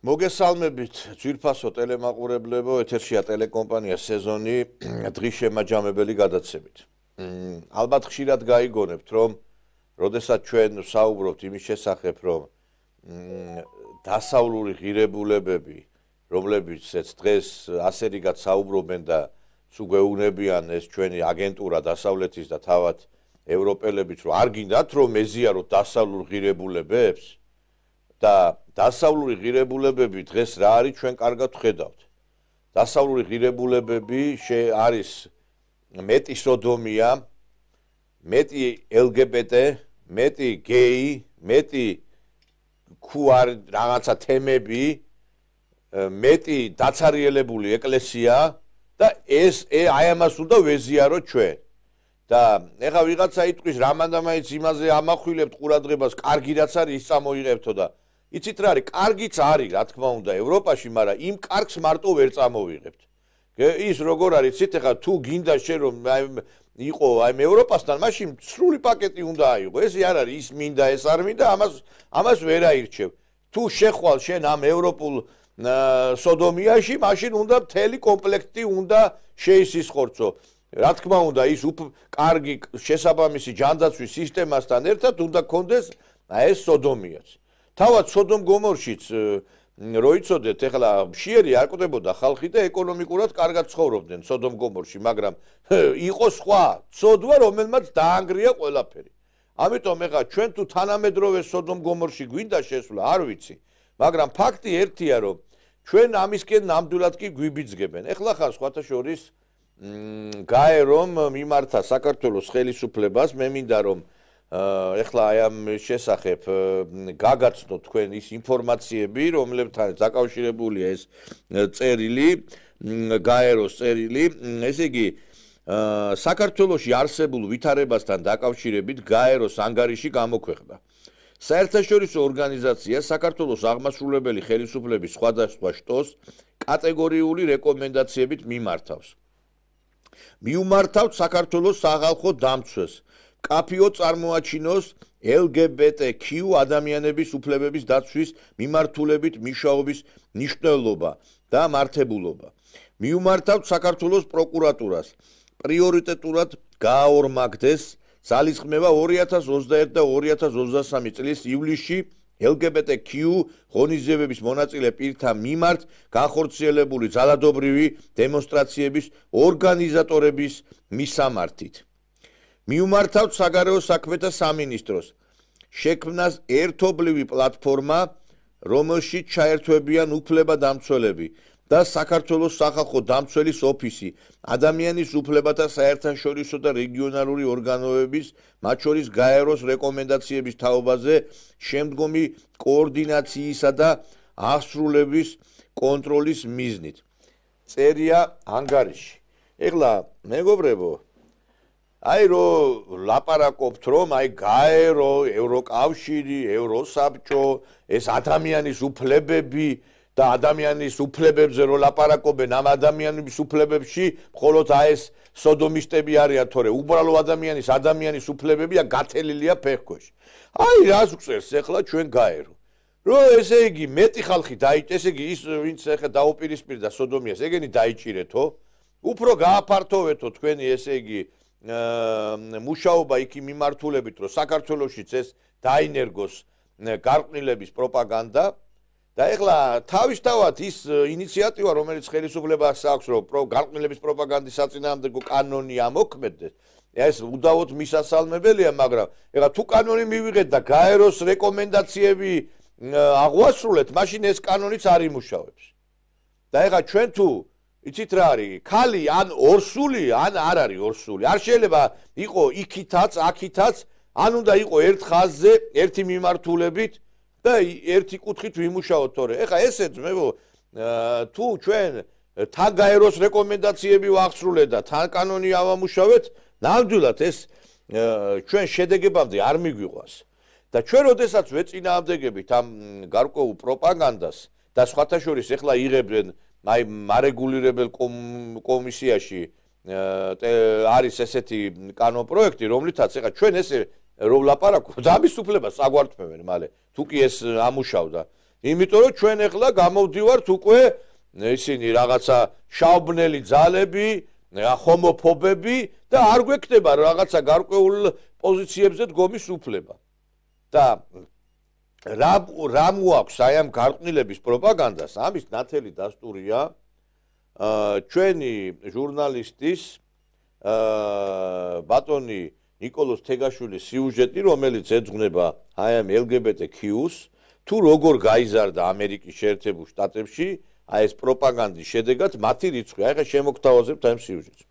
მოგესალმებით ძვირფასო ტელემაყურებლებო, ეთერშია ტელეკომპანია სეზონი დღის შემაჯამებელი გადაცემით. ალბათ ხშირად გაიგონებთ, რომ როდესაც ჩვენ ვსაუბრობთ იმის შესახებ, რომ დასავლური ღირებულებები, რომლებიცაც დღეს ასე რიგად საუბრობენ და სუგვეუნებიან ეს ჩვენი აგენტურა დასავლეთის და თავად ევროპელებიც, რომ არ გინდათ რომ ეზიაროთ დასავლურ ღირებულებებს და დასავლური ღირებულებები დღეს რა არის ჩვენ კარგად ვხედავთ. დასავლური ღირებულებები არის მეტი სოდომია, მეტი LGBT, მეტი გეი, მეტი ქუარ რაღაცა თემები, მეტი დაცარიელებული ეკლესია და ეს აი ამას უნდა ვეზიაროთ ჩვენ. და ეხა ვიღაცა იტყვის რამანდა მაინც იმაზე ამახვილებთ ყურადღებას, კარგი რაც არის ის წამოიღებთო და იცით რა არის, კარგიც არის, რა თქმა უნდა, ევროპაში, მაგრამ იმ კარგს მარტო ვერ წამოვიღებთ. ის როგორ არის, იცით, ეხლა თუ გინდა შენ რომ იყო აი ევროპასთან, მაშინ სრული პაკეტი უნდა აიღო. ეს არ არის, ის მინდა, ეს არ მინდა, ამას ვერ აირჩევ. თუ შეხვალ შენ ამ ევროპულ სოდომიაში, მაშინ უნდა მთელი კომპლექტი უნდა შეისისხორცო. რა თქმა უნდა, ის კარგი შესაბამისი ჯანდაცვის სისტემასთან ერთად უნდა გქონდეს ეს სოდომიაც. თავად სოდომ გომორშიც რო იცოდეთ, ეხლა მშიერი არ კვდებოდა ხალხი და ეკონომიკურად კარგად ცხოვრობდნენ სოდომ გომორში, მაგრამ იყო სხვა ცოდვა, რომელმაც დაანგრია ყველაფერი. ამიტომ ეხლა ჩვენ თუ თანამედროვე სოდომ გომორში გვინდა შესვლა, არ ვიცი, მაგრამ ფაქტი ერთია, რომ ჩვენ ამისკენ ნამდვილად კი გვიბიძგებენ. ეხლა ხარ სხვათა შორის გაერომ მიმართა საქართველოს ხელისუფლებას, მე მინდა რომ ეხლა აი ამ შესახებ გაგაცნოთ თქვენ ის ინფორმაციები, რომლებთან დაკავშირებულია ეს წერილი, გაეროს წერილი, ესე იგი საქართველოში არსებულ ვითარებასთან დაკავშირებით გაეროს ანგარიში გამოქვეყნდა. საერთაშორისო ორგანიზაცია საქართველოს აღმასრულებელი ხელისუფლების სხვადასხვა შტოს კატეგორიული რეკომენდაციებით მიმართავს. მიუმართავთ საქართველოს სახალხო დამცვეს კაფიო წარმოაჩინოს LGBTQ ადამიანების უფლებების დაცვის მიმართულებით მუშაობის მნიშვნელობა და მართებულობა. მიუმართავთ საქართველოს პროკურატურას პრიორიტეტულად გააორმაგდეს ძალისხმევა 2021 და 2023 წლის ივლისში LGBTQ ღონისძიებების მონაწილე პირთა მიმართ განხორციელებული ძალადობრივი დემონსტრაციების ორგანიზატორების მისამართით. მიუმართავთ საგარეო საქმეთა სამინისტროს შექმნას ერთობლივი პლატფორმა, რომელშიც ჩაერთვებიან უფლებადამცველები და საქართველოს სახალხო დამცველის ოფისი, ადამიანის უფლებათა საერთაშორისო და რეგიონალური ორგანოების, მათ შორის გაეროს რეკომენდაციების თაობაზე შემდგომი კოორდინაციისა და აღსრულების კონტროლის მიზნით. წერია ანგარიში. ეხლა მეგობრებო, აი რო ლაპარაკობთ რომ აი გაერო, ევროკავშირი, ევროსაბჭო, ეს ადამიანის უფლებები და ადამიანის უფლებებზე რო ლაპარაკობენ, ამ ადამიანის უფლებებში მხოლოდ აი ეს სოდომისტები არიან, თორე უბრალო ადამიანის უფლებებია გათელილია ფეხქვეშ. აი რას გწერს ახლა ჩვენ გაერო. რო ესე იგი მეტი ხალხი ესე იგი ის ვინც ახლა დაუპირისპირდა სოდომიას, ეგენი დაიჭირეთო, უფრო გააფართოვეთო თქვენი ესე იგი მუშაობა იქ მიმართულებით, რომ საქართველოშიც ეს დაინერგოს გარყვნილების პროპაგანდა და ეხლა თავისთავად ის ინიციატივა, რომელიც ხელისუფლებას აქვს, რომ გარყვნილების პროპაგანდის საწინააღმდეგო კანონი ამოქმედდეს, ეს უდავოდ მისასალმებელია, მაგრამ ეხლა თუ კანონი მივიღეთ და გაეროს რეკომენდაციები აღვასრულეთ, მაშინ ეს კანონიც არ იმუშავებს. და ეხლა ჩვენ თუ იცით რა არის, ქალი ან ორსული, ან არ არის ორსული. არ შეიძლება იყო იქითაც, აქითაც, ან უნდა იყო ერთ ხაზზე, ერთი მიმართულებით და ერთი კუთხით ვიმუშაოთ, თორე. ეხლა ესე ძმებო, თუ ჩვენ თან გაეროს რეკომენდაციები ვახსრულეთ და თან კანონი ავამუშავეთ, ნამდვილად ეს ჩვენ შედეგებამდე არ მიგვიყვანს. და ჩვენ როდესაც ვეწინააღმდეგებით ამ გარკვეულ პროპაგანდას და სხვათა შორის ეხლა იღებდნენ აი მარეგულირებელ კომისიაში არის ესეთი კანონპროექტი, რომლითაც ეხლა ჩვენ ესე რომ ლაპარაკობთ, ამის უფლებას აგვართმევენ მალე. თუ კი ეს ამუშავდა. იმიტომ რომ ჩვენ ახლა გამოვდივართ უკვე ისინი რაღაცა შაუბნელი ძალები, ჰომოფობები და არ გვექნება რაღაცა გარკვეულ პოზიციებზე დგომის უფლება. და რა მოაქვს აი ამ გარყვნილების პროპაგანდას, ამის ნათელი დასტურია ჩვენი ჟურნალისტის ბატონი ნიკოლოზ თეგაშვილის სიუჟეტი, რომელიც ეძღვნება აი ამ LGBTQ-ს, თუ როგორ გაიზარდა ამერიკის შეერთებულ შტატებში აი ეს პროპაგანდის შედეგად მათი რიცხვი. აი ხა შემოგთავაზებთ ამ სიუჟეტს.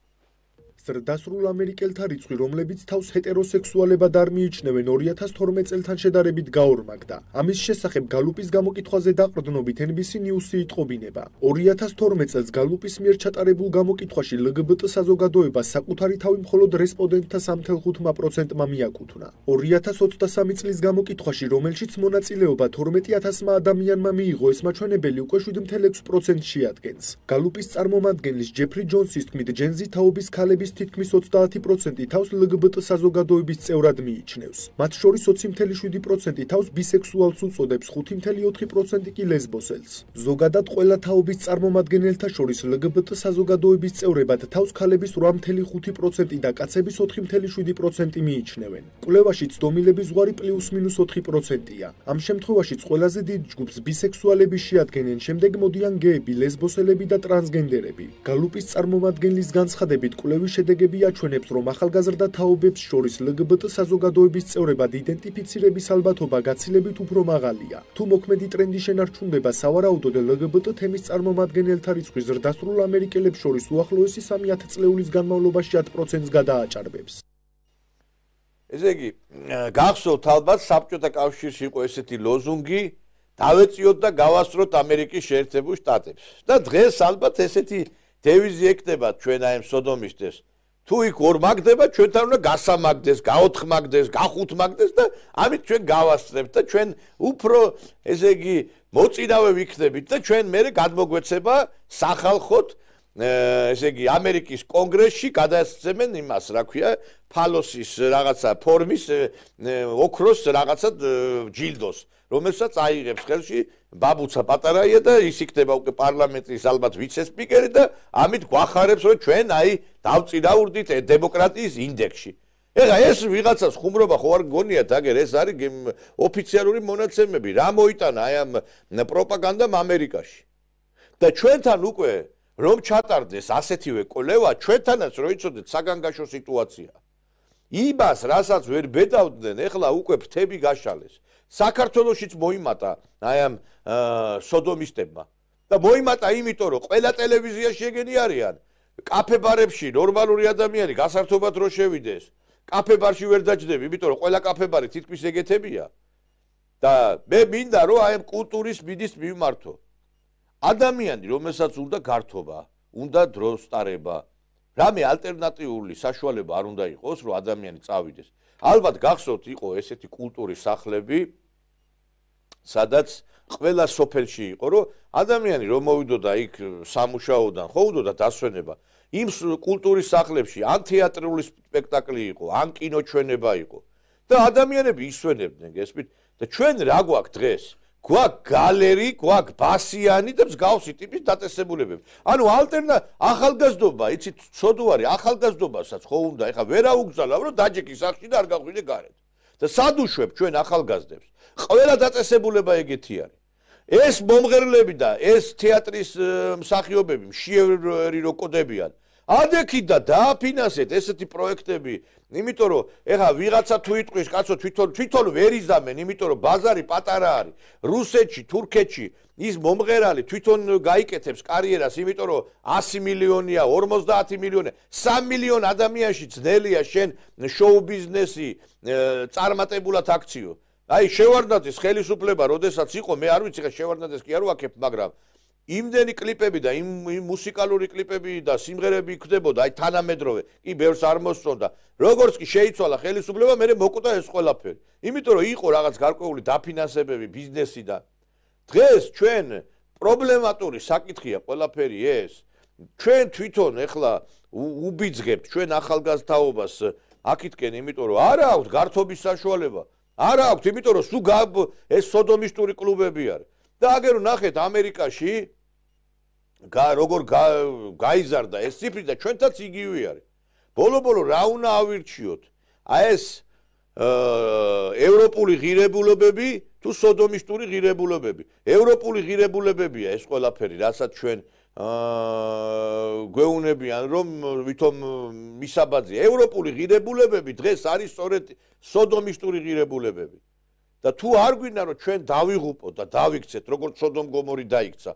ზრდასრულ ამერიკელთა რიცხვი, რომლებიც თავს ჰეტეროსექსუალებად არ მიიჩნევენ 2012 წელთან შედარებით გაორმაგდა. ამის შესახებ გალუპის გამოკითხვაზე დაყრდნობით NBC News-ი იტყობინება. 2012 წელს გალუპის მიერ ჩატარებულ გამოკითხვაში LGBT საზოგადოებას საკუთარი თავი მხოლოდ რესპონდენტთა 3.5%-მა მიაკუთვნა. 2023 წლის გამოკითხვაში, რომელშიც მონაწილეობა 12,000-მა ადამიანმა მიიღო, ეს მაჩვენებელი უკვე 7.6%-ს შეადგენს. გალუპის წარმომადგენლის ჯეფრი ჯონსის თქმით, ჯენზი თაობის ქალების თითქმის 30% თავს LGBT საზოგადოების წევრად მიიჩნევს. მათ შორის 20.7% თავს ბისექსუალს უწოდებს, 5.4% კი ლესბოსელს. ზოგადად ყველა თაობის წარმომადგენელთა შორის LGBT საზოგადოების წევრებად თავს ქალების 8.5% და კაცების 4.7% მიიჩნევენ. კვლევაშიც დომინების ზღვარი +-4%-ია. ამ შემთხვევაშიც ყველაზე დიდ ჯგუფს ბისექსუალები შეადგენენ, შემდეგ მოდიან გეები, ლესბოსელები და ტრანსგენდერები. გალუპის წარმომადგენლის განცხადებით, კვლევის შედეგები აჩვენებს, რომ ახალგაზრდა თაობებს შორის LGBT საზოგადოების წევრებად იდენტიფიცირების ალბათობა გაცილებით უფრო მაღალია. თუ მოქმედი ტრენდი შენარჩუნდება, სავარაუდოდ LGBT თემის წარმომადგენელთა რიცხვი ზრდასრულ ამერიკელებს შორის უახლოესი 3 ათწლეულის განმავლობაში 10%-ს გადააჭარბებს. ესე იგი, გახსოვთ ალბათ საბჭოთა კავშირში იყო ესეთი ლოზუნგი, დავეწიოთ და გავასწროთ ამერიკის შეერთებულ შტატებს. და დღეს ალბათ ესეთი დევიზი ეკდება ჩვენ აი ამ სოდომისტებს. თუ იქ ორ მაგდება, ჩვენთან უნდა გასამაგდეს, გაოთხმაგდეს, გახუთმაგდეს და ამით ჩვენ გავასწრებთ და ჩვენ უფრო ესე იგი მოწინავე ვიქნებით და ჩვენ მერე გადმოგვეცება სახალხოდ ესე იგი ამერიკის კონგრესში გადაესწრებენ იმას, რა ქვია, ფალოსის რაღაცა ფორმის ოქროს რაღაცა ჯილდოს, რომელსაც აიღებს ხელში ბაბუცა პატარაია და ის იქნება უკვე პარლამენტის ალბათ ვიცე-სპიკერი და ამით გვახარებს, რომ ჩვენ აი დავწინაურდით დემოკრატიის ინდექსში. ეხლა ეს ვიღაცას ხუმრობა ხო არ გგონიათ, აგერ ეს არის ოფიციალური მონაცემები, რა მოიტანა აი ამ პროპაგანდამ ამერიკაში. და ჩვენთან უკვე რომ ჩატარდეს ასეთივე კვლევა, ჩვენთანაც რო იცოდეთ საგანგაშო სიტუაცია. იმას, რასაც ვერ ბედავდნენ, ეხლა უკვე ფრთები გაშალეს. საქართველოშიც მოიმატა აი ამ სოდომისტებმა და მოიმატა იმიტომ რომ ყველა ტელევიზიაში ეგენი არიან კაფე-ბარებში ნორმალური ადამიანი გასართობად რო შევიდეს კაფე-ბარში ვერ დაჯდები იმიტომ რომ ყველა კაფე-ბარი თითქმის ეგეთებია და მე მინდა რომ აი ამ კულტურის მიდის მივმართო ადამიანი რომელსაც უნდა გართობა უნდა დროს სტარება რამე ალტერნატიული საშუალება არ უნდა იყოს რომ ადამიანი წავიდეს ალბათ გახსოვთ იყო ესეთი კულტურის სახლები სადაც ყველა სოფელში იყო რომ ადამიანი რომ მოვიდოდა იქ სამუშაოდან ხო უნდოდა დასვენება იმ კულტურის სახლებში ან თეატრალური სპექტაკლი იყო ან კინოჩვენება იყო და ადამიანები ისვენებდნენ გესმით და ჩვენ რა გვაქვს დღეს გვაქვს გალერი გვაქვს ბასიანი და მსგავსი ტიპის დაწესებულებები ანუ ახალგაზრდობა იცით ცოდვარი ახალგაზრდობასაც ხო უნდა ეხა ვერ აუგზავნო რომ დაჯექი სახში და არ გაღვიდე გარეთ და სადუშვებ ჩვენ ახალგაზრდებს ყველა დაწესებულება ეგეთი არის ეს მომღერლები და ეს თეატრის მსახიობები მშიერი რო კოდებიან ადექით და დააფინანსეთ ესეთი პროექტები იმიტომ რომ ეხა ვიღაცა თუ იტყვის კაცო თვითონ ვერ იზამენ იმიტომ რომ ბაზარი პატარა არის რუსეთში თურქეთში ის მომღერალი თვითონ გაიკეთებს კარიერას იმიტომ რომ 100 მილიონია 50 მილიონია 3 მილიონ ადამიანში ძნელია შენ შოუ ბიზნესი წარმატებულად აქციო აი შევარდნაძის ხელისუფლება როდესაც იყო მე არ ვიცი ხა შევარდნაძეს კი არ ვაკებ მაგრამ იმდენი კლიპები და იმ მუსიკალური კლიპები და სიმღერები იქნებოდა აი თანამედროვე კი ბევრს არ მოსწონდა როგორც კი შეიცვალა ხელისუფლება მე მოკვდა ეს ყველაფერი იმიტომ რომ იყო რაღაც გარკვეული დაფინანსებები ბიზნესიდან დღეს ჩვენ პრობლემატური საკითხია ყველაფერი ეს ჩვენ თვითონ ეხლა უბიძგებთ ჩვენ ახალგაზრდაობას აქეთკენ იმიტომ რომ არა აქვს გართობის საშუალება არა აქვს იმიტომ რომ სულ ეს სოდომისტური კლუბები არის და აგერ ნახეთ ამერიკაში როგორ გაიზარდა ეს ციფრი და ჩვენთაც იგივე არის. ბოლო-ბოლო რა უნდა ავირჩიოთ? აი ეს ევროპული ღირებულებები თუ სოდომისტური ღირებულებები. ევროპული ღირებულებებია ეს ყველაფერი, რასაც ჩვენ გვეუნებიან რომ ვითომ მისაბაძია. ევროპული ღირებულებები დღეს არის სწორედ სოდომისტური ღირებულებები. და თუ არ გვინდა რომ ჩვენ დავიღუპოთ და დავიქცეთ როგორც სოდომ გომორი დაიქცა,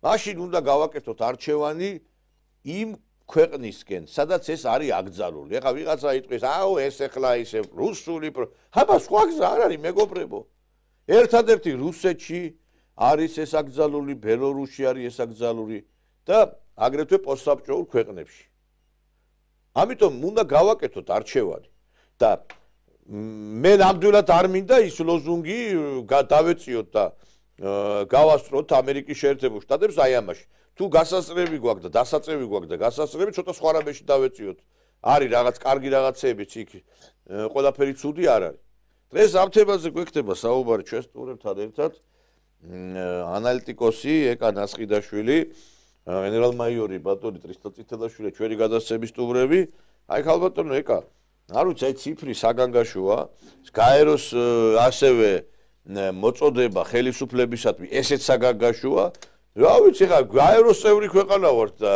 მაშინ უნდა გავაკეთოთ არჩევანი იმ ქვეყნისკენ, სადაც ეს არის აკრძალული. ეხლა ვიღაცა იტყვის, აუ ეს ეხლა ისე რუსული, აბა სხვა გზა არ არის მეგობრებო. ერთადერთი რუსეთში არის ეს აკრძალული, ბელორუსში არის ეს აკრძალული და აგრეთვე პოსტსაბჭოურ ქვეყნებში. ამიტომ უნდა გავაკეთოთ არჩევანი და მე ნამდვილად არ მინდა ის ლოზუნგი დავეციოთ და გავასწროთ ამერიკის შეერთებულ შტატებს აი ამაში. თუ გასასწრები გვაქვს და დასაწევი გვაქვს და გასასწრები ცოტა სხვა რამეში დავეციოთ. არის რაღაც კარგი რაღაცეებიც იქ, ყველაფერი ცუდი არ არის. დღეს ამ თემაზე გვექნება საუბარი ჩვენ სტუმრებთან ერთად ანალიტიკოსი ეკა ნასყიდაშვილი, გენერალ-მაიორი ბატონი ტრისტო წითელაშვილი, ჩვენი გადაცემის სტუმრები. აი ხალბატონო ეკა, არ ვიცი, აი ციფრი საგანგაშოა, გაეროს ასევე მოწოდება ხელისუფლებისადმი ესეც საგანგაშოა. რა ვიცი, ხა გაეროს წევრი ქვეყანა ვართ და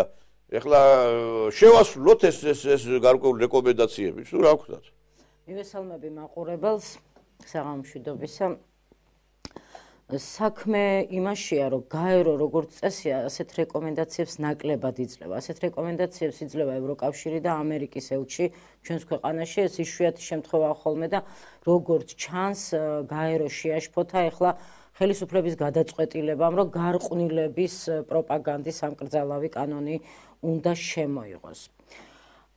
ეხლა შევასრულოთ ეს გარკვეული რეკომენდაციები, თუ რა ვქნათ? მივესალმები მაყურებელს, საღამომშვიდობისა. საქმე იმაშია, რომ გაერო როგორც წესია, ასეთ რეკომენდაციებს ნაკლებად იძლევა. ასეთ რეკომენდაციებს იძლევა ევროკავშირი და ამერიკის ელჩი ჩვენს ქვეყანაში. ეს იშვიათი შემთხვევაა ხოლმე და როგორც ჩანს, გაერო შეაშფოთა ეხლა ხელისუფლების გადაწყვეტილებამ, რომ გარყვნილების პროპაგანდის სამკრძალავი კანონი უნდა შემოიღოს.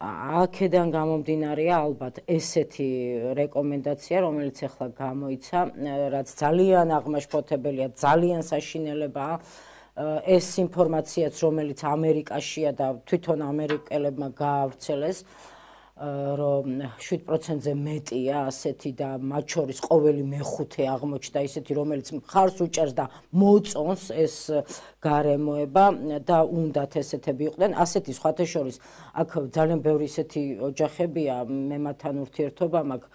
აქედან გამომდინარეა ალბათ ესეთი რეკომენდაცია, რომელიც ახლა გამოიცა, რაც ძალიან აღმაშფოთებელია, ძალიან საშინელებაა. ეს ინფორმაციაც, რომელიც ამერიკაშია და თვითონ ამერიკელებმა გაავრცელეს, რომ 7%-ზე მეტია ასეთი და მათ შორის ყოველი მეხუთე აღმოჩნდა ისეთი, რომელიც მხარს უჭერს და მოწონს ეს გარემოება და უნდათ ესეთები იყვნენ. ასეთი სხვათა შორის აქ ძალიან ბევრი ისეთი ოჯახებია, მე მათთან ურთიერთობა მაქვს,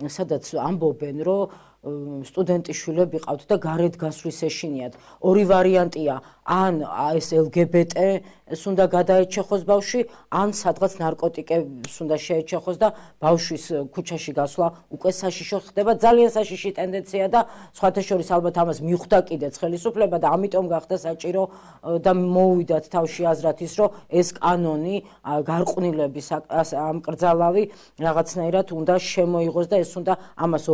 სადაც ამბობენ, რომ სტუდენტის შვილები ყავთ და გარეთ გასვლის ეშინიათ. ორი ვარიანტია, ან ეს LGBT-ს უნდა გადაეჩეხოს ბავშვი, ან სადღაც ნარკოტიკებს უნდა შეეჩეხოს და ბავშვის ქუჩაში გასვლა უკვე საშიშო ხდება. ძალიან საშიში ტენდენცია და სხვათა შორის ალბათ ამას მიხვდა კიდეც ხელისუფლება და ამიტომ გახდა საჭირო და მოუვიდათ თავში აზრად ის, რომ ეს კანონი გარყვნილების ამკრძალავი რაღაცნაირად უნდა შემოიღოს და ეს უნდა ამას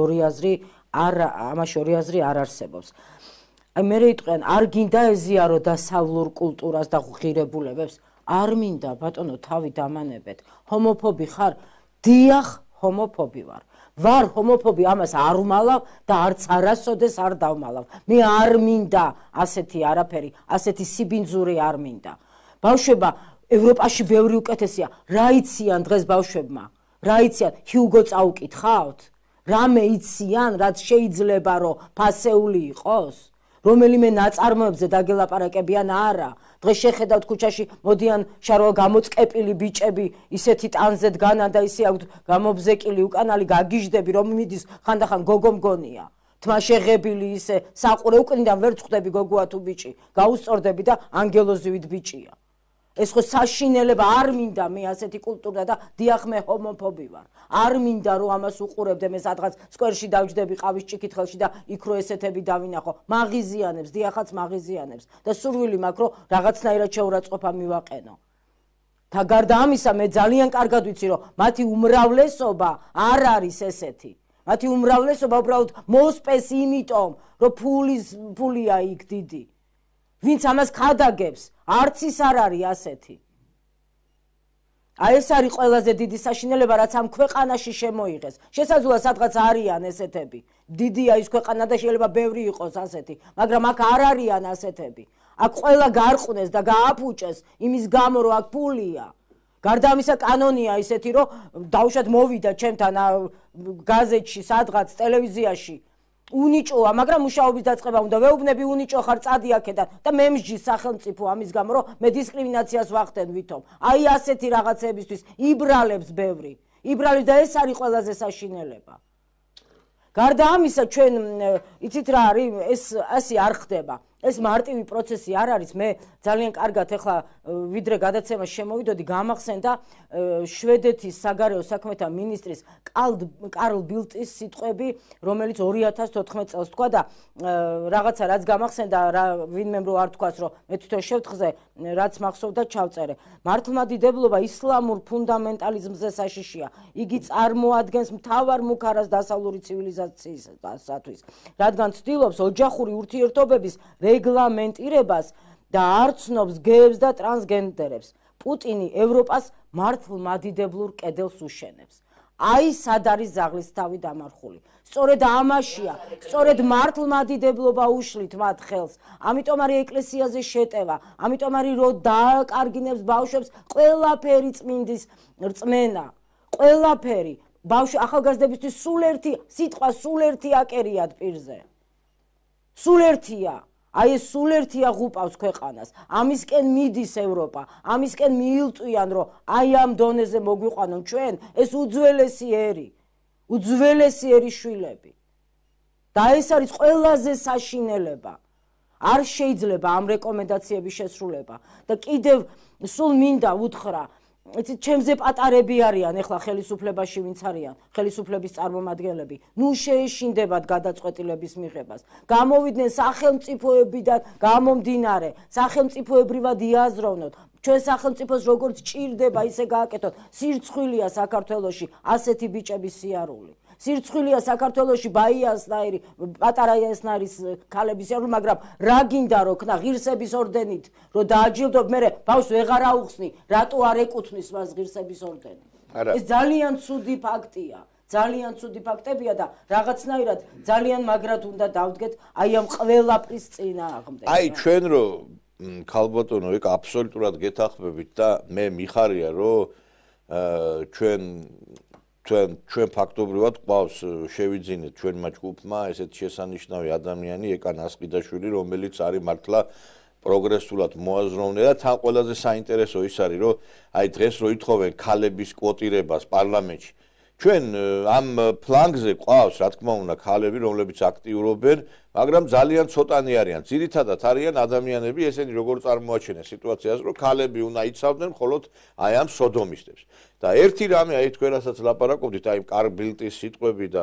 ამაში ორი აზრი არ არსებობს. აი მე იტყვიან, არ გინდა ეზიარო დასავლურ კულტურას და ღირებულებებს, არ მინდა ბატონო თავი დამანებეთ. ჰომოფობი ხარ? დიახ, ჰომოფობი ვარ. ვარ ჰომოფობი, ამას არ ვმალავ და არც არასოდეს არ დავმალავ. მე არ მინდა ასეთი არაფერი, ასეთი სიბინძური არ მინდა. ბავშვება ევროპაში ბევრი უკეთესია. რა იციან დღეს ბავშვებმა? რა იციან? ჰიუგო წაუკითხავთ? რამე იციან, რაც შეიძლება რომ ფასეული იყოს? რომელიმე ნაწარმოებზე დაგელაპარაკებიან არა. დღეს შეხედავთ ქუჩაში მოდიან შარვალ გამოწყეპილი ბიჭები, ისეთი ტანზე დგანან და ისე აქვთ გამობზეკილი უკანალი გაგიჟდები, რომ მიდის ხანდახან გოგო მგონია. თმა შეღებილი ისე საყურე უკნიდან ვერ წხვდები გოგოა თუ ბიჭი, გაუსწორდები და ანგელოზივით ბიჭია. ეს ხო საშინელება, არ მინდა მე ასეთი კულტურა და დიახ მე ჰომოფობი ვარ. არ მინდა რომ ამას უყურებდე, მე სადღაც სკვერში დავჯდები ყავის ჭიქითხელში და იქ რო ესეთები დავინახო. მაღიზიანებს, დიახაც მაღიზიანებს და სურვილი მაქვს რომ რაღაცნაირად შეურაცხყოფა მივაყენო. და გარდა ამისა მე ძალიან კარგად ვიცი რომ მათი უმრავლესობა არ არის ესეთი. მათი უმრავლესობა უბრალოდ მოსპეს იმიტომ რომ ფულია იქ დიდი. ვინც ამას ხადაგებს, არც ის არ არის ასეთი. აი ეს არის ყველაზე დიდი საშინელება, რაც ამ ქვეყანაში შემოიღეს. შესაძლოა სადღაც არიან ესეთები. დიდია ის ქვეყანა და შეიძლება ბევრი იყოს ასეთი, მაგრამ აქ არ არიან ასეთები. აქ ყველა გარყვნეს და გააფუჭეს იმის გამო, რომ აქ ფულია. გარდა ამისა კანონია ისეთი, რომ დავუშვათ მოვიდა ჩემთან გაზეთში, სადღაც ტელევიზიაში უნიჭოა, მაგრამ მუშაობის დაწყება უნდა. ვეუბნები უნიჭო ხარ, წადი აქედან და მე მსჯის სახელმწიფო ამის გამო, რომ მე დისკრიმინაციას ვახდენ ვითომ. აი ასეთი რაღაცებისთვის იბრალებს ბევრი. იბრალებს და ეს არის ყველაზე საშინელება. გარდა ამისა, ჩვენ იცით რა არის, ეს ასე არ ხდება. ეს მარტივი პროცესი არ არის. მე ძალიან კარგად ახლა ვიდრე გადაცემას შემოვიდოდი, გამახსენდა შვედეთის საგარეო საქმეთა მინისტრის კარლ ბილტის სიტყვები, რომელიც 2014 წელს თქვა და რაღაცა რაც გამახსენდა, ვინმემ რო არ თქვას, რომ მე თვითონ შევთხზე რაც მახსოვდა ჩავწერე. მართლმადიდებლობა ისლამურ ფუნდამენტალიზმზე საშიშია. იგი წარმოადგენს მთავარ მუქარას დასავლური ცივილიზაციისათვის, რადგან ცდილობს ოჯახური ურთიერთობების რეგლამენტირებას და არ ცნობს გეებს და ტრანსგენდერებს. პუტინი ევროპას მართლმადიდებლურ კედელს უშენებს. აი სად არის ზაღლისთავი დამარხული. სწორედ ამაშია, სწორედ მართლმადიდებლობა უშლით მათ ხელს. ამიტომ არის ეკლესიაზე შეტევა, ამიტომ არის რომ დააკარგინებს ბავშვებს ყველაფერი წმინდის რწმენა. ყველაფერი ახალგაზრდებისთვის სულ ერთი სიტყვა, სულ ერთი აკერიათ პირზე. სულ ერთია. აი ეს სულ ერთია ღუპავს ქვეყანას. ამისკენ მიდის ევროპა, ამისკენ მიილტვიან, რომ აი ამ დონეზე მოგვიყვანონ ჩვენ ეს უძველესი ერი შვილები. და ეს არის ყველაზე საშინელება. არ შეიძლება ამ რეკომენდაციების შესრულება და კიდევ სულ მინდა უთხრა, იცით, ჩემზე პატარები არიან ახლა ხელისუფლებაში ვინც არიან, ხელისუფლების წარმომადგენლები, ნუ შეეშინდებათ გადაწყვეტილების მიღებას. გამოვიდნენ სახელმწიფოებიდან გამომდინარე, სახელმწიფოებრივად იაზროვნოთ. ჩვენ სახელმწიფოს როგორც ჭირდება ისე გააკეთოთ. სირცხვილია საქართველოში ასეთი ბიჭების სიარული. სირცხვილია საქართველოში ბაიასნაირი, პატარა იასნაირის ქალების სიარული, მაგრამ რა გინდა რო ქნა ღირსების ორდენით, რომ დააჯილდოთ, მე ბავშვს ვეღარ აუხსნი, რატო არ ეკუთვნის მას ღირსების ორდენი. ეს ძალიან ცუდი ფაქტია. ძალიან ცუდი ფაქტებია და რაღაცნაირად ძალიან მაგრად უნდა დავდგეთ აი ამ ყველაფრის წინააღმდეგ. აი ჩვენ რო ქალბატონო ეგ აბსოლუტურად გეთახმებით და მე მიხარია რომ ჩვენ ფაქტობრივად ყავს შევიძინეთ ჩვენმა ჯგუფმა ესეთი შესანიშნავი ადამიანი ეკა ნასყიდაშვილი, რომელიც არის მართლა პროგრესულად მოაზროვნე და თან ყველაზე საინტერესო ის არის, რომ აი დღეს რო ითხოვენ ქალების კვოტირებას პარლამენტში. ჩვენ ამ ფლანგზე ყავს, რა თქმა უნდა, ქალები, რომლებიც აქტიურობენ, მაგრამ ძალიან ცოტანი არიან. ძირითადად არიან ადამიანები, ესენი როგორ წარმოაჩენენ სიტუაციას, რომ ქალები უნდა იცავდნენ მხოლოდ აი ამ სოდომისტებს. და ერთი რამე, აი თქვენ რასაც ლაპარაკობდით, აი კარლ ბილტის სიტყვები და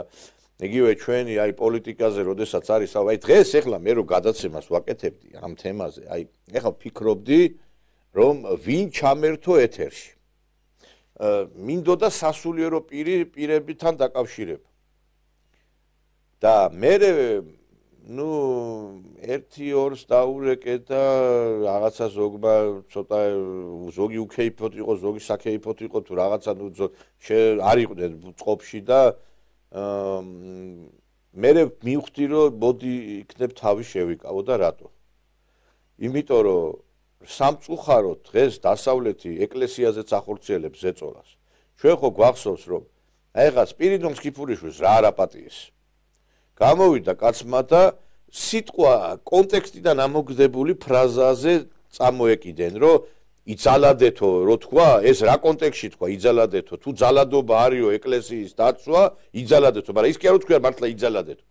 იგივე ჩვენი აი პოლიტიკაზე, როდესაც არის, აი დღეს ეხლა მე რო გადაცემას ვაკეთებდი ამ თემაზე, აი ეხლა ვფიქრობდი, რომ ვინ ჩამერთო ეთერში. მინდოდა სასულიერო პირებთან დაკავშირება. და მე ერთი ორს დაურეკე და რაღაცა ზოგმა ცოტა ზოგი უკეიფოთ იყო, ზოგი საკეიფოთ იყო თუ რაღაცა არ იყვნენ წყობში და მე მივხვდი რომ მოდი იქნებ თავი შევიკავო და რატო? იმიტომ რომ სამწუხაროდ დღეს დასავლეთი ეკლესიაზეც ახორციელებს ზეწოლას. ჩვენ ხო გვახსოვს რომ აიღა სპირიდონ სკიფურიშვილს რა არაპატიეს. გამოვიდა კაცმა და სიტყვა კონტექსტიდან ამოგდებული ფრაზაზე წამოეკიდენ, რომ იძალადეთო, რო თქვა, ეს რა კონტექსტში თქვა, იძალადეთო, თუ ძალადობა არისო ეკლესიის დაცვა, იძალადეთო, მაგრამ ის კი არ თქვა მართლა იძალადეთო.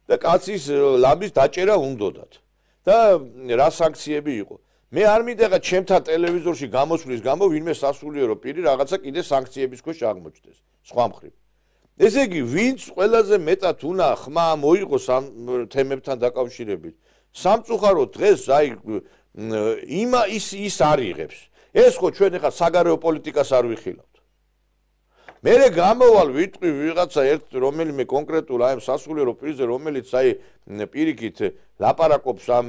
და კაცის ლამის დაჭერა უნდოდათ. და რა სანქციები იყო? მე არ მინდა ჩემთან ტელევიზორში გამოსვლის გამო ვინმე სასულიერო პირი რაღაცა კიდე სანქციების ქვეშ აღმოჩნდეს. სხვა მხრივ. ესე იგი, ვინც ყველაზე მეტად უნდა ხმა მოიღოს ამ თემებთან დაკავშირებით. სამწუხაროდ დღეს აი ის არიღებს. ეს ხო ჩვენ ახლა საგარეო პოლიტიკას არ ვიხილავთ. მე გამოვალ ვიტყვი ვიღაცა ერთ რომელიმე კონკრეტულ აი სასულიერო პირზე, რომელიც აი პირიქით ლაპარაკობს ამ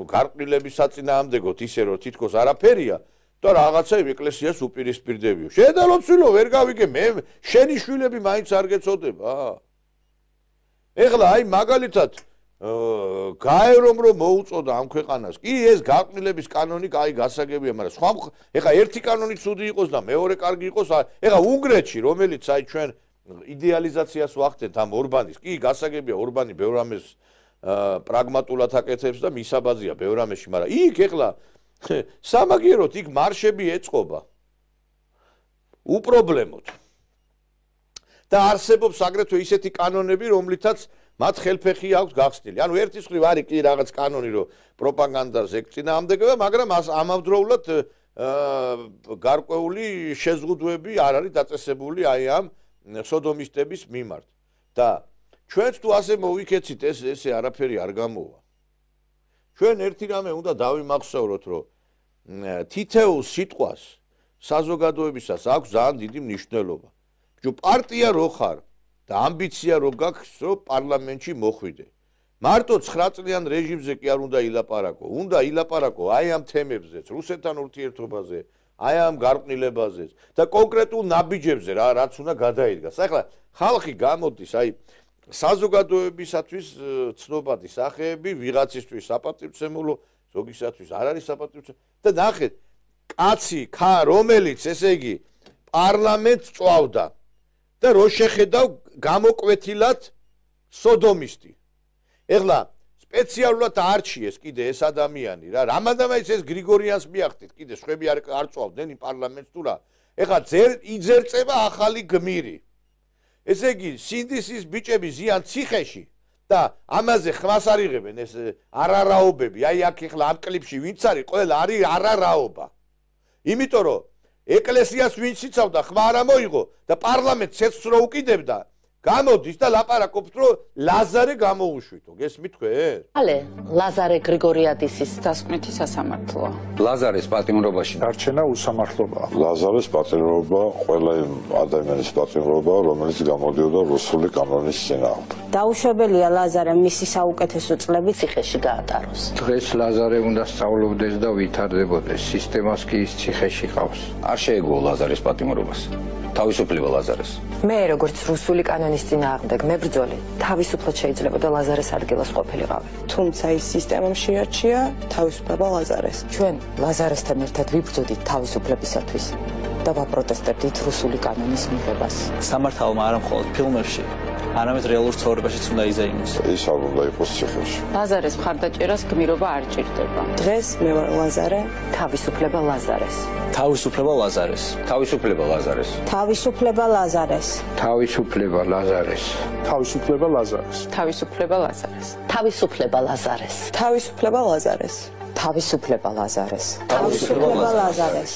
გარყვნილების საწინააღმდეგოდ ისე რომ თითქოს არაფერია და რაღაცა ეკლესიას უპირისპირდებიო. შედალოცილო ვერ გავიგე, მე შენი შვილები მაინც არ გეწოდება. ეხლა აი მაგალითად გაერომ რომ მოუწოდა ამ ქვეყანას. კი ეს გარყვნილების კანონი აი გასაგებია, მაგრამ სხვა ეხლა ერთი კანონი ცუდი იყოს და მეორე კარგი იყოს. ეხლა უნგრეთში, რომელიც აი ჩვენ იდეალიზაციას ვახდენთ ამ ორბანის. კი, გასაგებია ორბანი ბევრ ამას პრაგმატულად აკეთებს და მისაბაძია ბევრ ამაში, მაგრამ იქ ეხლა სამაგიეროდ იქ მარშები ეწყობა. უპრობლემოდ. და არსებობს აგრეთვე ისეთი კანონები, რომლითაც მათ ხელფეხი აქვს გახსნილი. ანუ ერთის მხრივ არის კი რაღაც კანონი, რომ პროპაგანდას ექცინაამდეგება, მაგრამ ამავდროულად გარკვეული შეზღუდვები არ არის დაწესებული აი ამ სოდომისტების მიმართ. და ჩვენც თუ ასე მოვიქეცით, ესე არაფერი არ გამოვა. ჩვენ ერთი რამე უნდა დავიმახსოვროთ, რომ თითოეულ სიტყვას საზოგადოებისას აქვს ძალიან დიდი მნიშვნელობა. პარტია რო ხარ და ამბიცია რო გაქვს, რომ პარლამენტში მოხვიდე. მარტო 9 წლიან რეჟიმზე კი არ უნდა ილაპარაკო. უნდა ილაპარაკო აი ამ თემებზეც, რუსეთთან ურთიერთობაზე, აი ამ გარყვნილებაზეც და კონკრეტულ ნაბიჯებზე რაც უნდა გადაიდგას. ახლა ხალხი გამოდის აი საზოგადოებისათვის ცნობადი სახეები, ვიღაცისთვის საპატივცემულო, ზოგისათვის არ არის საპატივცემულო და ნახეთ, კაცი ხა რომელიც ესე იგი პარლამენტს წვავდა და რო შეხედავ გამოკვეთილად სოდომისტი. ეხლა სპეციალურად არჩიეს კიდე ეს ადამიანი რა. რამადამაიც ეს გრიგორიანს მიახდით, კიდე სხვები არ წვავდნენ იმ პარლამენტს თუ რა. ეხლა იძერწება ახალი გმირი. ესე იგი სინდისის ბიჭები ზიან ციხეში და ამაზე ხმას არ იღებენ ეს არარაობები. აი აქ ეხლა ამ კლიპში ვინც არის, ყველა არის არარაობა. იმიტომ რომ ეკლესიას ვინც იცავდა ხმა არ მოიღო და პარლამენტს ეცს რო უკიდებდა, გამოდის და ლაპარაკობს, რომ ლაზარე გამოუშვითო. გესმით თქვენ? ალე, ლაზარე გრიგორიადისის დასკვნითი სასამართლოა. ლაზარეს პატიმრობაში დარჩენა უსამართლობაა. ლაზარეს პატიმრობა ყველა იმ ადამიანის პატიმრობა, რომელიც გამოდიოდა რუსული კანონის წინააღმდეგ. დაუშვებელია ლაზარე მისი საუკეთესო წლები ციხეში გაატაროს. დღეს ლაზარე უნდა სწავლობდეს და ვითარდებოდეს, სისტემას კი ის ციხეში ყავს. არ შეეგუო ლაზარეს პატიმრობას. თავისუფლება ლაზარეს. მე როგორც რუსული კანონის წინააღმდეგ მებრძოლი, თავისუფლად შეიძლებოდა ლაზარეს ადგილას ყოფილიყავი. თუმცა ის სისტემამ შეარჩია თავისუფლება ლაზარეს. ჩვენ ლაზარესთან ერთად ვიბრძოდით თავისუფლებისათვის და ვაპროტესტებდით რუსული კანონის მიღებას. სამართალმა არა მხოლოდ ფილმებში, არამედ რეალურ ცხოვრებაშიც უნდა იზეიმოს. ის არ უნდა იყოს ციხეში. ლაზარეს მხარდაჭერას გმირობა არ ჭირდება. დღეს მე ვარ ლაზარე, თავისუფლება ლაზარეს. თავისუფლება ლაზარეს. თავისუფლება ლაზარეს. თავისუფლება ლაზარეს. თავისუფლება ლაზარეს. თავისუფლება ლაზარეს. თავისუფლება ლაზარეს. თავისუფლება ლაზარეს. თავისუფლება ლაზარეს. თავისუფლება ლაზარეს. თავისუფლება ლაზარეს.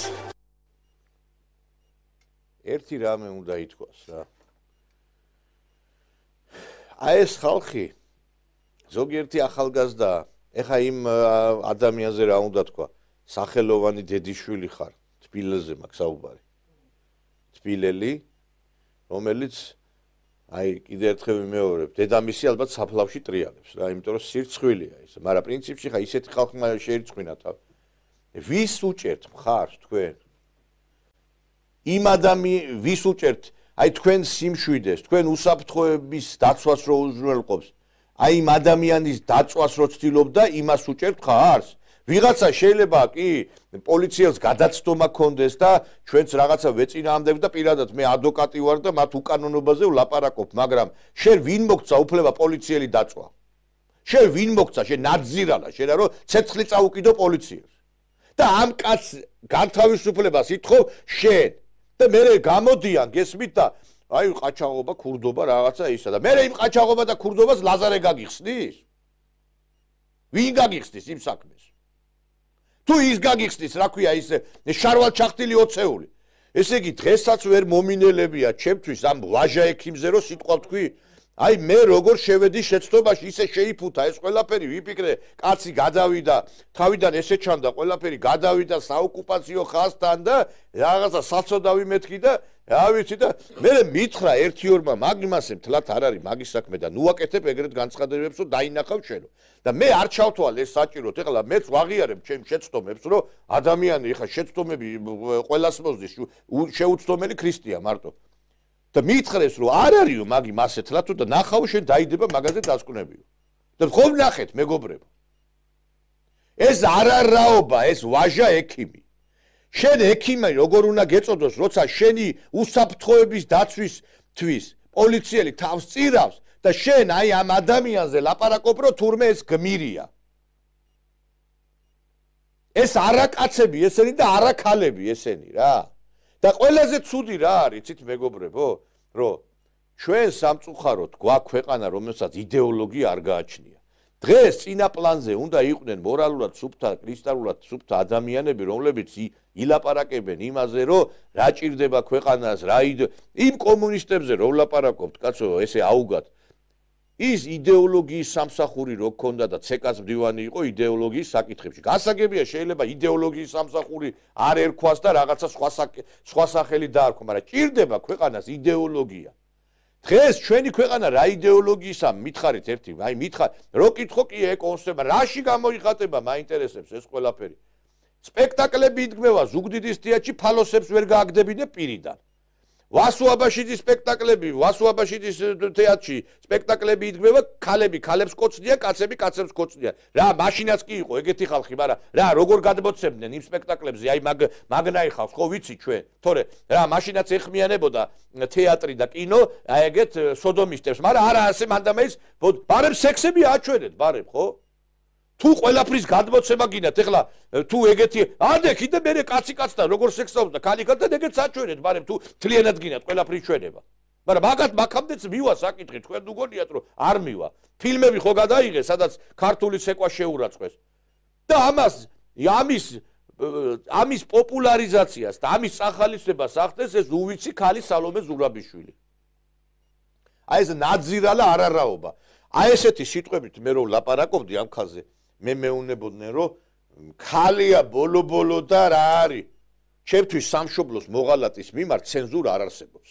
ერთი რამე უნდა ითქვას რა. აი ეს ხალხი ზოგიერთი ახალგაზრდა, ეხა იმ ადამიანზე რა უნდა თქვა, სახელოვანი დედიშვილი ხარ, თბილელზე მაქვს საუბარი. თბილელი, რომელიც აი კიდე ერთხელ ვიმეორებ, დედამისი ალბათ საფლავში ტრიალებს რა, იმიტომ რომ სირცხვილია ის, მაგრამ პრინციპში ხა ისეთი ხალხი შეირწყვინა თავი. ვის უჭერთ მხარს თქვენ? იმ ვის უჭერთ აი თქვენ სიმშვიდეს, თქვენ უსაფრთხოების დაცვას რო უზრუნველყოფს, აი იმ ადამიანის დაწვას რო ცდილობდა, იმას უჭერთ ხარს? ვიღაცა შეიძლება კი პოლიციას გადაცდომა კონდეს და ჩვენც რაღაცა ვეწინააღმდებ და პირადად მე ადვოკატი ვარ და მათ უკანონობაზე ვლაპარაკობ, მაგრამ შენ ვინ მოგცა უფლება პოლიციელი დაწვა? შენ ვინ მოგცა, შენ ნაძირალა, შენ რომ ცეცხლი წაუკიდო პოლიციას. და ამ კაცს განთავისუფლებას ითხოვ შენ. და მე გამოდიან, გესმით და აი ყაჩაღობა, ქურდობა რაღაცა ისა და მე იმ ყაჩაღობა და ქურდობას ლაზარე გაგიხსნის? ვინ გაგიხსნის იმ საქმეს? თუ ის გაგიხსნის, რა ქვია ის შარვალ ჩახტილი ოცეული. ესე იგი დღესაც ვერ მომინელებია ჩემთვის ამ ვაჟა ექიმზე რო სიტყვა თქვი. აი მე როგორ შევედი შეცდომაში, ისე შეიფუთა ეს ყველაფერი, ვიფიქრე, კაცი გადავიდა, თავიდან ესე ჩანდა ყველაფერი, გადავიდა საოკუპაციო ხაზთან და რაღაცა საცოდავი მეთქი და რა ვიცი და მე მითხრა ერთი ორმა მაგიმასე მთლად არ არის მაგის საქმე და ნუაკეთებ ეგრეთ განცხადებებს, რომ დაინახავ შენო. და მე არ ჩავთვალ ეს საჭიროთ, ეხლა მეც ვაღიარებ ჩემ შეცდომებს, რომ ადამიანი ეხლა შეცდომები ყველას მოსდის, შეუცდომელი ქრისტია მარტო. და მითხრეს რომ არ არისო მაგი მასეთლა თუ და ნახავ შენ დაიდება მაგაზე დასკვნებიო. და ხომ ნახეთ მეგობრებო. ეს არარაობა, ეს ვაჟა ექიმი. შენ ექიმი როგორ უნდა გეწოდოს, როცა შენი უსაფრთხოების დაცვისთვის პოლიციელი თავს წირავს და შენ აი ამ ადამიანზე ლაპარაკობ რომ თურმე ეს გმირია. ეს არა კაცები ესენი და არა ქალები ესენი რა. და ყველაზე ცუდი რა არის, იცით მეგობრებო, რომ ჩვენ სამწუხაროდ გვაქვს ქვეყანა, რომელსაც იდეოლოგია არ გააჩნია. დღეს წინა პლანზე უნდა იყვნენ მორალურად სუფთა, კრისტალურად სუფთა ადამიანები, რომლებიც ილაპარაკებენ იმაზე, რომ რა ჭირდება ქვეყანას, რა იმ კომუნისტებზე რომ ლაპარაკობთ, კაცო, ესე აუგად. ის იდეოლოგიის სამსახური რო ქონდა და ცეკას მდივანი იყო იდეოლოგიის საკითხებში. გასაგებია შეიძლება იდეოლოგიის სამსახური არ ერქვას და რაღაცა სხვა სახელი დაარქვა, მაგრამ ჭირდება ქვეყანას იდეოლოგია. დღეს ჩვენი ქვეყანა რა იდეოლოგიისა მითხარით ერთი, აი მითხარ, რო კითხო კი ეკონსება, რაში გამოიხატება, მაინტერესებს ეს ყველაფერი. სპექტაკლები იდგმევა ზუგდიდის თეატრში, ფალოსებს ვერ გააგდებინე პირიდან. ვასუაბაშიძის სპექტაკლები, ვასუაბაშიძის თეატრში სპექტაკლები იდგმევა, ქალები ქალებს კოცნიან, კაცები კაცებს კოცნიან. რა, მაშინაც კი იყო ეგეთი ხალხი, მაგრამ რა, როგორ გადმოცემდნენ იმ სპექტაკლებზე, აი მაგნაი ხავს, ხო ვიცი ჩვენ, თორე რა, მაშინაც ეხმიანებოდა თეატრი და კინო, აი ეგეთ სოდომისტებს, მაგრამ არა ასე მანდამეის, ბარემ სექსები აჩვენეთ, ბარემ, ხო? თუ ყველაფრის გადმოცემა გინდათ, ეხლა თუ ეგეთი ადე კიდე მე კაცი კაცთან როგორ სექსაობს და ქალი ქალთან ეგეც აჩვენეთ, მაგრამ თუ თლიანად გინდათ ყველაფრის ჩვენება. მაგრამ მაგამდეც მივა საკითხი, თქვენ უგონიათ რომ არ მივა. ფილმები ხო გადაიღეს, სადაც ქართული ცეკვა შეურაცხეს. და ამის პოპულარიზაციას და ამის სახალისებას ახდენს ეს უვიცი ქალი სალომე ზურაბიშვილი. აი ეს ნაძირალა არარაობა. აი ესეთი სიტყვებით მე რო ლაპარაკობდი ამ ხალხზე, მე მეუნებოდნენ რომ ქალია ბოლო და რა არის. ჩემთვის სამშობლოს მოღალატის მიმართ ცენზურა არ არსებობს.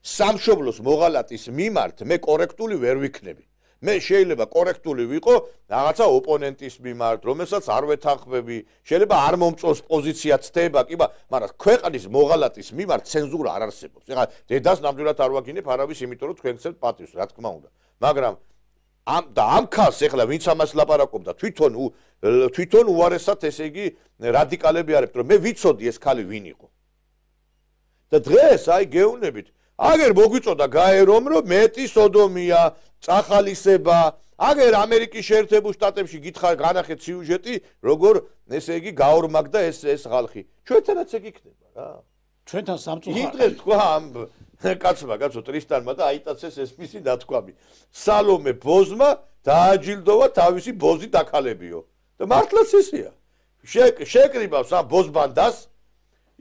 სამშობლოს მოღალატის მიმართ მე კორექტული ვერ ვიქნები. მე შეიძლება კორექტული ვიყო რაღაცა ოპონენტის მიმართ, რომელსაც არ ვეთანხმები, შეიძლება არ მომწონს პოზიცია ცდება, კი, მაგრამ ქვეყნის მოღალატის მიმართ ცენზურა არ არსებობს. ეხლა დედას ნამდვილად არ ვაგინებ არავის, იმიტომ რომ თქვენ გცემთ პატივს, რა თქმა უნდა. მაგრამ ამ ხალხს ეხლა ვინც ამას ლაპარაკობდა, თვითონ უარესად ესე იგი რადიკალები არებთ, რომ მე ვიცოდი ეს ქალი ვინ იყო. და დღეს აი გეუნებით, აგერ მოგვიწოდა გაერომ, რომ მეტი სოდომია, წახალისება, აგერ ამერიკის შეერთებულ შტატებში გითხარ განახეთ სიუჟეტი, როგორ ესე იგი გაორმაგდა ეს ხალხი. ჩვენთანაც ეგ იქნება რა. ჩვენთან სამწუხაროდ. იმდრეს თქვა ამ კაცო ტრისტანმა და აიტაცეს ესპისი დათქვამი. სალომე ბოზმა დააჯილდოვა თავისი ბოზი დაქალებიო. და მართლაც ისეა. შეკრიბავს ამ ბოზბანდას,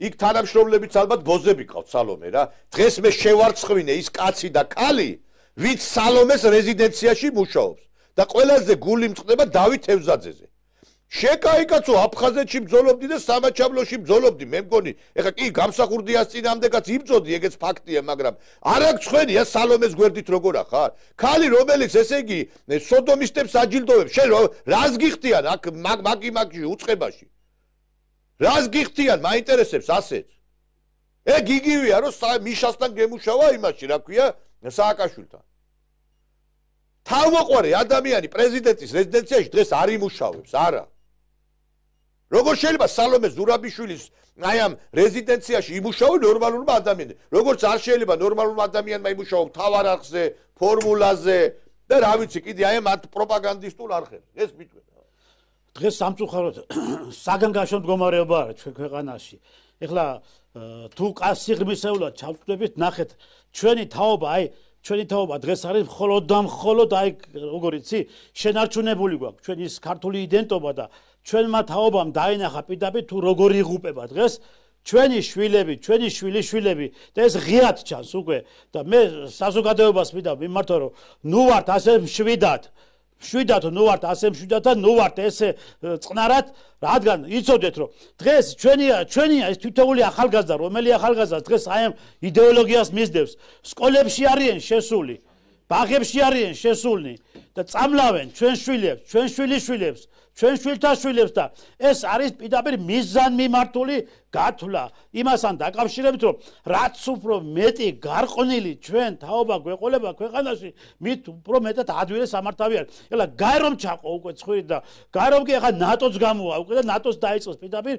იქ თანამშრომლებიც ალბათ ბოზები ყავთ სალომე რა. დღეს მე შევარცხვინე ის კაცი და ქალი, ვინც სალომეს რეზიდენციაში მუშაობს და ყველაზე გული მწყდება დავით ევზაძეზე. შეკაიკაცო აფხაზეთში ბრძოლობდი და სამაჩაბლოში ბრძოლობდი, მე მგონი, ეხლა კი გამსახურდიას წინამდეაც იბრძოდი, ეგეც ფაქტია, მაგრამ არ აქვს ხვენია სალომეს გვერდით როგორ ახარ? ქალი რომელიც ესე იგი სოდომისტებს აჯილდოვებს, შენ რას გიხდიან აქ მაგი უწყებაში? რას გიხდიან, მაინტერესებს ასეც. ეგ იგივეა, რომ მიშასთან გემუშავა იმაში, რა ქვია, სააკაშვილთან. თავმოყვარე ადამიანი პრეზიდენტის რეზიდენციაში დღეს არ იმუშავებს, არა. როგორ შეიძლება სალომე ზურაბიშვილის აი ამ რეზიდენციაში იმუშაოს ნორმალურმა ადამიანმა? როგორც არ შეიძლება ნორმალურმა ადამიანმა იმუშაოს მთავარ არხზე, ფორმულაზე და რა ვიცი, კიდე აი ამ პროპაგანდისტულ არხებზე. ეს მიტყვი. დღეს სამწუხაროდ საგანგაშო მდგომარეობა არის ჩვენ ქვეყანაში. ეხლა თუ კასიღრმისეულად ჩავწვდებით, ნახეთ, ჩვენი თაობა დღეს არის მხოლოდ აი როგორ იცი, შენარჩუნებული გვაქვს ჩვენი ის ქართული იდენტობა და ჩვენმა თაობამ დაინახა პირდაპირ თუ როგორ იღუპება დღეს ჩვენი შვილები, ჩვენი შვილიშვილები და ეს ღიად ჩანს უკვე და მე საზოგადოებას მინდა მიმართო რომ ნუ ვართ ასე მშვიდად ნუ ვართ ასე მშვიდად და ნუ ვართ ესე წყნარად, რადგან იცოდეთ რომ დღეს ჩვენია ეს თითოეული ახალგაზრდა, რომელი ახალგაზრდა დღეს აი ამ იდეოლოგიას მისდევს, სკოლებში არიან შესული, ბაღებში არიან შესულნი და წამლავენ ჩვენ შვილებს, ჩვენ შვილიშვილებს, ჩვენ შვილთა შვილებს და ეს არის პირდაპირ მიზანმიმართული გათვლა იმასთან დაკავშირებით, რომ რაც უფრო მეტი გარყვნილი ჩვენ თაობა გვეყოლება ქვეყანაში, მით უფრო მეტად ადვილი სამართავი არის. ეხლა გაერომ ჩაყო უკვე ცხვირი და გაერომ კი ეხლა ნატოს გამოვა უკვე და ნატოს დაიწყოს პირდაპირ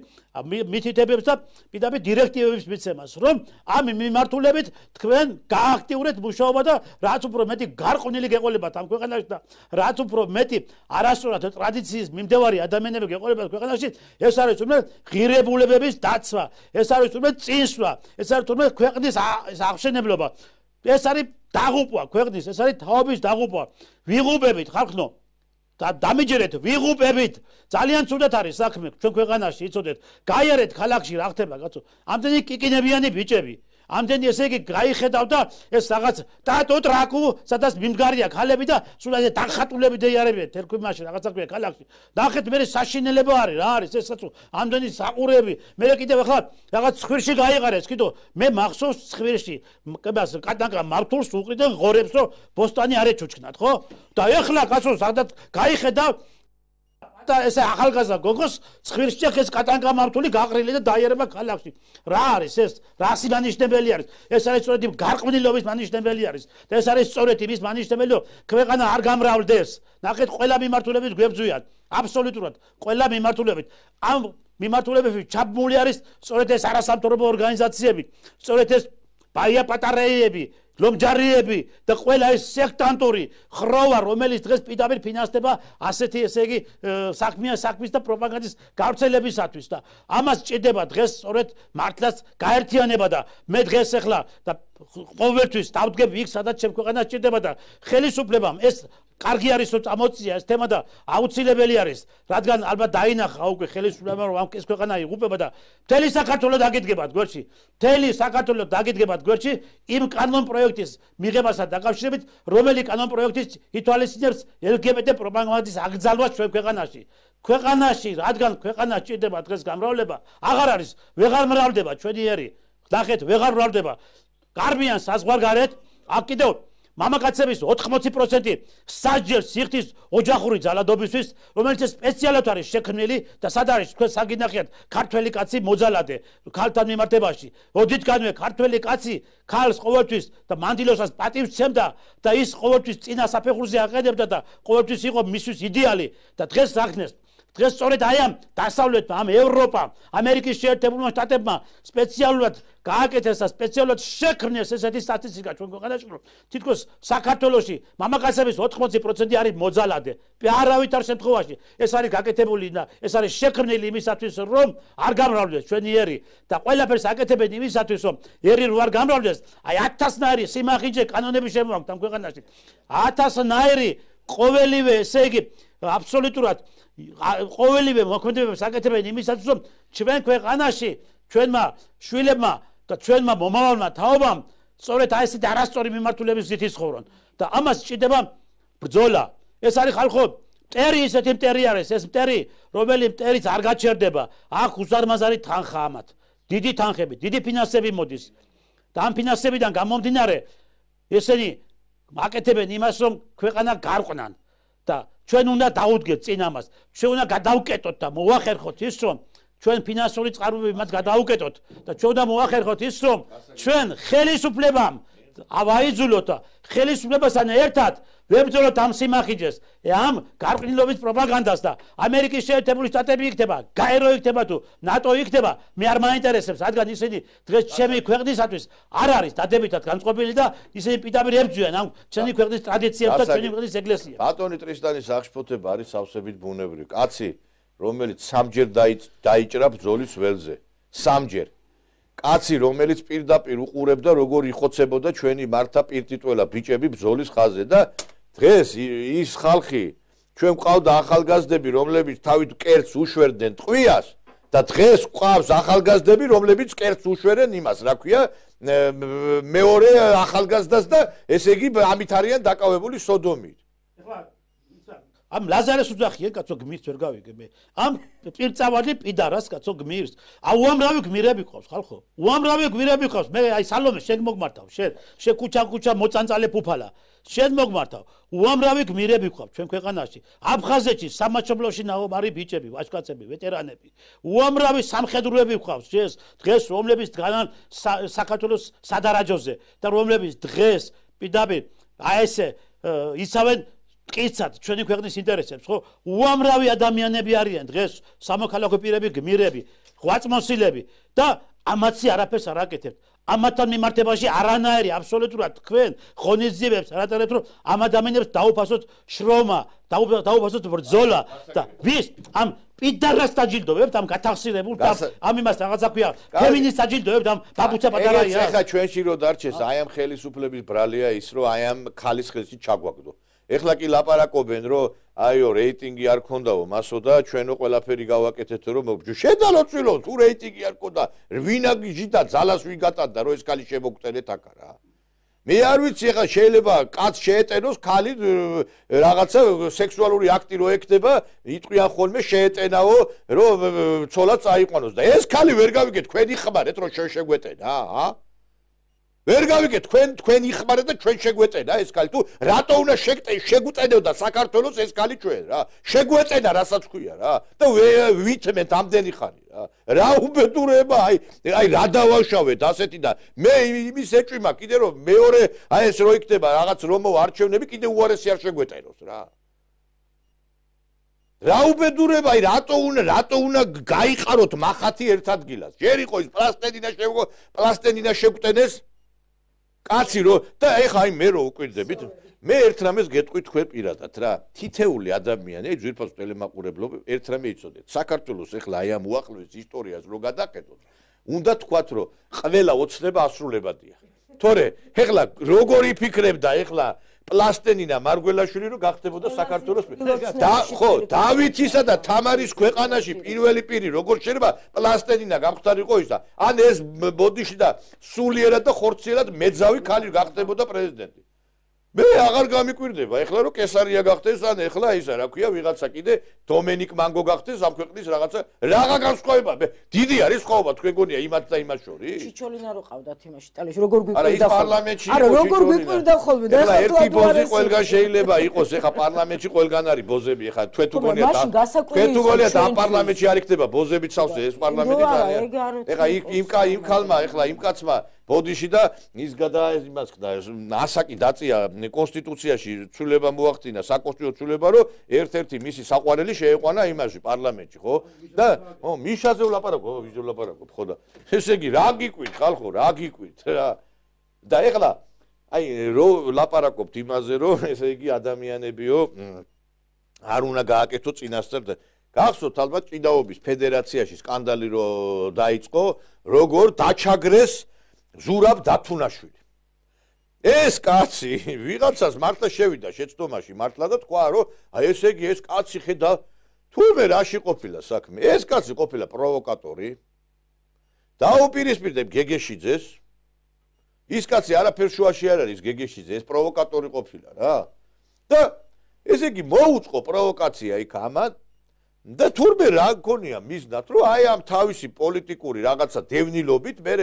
მითითებებს და პირდაპირ დირექტივების მიცემას, რომ ამ მიმართულებით თქვენ გააქტიურეთ მუშაობა და რაც უფრო მეტი გარყვნილი გეყოლებათ ამ ქვეყანაში და რაც უფრო მეტი არასწორად ტრადიციის მიმდევარი ადამიანები გეყოლებათ ქვეყანაში, ეს არის თუმცა ღირებულებების დაცვა, ეს არის თუმცა წინსვლა, ეს არის თუმცა ქვეყნის აღშენებლობა, ეს არის დაღუპვა ქვეყნის, ეს არის თაობის დაღუპვა. ვიღუპებით ხალხო და დამიჯერეთ, ვიღუპებით. ძალიან ცუდად არის საქმე ჩვენ ქვეყანაში, იცოდეთ, გაიარეთ ქალაქში რა ხდება, კაცო. ამდენი კიკინებიანი ბიჭები. ამდენი ესე იგი გაიხედავ და ეს რაღაც დატო ტრაკუ, სადაც მიმდგარია ქალები და სულ ეს დახატულები დაიარებიან თერქვიმაში რაღაცა ქვია ქალაქში. ნახეთ მე საშინელება არის, რა არის ეს კაცო. ამდენი საყურები. მე კიდევ ახლა რაღაც ცხვირში გაიყარეს, კიდო მე მახსოვს ცხვირში კებას კატანკა მართულს უყრიდან ღორებს, რომ ბოსტანი არ ეჩუჩქნათ, ხო? და ეხლა კაცო სადაც გაიხედავ და ესე ახალგაზრდა გოგოს ცხვირში ეს კატანკა მართული გაყრილი და დაიარება ქალაქში. რა არის ეს? რას მანიშნებელი არის? ეს არის სწორედ გარყვნილობის მანიშნებელი არის. და ეს არის სწორედ იმის მანიშნებელი, რომ ქვეყანა არ გამრავლდეს. ნახეთ, ყველა მიმართულებით გვებძვიან. აბსოლუტურად ყველა მიმართულებით. ამ მიმართულებებში ჩაბმული არის სწორედ ეს არასამთავრობო ორგანიზაციები, სწორედ ეს ბაია პატარეები, ლომჯარიები და ყველა ეს სექტანტური ხროვა, რომელიც დღეს პირდაპირ ფინანსდება ასეთი ესე იგი საქმის და პროპაგანდის გავრცელებისათვის და ამას ჭირდება დღეს სწორედ მართლაც გაერთიანება და მე დღეს ახლა და ყოველთვის დავდგები იქ სადაც ჩემ ქვეყანას ჭირდება და ხელისუფლებამ ეს კარგი არის რომ წამოწია ეს თემა და აუცილებელი არის, რადგან ალბათ დაინახა უკვე ხელისუფლებამ რომ ეს ქვეყანა იღუპება და მთელი საქართველოს დაგიდგებათ გვერდში. მთელი საქართველოს დაგიდგებათ გვერდში იმ კანონ პროექტის მიღებასთან დაკავშირებით, რომელი კანონ პროექტის ითვალისწინებს LGBT პროპაგანდის აკრძალვას ჩვენ ქვეყანაში. ქვეყანაში, რადგან ქვეყანას ჭირდება დღეს გამრავლება, აღარ არის, ვეღარ მრავლდება ჩვენი ერი. ნახეთ, ვეღარ მრავლდება. გარბიან საზღვარგარეთ, აქ კიდევ მამაკაცების 80% სასჯელ სიხდის ოჯახური ძალადობისთვის, რომელიც სპეციალურად არის შექმნილი და სად არის თქვენ საგინახიათ ქართველი კაცი მოძალადე ქალთან მიმართებაში. ოდითგანვე ქართველი კაცი ქალს ყოველთვის და მანდილოსას პატივს სცემდა და ის ყოველთვის წინა საფეხურზე აყენებდა და ყოველთვის იყო მისთვის იდეალი და დღეს აღნეს. დღეს სწორედ აი ამ დასავლეთმა, ამ ევროპამ, ამერიკის შეერთებულმა შტატებმა სპეციალურად გააკეთეს და სპეციალურად შექმნეს ესეთი სტატისტიკა ჩვენ ქვეყანაში, რომ თითქოს საქართველოში მამაკაცების 80% არის მოძალადე. არავითარ შემთხვევაში ეს არის გაკეთებული და ეს არის შექმნილი იმისათვის, რომ არ გამრავლდეს ჩვენი ერი და ყველაფერს აკეთებენ იმისათვის, რომ ერი რო არ გამრავლდეს, აი 1000-ნაირი სიმახინჯე კანონები შემოაქვთ ამ ქვეყანაში. 1000-ნაირი ყოველივე ესე იგი აბსოლუტურად ყოველივე მოქმედებებს აკეთებენ იმისათვის, რომ ჩვენ ქვეყანაში ჩვენმა შვილებმა და ჩვენმა მომავალმა თაობამ სწორედ აი ესეთი არასწორი მიმართულების გზით იცხოვრონ და ამას ჭირდება ბრძოლა. ეს არის ხალხო, მტერი ისეთი მტერი არის, ეს მტერი, რომელიც მტერიც არ გაჩერდება. აქ უზარმაზარი თანხა ამათ. დიდი თანხები, დიდი ფინანსები მოდის. და ამ ფინანსებიდან გამომდინარე ესენი აკეთებენ იმას, რომ ქვეყანა გარყვნან და ჩვენ უნდა დაუდგეთ წინ ამას. ჩვენ უნდა გადავკეტოთ და მოვახერხოთ ის, რომ ჩვენ ფინანსური წყაროები მათ გადავუკეტოთ და ჩვენ უნდა მოვახერხოთ ის, რომ ჩვენ ხელისუფლებამ ავაიძულოთ და ხელისუფლებასთან ერთად ვებრძოლოთ ამ სიმახიჯეს, ამ გარყვნილობის პროპაგანდას და ამერიკის შეერთებული შტატები იქნება, გაერო იქნება თუ ნატო იქნება, მე არ მაინტერესებს, რადგან ისინი დღეს ჩემი ქვეყნისათვის არ არის დადებითად განწყობილი და ისინი პირდაპირ ებრძვიან ამ ჩვენი ქვეყნის ტრადიციებს და ჩვენი ქვეყნის ეკლესიას. ბატონი ტრისტანის აღშფოთება არის სავსებით ბუნებრივი. კაცი, რომელიც სამჯერ დაიჭრა ბრძოლის ველზე. სამჯერ. კაცი, რომელიც პირდაპირ უყურებდა როგორ იხოცებოდა ჩვენი მართა პირტიტველა ბიჭები ბრძოლის ხაზზე და დღეს ის ხალხი ჩვენ ყავდა ახალგაზრდები, რომლებიც თავით კერტს უშვერდნენ ტყვიას და დღეს ყავს ახალგაზრდები, რომლებიც კერტს უშვერენ იმას, რა ქვია, მეორე ახალგაზრდას და ესე იგი ამით არიან დაკავებული სოდომით. ამ ლაზარეს უძახიან, კაცო გმირს ვერ გავიგე მე. ამ პირწავალი პიდარას კაცო გმირს. უამრავი გმირები ყავს, ხალხო. უამრავი გმირები ყავს. მე აი სალომე შენ მოგმართავ, შენ ქუჩა მოწანწალე ფუფალა. შენ მოგმართავ უამრავი გმირები გვყავთ ჩვენ ქვეყანაში აფხაზეთში სამაჩაბლოში ნაობარი ბიჭები ვაჟკაცები ვეტერანები უამრავი სამხედროები გვყავთ დღეს რომლებიც დგანან საქართველოს სადარაჯოზე და რომლებიც დღეს პირდაპირ აი ესე იცავენ მტკიცად ჩვენი ქვეყნის ინტერესებს ხო უამრავი ადამიანები არიან დღეს სამოქალაქო პირები გმირები ღვაწმოსილები და ამაცი არაფერს არ აკეთებთ ამათთან მიმართებაში არანაირი აბსოლუტურად თქვენ ღონისძიებებს არ ატარებთ რომ ამ ადამიანებს დაუფასოთ შრომა დაუფასოთ ბრძოლა და ვის ამ პიდარას დაჯილდოვებთ ამ გათახსირებულ და ამ იმას რაღაცა ქვია ფემინისტს დაჯილდოვებთ ამ ბაბუცა პატარაია ეხლა ჩვენში რო დარჩეს აი ამ ხელისუფლების ბრალია ის რომ აი ამ ხალის ხელში ჩაგვაგდო ეხლა კი ლაპარაკობენ რომ აიო რეიტინგი არ ქონდაო მასო და ჩვენო ყველაფერი გავაკეთეთ რომ მოგჯო შედალოცილო თუ რეიტინგი არ ქონდა ვინაგიჟი და ძალას ვიგატანდა რომ ეს ხალი შემოგწერეთ აქ რა მე არ ვიცი ეხლა შეიძლება კაც შეეტენოს ხალი რაღაცა სექსუალური აქტი რო ექნება იტყვიან ხოლმე შეეტენაო რომ ცოლად წაიყვანოს და ეს ხალი ვერ გავიგეთ თქვენი ხმარეთ რომ შეგვეტენა ვერ გავიგეთ თქვენ იხმარეთ და ჩვენ შეგვეწენა ეს ხალი თუ რატო უნდა შეგვეწენოდა საქართველოს ეს ხალი ჩვენ რა შეგვეწენა რასაც ქვია რა და ვითმენთ ამდენი ხანი რა უბედურება აი რა დავაშავეთ ასეთი და მე იმის ეჭვი მაქვს კიდე რომ მეორე აი ეს რო იქნება რაღაც რომო არჩევნები კიდე უარესი არ შეგვეწენოს რა უბედურება აი რატო უნდა გაიყაროთ მახათი ერთ ადგილას ჯერ იყო ის პლასტელინა შეგვტენეს კაცი რო და ეხა აი მე რო უკვირდებით მე ერთ რამეს გეტყვი თქვენ პირადად რა თითეული ადამიანი აი ძვირფას ტელემაყურებლობ ერთ რამე იცოდეთ საქართველოს ეხლა აი ამ უახლოეს ისტორიას რო გადაყედოთ უნდა თქვათ რომ ყველა ოცნება ასრულებადია თორე ეხლა როგორი ფიქრებდა ეხლა პლასტენინა მარგველაშვილი რო გახდებოდა საქართველოს და ხო დავითისა და თამარის ქვეყანაში პირველი პირი როგორ შეიძლება პლასტენინა გამختارიყო ის და ან ეს ბოდიში და სულიერად და ხორციელად მეძავი ხალი გახდებოდა პრეზიდენტი მე აღარ გამიკვირდება ეხლა რომ კესარია გახდეს ან ეხლა ისა რა ქვია ვიღაცა კიდე დომენიკ მანგო გახდეს ამ ქვეყნის რაღაცა რაღა განსხვავება დიდი არის სხვაობა თქვენ გონია იმათ და იმას შორის ჩიჩოლინა რო ყავდათ იმაში ტალიაში როგორ გვიკვირდა არა ის პარლამენტში არა როგორ გვიკვირდა ხოლმე და ეხლა ერთი ბოზი ყველგან შეიძლება იყოს ეხლა პარლამენტში ყველგან არის ბოზები ეხლა თქვენ თუ გონიათ ამ პარლამენტში არ იქნება ბოზები ცავსე ეს პარლამენტი ეხლა იმ ქალმა ეხლა იმ კაცმა ბოდიში და ის იმას ხდა ასაკი დაწია კონსტიტუციაში ცვლილება მოახდინა საკონსტიტუციო ცვლილება რომ ერთ-ერთი მისი საყვარელი შეეყვანა იმაში პარლამენტში ხო და მიშაზე ვლაპარაკობ ვიზე ვლაპარაკობ ხო და ესე იგი რა გიკვირთ ხალხო რა გიკვირთ რა და ეხლა აი რო ლაპარაკობთ იმაზე რომ ესე იგი ადამიანებიო არ უნდა გააკეთო წინასწარ და გახსოვთ ალბათ ჭიდაობის ფედერაციაში სკანდალი რო დაიწყო როგორ დაჩაგრეს ზურაბ დათუნაშვილი ეს კაცი ვიღაცას მართლა შევიდა შეცდომაში მართლა და თქვა რომ აი ესე იგი ეს კაცი ხედა თურმე რაში ყოფილა საქმე ეს კაცი ყოფილა პროვოკატორი დაუპირისპირდებ გეგეშიძეს ის კაცი არაფერ შუაში არ არის გეგეშიძე ეს პროვოკატორი ყოფილა რა და ესე იგი მოუწყო პროვოკაცია იქ ამან და თურმე რა გქონია მიზნად რომ აი ამ თავისი პოლიტიკური რაღაცა დევნილობით მე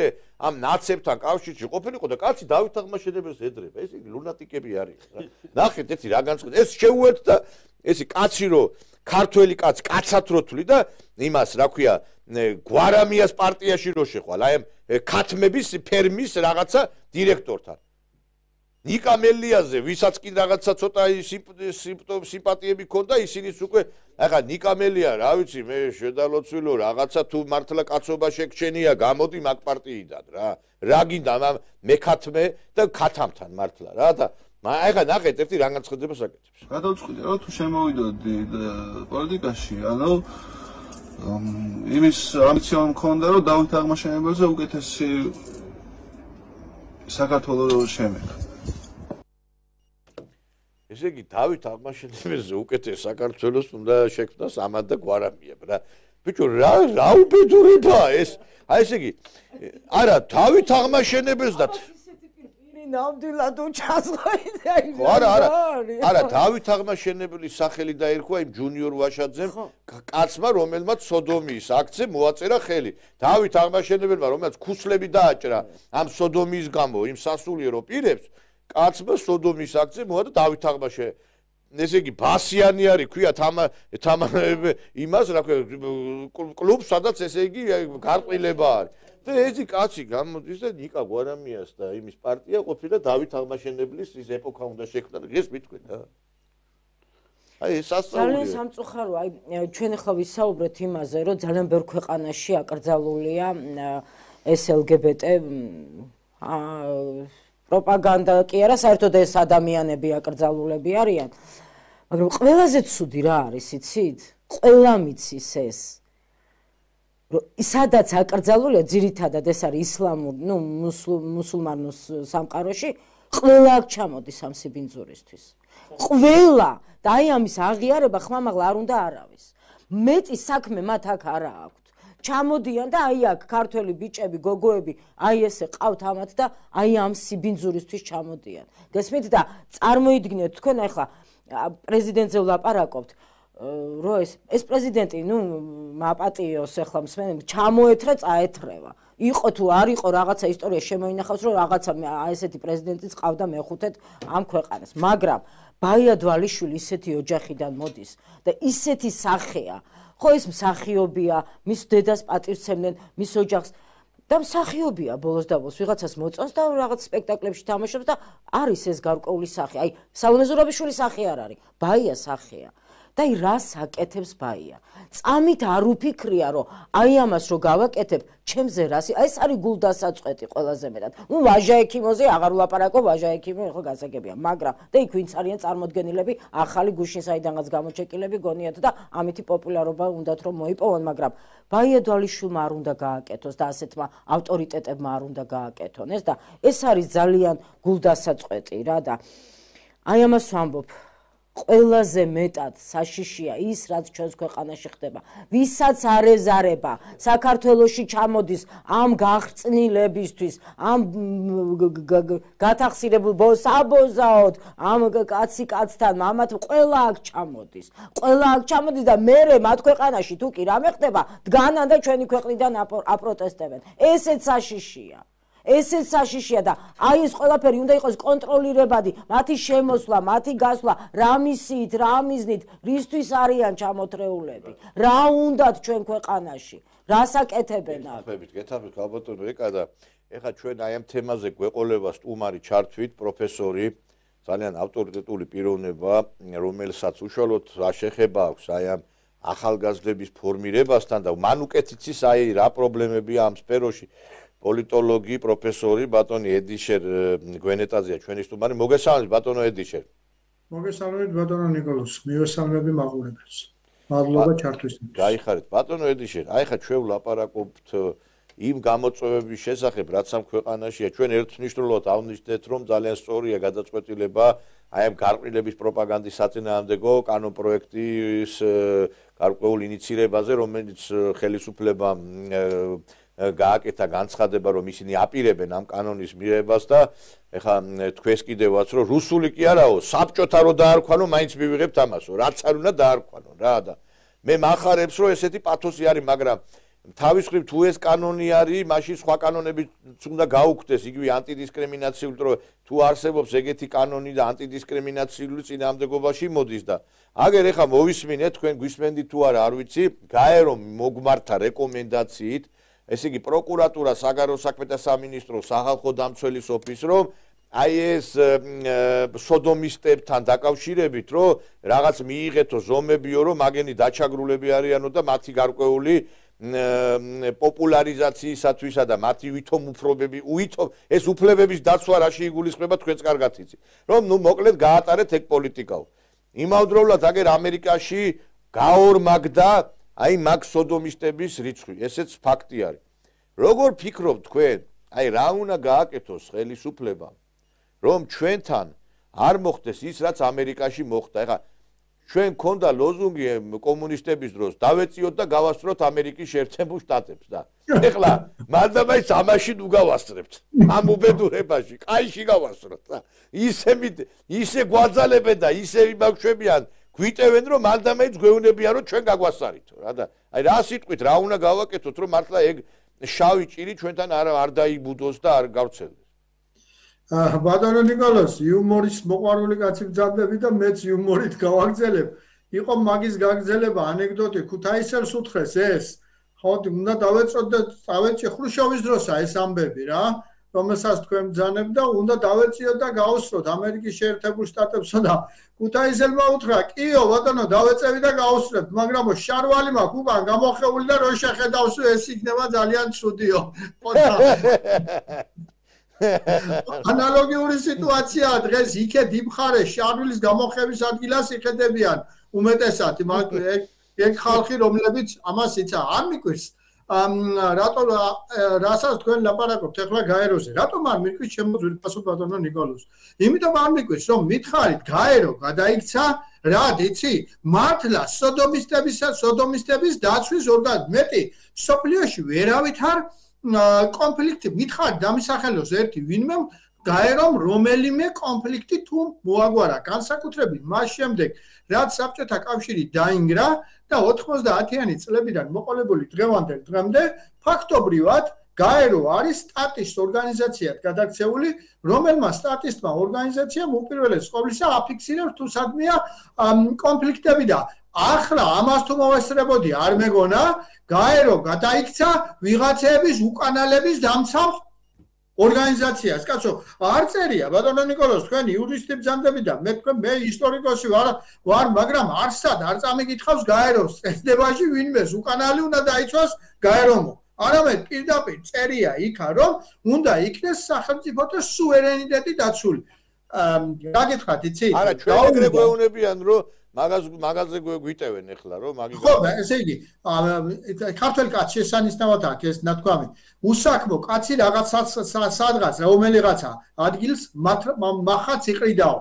ამ ნაცებთან კავშირში ყოფილიყო და კაცი დავით აღმაშენებელს ეძრება ეს იგი ლუნატიკები არის რა ნახეთ ეცი რა განწყდა ეს შეუერთდა ესი კაცი რო ქართველი კაცი კაცად რო თვლი და იმას რა ქვია გვარამიას პარტიაში რო შეხვალ აი ამ ქათმების ფერმის რაღაცა დირექტორთან ნიკა მელიაზე ვისაც კი რაღაცა ცოტა სიმპათიები ქონდა ისინიც უკვე ახლა ნიკა მელია რა ვიცი მე შედალოცვილო რაღაცა თუ მართლა კაცობა შეგჩენია გამოდი მაგ პარტიიდან რა გინდა მექათმე და ქათამთან მართლა რა და ახლა ნახეთ ერთი რა განცხადებას აკეთებს გადავწყვიტე რომ თუ შემოვიდოდი პოლიტიკაში ანუ იმის ამბიცია მქონდა რომ დავით აღმაშენებელზე უკეთესი საქართველოს შემექ ესე იგი დავით აღმაშენებელზე უკეთეს საქართველოს უნდა შექმნას ამად და გვარამიებ რა ბიჭო რა უბედურებაა ეს აი ესე იგი არა დავით აღმაშენებელს და ნამდვილად უჩასხოიდა ის არა დავით აღმაშენებელის სახელი დაერქვა იმ ჯუნიორ ვაშაძემ კაცმა რომელმაც სოდომიის აქცე მოაწერა ხელი დავით აღმაშენებელმა რომელმაც ქუსლები დააჭრა ამ სოდომიის გამო იმ სასულიერო პირებს კაცმა სოდომის აქცე მოადა დავით თაღმაშე ესე იგი ბასიანი არის ქვია იმას რა ქვია კლუბს სადაც ესე იგი გარყილება არის და ეს კაცი გამოდის და ნიკა გვარამიას და იმის პარტია ყოფილა დავით თაღმაშენებლის ის ეპოქა უნდა შექმნა და ეს მითქვენ რა აი ეს ძალიან სამწუხაროა აი ჩვენ ახლა ვისაუბრეთ იმაზე რომ ძალიან ბევრ ქვეყანაში აკრძალულია ეს LGBT პროპაგანდა კი არა საერთოდ ეს ადამიანები აკრძალულები არიან მაგრამ ყველაზე ცუდი რა არის იცით ყველა მიცის ეს სადაც აკრძალულია ძირითადად ეს არის ისლამურ ნუ მუსულმანურ სამყაროში ყველა აქ ჩამოდის ამ სიბინძურისთვის ყველა და აი ამის აღიარება ხმამაღლა არ უნდა არავის მეტი საქმე მათ აქ არა აქვთ ჩამოდიან და აი აქ ქართველი ბიჭები გოგოები აი ესე ყავთ ამათ და აი ამ სიბინძურისთვის ჩამოდიან გესმით და წარმოიდგინეთ თქვენ ახლა პრეზიდენტზე ვლაპარაკობთ რომ ეს პრეზიდენტი ნუ მაპატიოს ახლა მსმენელი ჩამოეთრა წაეთრევა იყო თუ არ იყო რაღაცა ისტორია შემოინახავს რომ რაღაცა ესეთი პრეზიდენტიც ყავდა მეხუთედ ამ ქვეყანას მაგრამ ბაია დვალიშვილი ისეთი ოჯახიდან მოდის და ისეთი სახეა ხო ეს მსახიობია მის დედას პატივცემდნენ მის ოჯახს და მსახიობია ბოლოს და ბოლოს ვიღაცას მოწონს და რაღაც სპექტაკლებში თამაშობს და არის ეს გარკვეული სახე აი სალომე ზურაბიშვილის სახე არ არის ბაია სახეა და აი რას აკეთებს ბაია წამით არ უფიქრია რომ აი ამას რო გავაკეთებ ჩემზე რას აი ეს არის გულდასაწყვეტი ყველაზე მეტად ნუ ვაჟა ექიმოზე აღარ ვლაპარაკო ვაჟა ექიმო ხო გასაგებია მაგრამ და იქ ვინც არიან წარმოდგენილები ახალი გუშინ საიდანაც გამოჩეკილები გონიათ და ამითი პოპულარობა უნდათ რომ მოიპოვონ მაგრამ ბაია დვალიშვილმა არ უნდა გააკეთოს და ასეთმა ავტორიტეტებმა არ უნდა გააკეთონ ეს და ეს არის ძალიან გულდასაწყვეტი რა და აი ამას ვამბობ ყველაზე მეტად საშიშია ის რაც ჩვენს ქვეყანაში ხდება ვისაც არ ეზარება საქართველოში ჩამოდის ამ გაღწნილებისთვის ამ გათახსირებულ საბოზაოდ ამ კაცი კაცთან ამათ ყველა აქ ჩამოდის და მე მათ ქვეყანაში თუ კი რამე ხდება დგანან და ჩვენი ქვეყნიდან აპროტესტებენ ესეც საშიშია ესეც საშიშია და აი ეს ყველაფერი უნდა იყოს კონტროლირებადი მათი შემოსვლა მათი გასვლა რა მისით რა მიზნით რისთვის არიან ჩამოთრეულები რა უნდათ ჩვენ ქვეყანაში რას აკეთებენ აქ გეთახმებით გალბატონო ეკა და ეხა ჩვენ აი ამ თემაზე გვეყოლება სტუმარი ჩართვით პროფესორი ძალიან ავტორიტეტული პიროვნება რომელსაც უშუალოდ რა შეხება აქვს აი ამ ახალგაზრდების ფორმირებასთან და მან უკეთიც ის აი რა პრობლემებია ამ სფეროში პოლიტოლოგი პროფესორი ბატონი ედიშერ გვენეტაზია ჩვენი სტუმარი მოგესალმებით ბატონო ედიშერ მოგესალმებით ბატონო ნიკოლოზ მივესალმები მაყურებელს მადლობა ჩართვისთვის გაიხარეთ ბატონო ედიშერ აი ხა ჩვენ ვლაპარაკობთ იმ გამოწვევების შესახებ რაც ამ ქვეყანაშია ჩვენ ერთმნიშვნელოვნად აღვნიშნეთ რომ ძალიან სწორია გადაწყვეტილება აი ამ გარყვნილების პროპაგანდის საწინააღმდეგო კანონპროექტის გარკვეულ ინიცირებაზე რომელიც ხელისუფლებამ გააკეთა განცხადება რომ ისინი აპირებენ ამ კანონის მიღებას და ეხა თქვენს კიდევაც რომ რუსული კი არაო საბჭოთა რო დაარქვანო მაინც მივიღებთ ამასო რაც არ უნდა დაარქვანო რა და მე მახარებს რომ ესეთი პათოსი არის მაგრამ თავის მხრივ თუ ეს კანონი არის მაშინ სხვა კანონებიც უნდა გაუქმდეს იგივე ანტიდისკრიმინაციული რომ თუ არსებობს ეგეთი კანონი და ანტიდისკრიმინაციული წინააღმდეგობაში მოდის და აგერ ეხა მოვისმინეთ თქვენ გვისმენდით თუ არა არ ვიცი გაერო მოგმართა რეკომენდაციით ესე იგი პროკურატურა საგარეო საქმეთა სამინისტრო სახალხო დამცველის ოფისს რომ აი ეს სოდომისტებთან დაკავშირებით რომ რაღაც მიიღეთო ზომებიო რომ მაგენი დაჩაგრულები არიანო და მათი გარკვეული პოპულარიზაციისათვისა და მათი ვითომ უფლებები ეს უფლებების დაცვა რაში იგულისხმება თქვენს კარგად იცით რომ ნუ მოკლედ გაატარეთ ეგ პოლიტიკაო იმავდროულად აგერ ამერიკაში გაორმაგდა აი მაგ სოდომისტების რიცხვი ესეც ფაქტი არის როგორ ფიქრობთ თქვენ აი რა უნდა გააკეთოს ხელისუფლებამ რომ ჩვენთან არ მოხდეს ის რაც ამერიკაში მოხდა ეხა ჩვენ გქონდა ლოზუნგი კომუნისტების დროს დავეწიოთ და გავასწროთ ამერიკის შეერთებულ შტატებს და ეხლა მანდამაიც ამაში ნუ გავასწრებთ ამ უბედურებაში კაიში გავასწროთ და ისე გვაძალებენ და ისე იმაგვშვებიან გვიტევენ რომ მანდამაიც გვეუნებიან რომ ჩვენ გაგვასწარითო რა და აი რა სიტყვით რა უნდა გავაკეთოთ რომ მართლა ეგ შავი ჭირი ჩვენთან არ დაიბუდოს და არ გავრცელდეს ბატონო ნიკოლოს, იუმორის მოყვარული კაცი ბრძანდები და მეც იუმორით გავაგზელებ. იყო მაგის გაგზელება ანეკდოტი ქუთაისელს უთხრეს ეს. ხო, უნდა დავეწოთ და დავეჭი ხრუშოვის დროსა ეს ამბები რა. რომელსაც თქვენ ბრძანებთ და უნდა დავეციოთ და გავუსროთ ამერიკის შეერთებულ შტატებსა და ქუთაისელმა უთხრა, კიო ბატონო, დავეწევი და გავუსრებთ, მაგრამ შარვალი მაქვს უკან გამოხეული და რო შეხედავს ეს იქნება ძალიან ცუდიო. ანალოგიური სიტუაციაა დღეს იქეთ იმხარე შარვილის გამოხების ადგილას იხედებიან უმეტესად ეგ ხალხი რომლებიც ამას იცა არ მიკვირს რატომ რასაც თქვენ ლაპარაკობთ ახლა გაეროზე რატომ არ მიკვირს ჩემო ძვირფასო ბატონო ნიკოლოს იმიტომ არ მიკვირს რომ მითხარით გაერო გადაიქცა რა იცი მართლა სოდომისტების დაცვის მეტი სოფლიოში ვერავითარ კონფლიქტი მითხარით დამისახელოს ერთი ვინმე გაერომ რომელიმე კონფლიქტი თუ მოაგვარა განსაკუთრებით მას შემდეგ რაც საბჭოთა კავშირი დაინგრა და 90-იანი წლებიდან მოყოლებული დღევანდელ დღემდე ფაქტობრივად გაერო არის სტატის ორგანიზაციად გადაქცეული რომელმა სტატისტმა ორგანიზაციამ უპირველეს ყოვლისა აფიქსირებს თუ სადმეა კონფლიქტები და ახლა ამას თუ მოვესწრებოდი არ მეგონა გაერო გადაიქცა ვიღაცების უკანალების დამცავ ორგანიზაციას კაცო არ წერია ბატონო ნიკოლოს თქვენ იურისტი ბრძანდები და მე ისტორიკოსი ვარ მაგრამ არსად არ წამიკითხავს გაეროს წესდებაში ვინმეს უკანალი უნდა დაიცვას გაერომო არამედ პირდაპირ წერია იქა რომ უნდა იქნეს სახელმწიფოთა სუვერენიტეტი დაცული რა გითხრათ იცი არა ჩვენ ეგრე გვეუბნებიან რომ მაგაზე გვიტევენ ახლა რომ მაგი ხო ესე იგი ქართველ კაცი შესანიშნავად აქვს ეს ნათქვამი უსაქმო კაცი რაღაცას სადღაც რომელიღაცა ადგილს მახაც იყრიდაო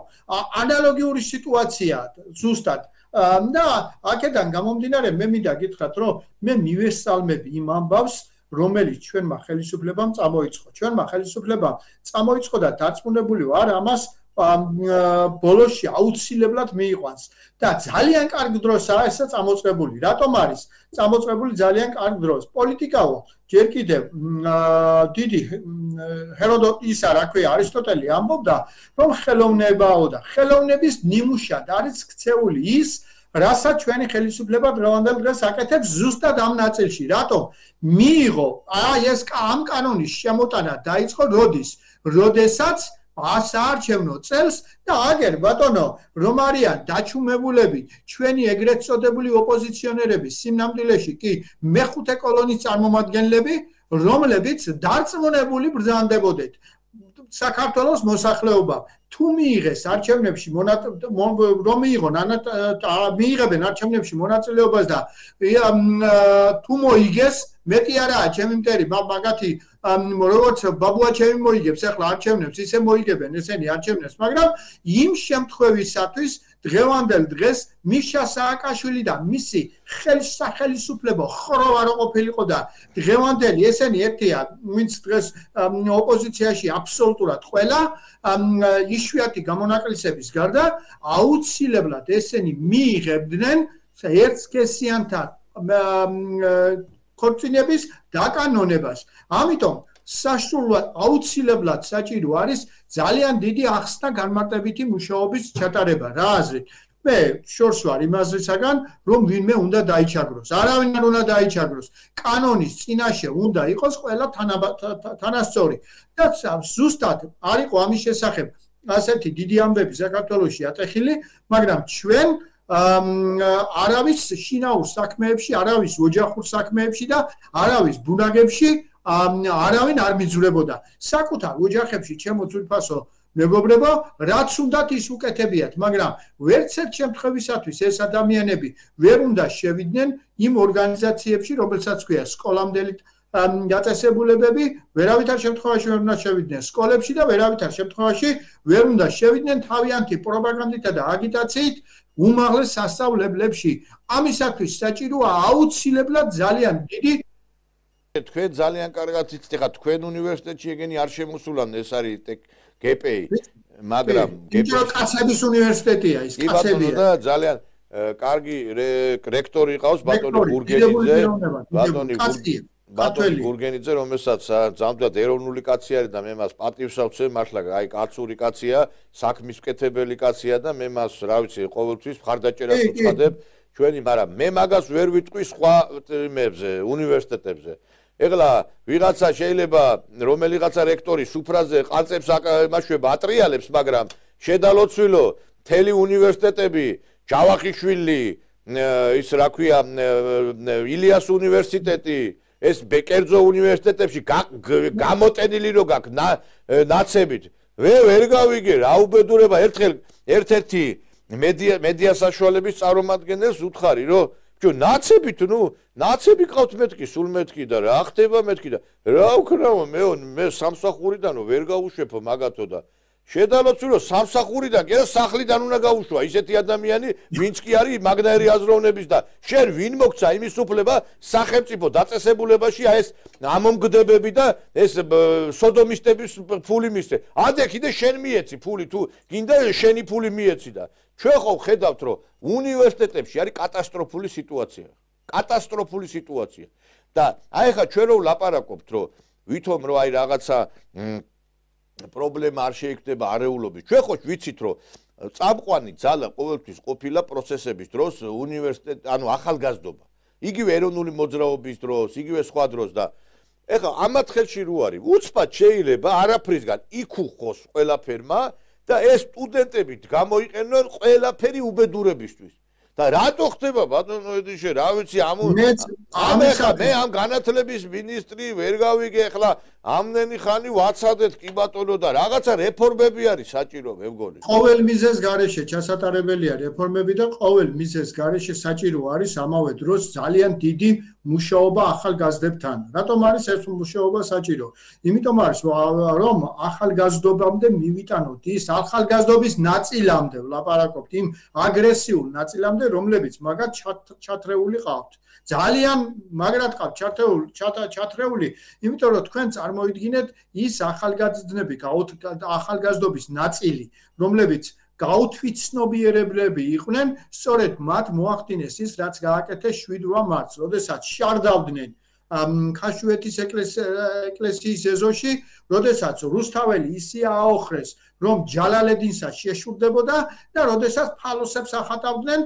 ანალოგიური სიტუაციაა ზუსტად და აქედან გამომდინარე მე მინდა გითხრათ რომ მე მივესალმები იმ ამბავს რომელიც ჩვენმა ხელისუფლებამ წამოიწყო ჩვენმა ხელისუფლებამ წამოიწყო და დარწმუნებული ვარ ამას ბოლოში აუცილებლად მიიყვანს და ძალიან კარგ დროსაა ესა წამოწყებული. რატომ არის წამოწყებული ძალიან კარგ დროს? პოლიტიკაო ჯერ კიდევ დიდი ჰეროდოტისა რა ქვია არისტოტელი ამბობდა რომ ხელოვნებაო და ხელოვნების ნიმუშად არის ქცეული ის რასაც ჩვენი ხელისუფლება დღევანდელ დღეს აკეთებს ზუსტად ამ ნაწილში. რატომ? მიიღო ეს ამ კანონის შემოტანა დაიწყო როდესაც ასაარჩევნო წელს და აგერ ბატონო რომ არიან დაჩუმებულები ჩვენი ეგრეთ წოდებული ოპოზიციონერები სიმნამდილეში კი მეხუთე კოლონის წარმომადგენლები რომლებიც დარწმუნებული ბრძანდებოდეთ საქართველოს მოსახლეობა თუ მიიღეს არჩევნებში რომ მიიღებენ არჩევნებში მონაწილეობას და თუ მოიგეს მეტი არაა ჩემი მტერი მაგათი როგორც ბაბუაჩემი მოიგებს ახლა არჩევნებს ისე მოიგებენ ესენი არჩევნებს მაგრამ იმ შემთხვევისათვის დღევანდელ დღეს მიშა სააკაშვილი და მისი ხელისუფლება ხროვა რო ყოფილიყო და დღევანდელი ესენი ერთია ვინც დღეს ოპოზიციაში აბსოლუტურად ყველა იშვიათი გამონაკლისების გარდა აუცილებლად ესენი მიიღებდნენ ერთსქესიანთა ქორწინების დაკანონებას. ამიტომ საშუალოდ აუცილებლად საჭირო არის ძალიან დიდი ახსნა განმარტებითი მუშაობის ჩატარება. რა აზრით? მე შორს ვარ იმაზრისაგან, რომ ვინმე უნდა დაიჩაგროს. არავინ არ უნდა დაიჩაგროს. კანონის წინაშე უნდა იყოს ყველა თანასწორი. და ზუსტად არ იყო ამის შესახებ ასეთი დიდი ამბები საქართველოში ატეხილი, მაგრამ ჩვენ არავის შინაურ საქმეებში, არავის ოჯახურ საქმეებში და არავის ბუნაგებში არავინ არ მიძვრებოდა. საკუთარ ოჯახებში ჩემო ძვირფასო მეგობრებო, რაც უნდათ ის უკეთებიათ, მაგრამ ვერც ერთ შემთხვევისათვის ეს ადამიანები ვერ უნდა შევიდნენ იმ ორგანიზაციებში, რომელსაც ქვია სკოლამდელი დაწესებულებები, ვერავითარ შემთხვევაში ვერ უნდა შევიდნენ სკოლებში და ვერავითარ შემთხვევაში ვერ უნდა შევიდნენ თავიანთი პროპაგანდითა და აგიტაციით უმაღლეს სასწავლებლებში. ამისათვის საჭიროა აუცილებლად ძალიან დიდი თქვენ ძალიან კარგად იცით ხა თქვენ უნივერსიტეტში ეგენი არ შემოსულან ეს არის გპ-ი მაგრამ კაცების უნივერსიტეტია ის კაცებია და ძალიან კარგი რექტორი ყავს ბატონი ბურგელიძე ბატონი ბატონი გურგენიძე, რომელსაც ზამთრად ეროვნული კაცი არის და მე მას პატივს ავცე, მართლა აი კაცური კაცია, საქმის მკეთებელი კაცია და მე მას, რა ვიცი, ყოველთვის მხარდაჭერას უცხადებ ჩვენი, მაგრამ მე მაგას ვერ ვიტყვი სხვა იმებზე, უნივერსიტეტებზე. ეხლა ვიღაცა შეიძლება რომელიღაცა რექტორი სუფრაზე ყალწებს აკმაშვება, ატრიალებს, მაგრამ შედალოცვილო მთელი უნივერსიტეტები, ჯავახიშვილი, ის რა ქვია, ილიას უნივერსიტეტი, ეს ბეკერძო უნივერსიტეტებში გამოტენილი რო გაქვს ნაცებით. ვერ გავიგე რა უბედურება ერთ-ერთი მედია საშუალების წარმომადგენელს უთხარი რომ ნაცებით, ნაცები ყავთ მეთქი, სულ მეთქი და რა ხდება მეთქი და რა ვქნაო მე სამსახურიდან ვერ გავუშვებო მაგათო და შედალოცვილო სამსახურიდან კი სახლიდან უნდა გაუშვა ისეთი ადამიანი, ვინც კი არის მაგნაირი აზროვნების და შენ ვინ მოგცა იმის უფლება სახელმწიფო დაწესებულებაში აი ეს ამომგდებები და ეს სოდომისტების ფული მისცე. ადე კიდე შენ მიეცი ფული თუ გინდა შენი ფული მიეცი და ჩვენ ხო ხედავთ რომ უნივერსიტეტებში არის კატასტროფული სიტუაცია. კატასტროფული სიტუაცია. და აი ხა ჩვენ რო ვლაპარაკობთ რომ ვითომ რომ აი რაღაცა პრობლემა არ შეიქნება არეულობის. ჩვენ ხო ვიცით რომ წამყვანი ძალა ყოველთვის ყოფილა პროცესების დროს უნივერსიტეტ, ანუ ახალგაზრდობა. იგივე ეროვნული მოძრაობის დროს, იგივე სხვა დროს და ეხლა ამათ ხელში რო არის, უცბად შეიძლება არაფრისგან იქუხოს ყველაფერმა და ეს სტუდენტები გამოიყენონ ყველაფერი უბედურებისთვის. და რატო ხდება ბატონო ედიშე, რა ვიცი, მე ამ განათლების მინისტრი ვერ გავიგე, ახლა ამდენი ხანი ვაცადეთ კი ბატონო და რაღაცა რეფორმები არის საჭირო, მე მგონი. ყოველ მიზეზ გარეშე ჩასატარებელია რეფორმები და ყოველ მიზეზ გარეშე საჭირო არის ამავე დროს ძალიან დიდი მუშაობა ახალგაზრდებთან. რატომ არის ეს მუშაობა საჭირო? იმიტომ არის რომ ახალგაზრდობამდე მივიტანოთ ის ახალგაზრდობის ნაწილამდე, ვლაპარაკობთ იმ აგრესიულ ნაწილამდე, რომლებიც მაგათ ჩათრეული ყავთ. ძალიან მაგრად ყავთ ჩათრეული, იმიტომ რომ თქვენ წარმოიდგინეთ ის ახალგაზრდები, ახალგაზრდობის ნაწილი, რომლებიც გაუთვითცნობიერებლები იყვნენ, სწორედ მათ მოახდინეს ის, რაც გააკეთეს 7 მარტს, როდესაც შარდავდნენ ქაშვეთის ეკლესიის ეზოში, როდესაც რუსთაველი ისე აოხრეს, რომ ჯალალედინსაც შეშურდებოდა და როდესაც ფალოსებს ახატავდნენ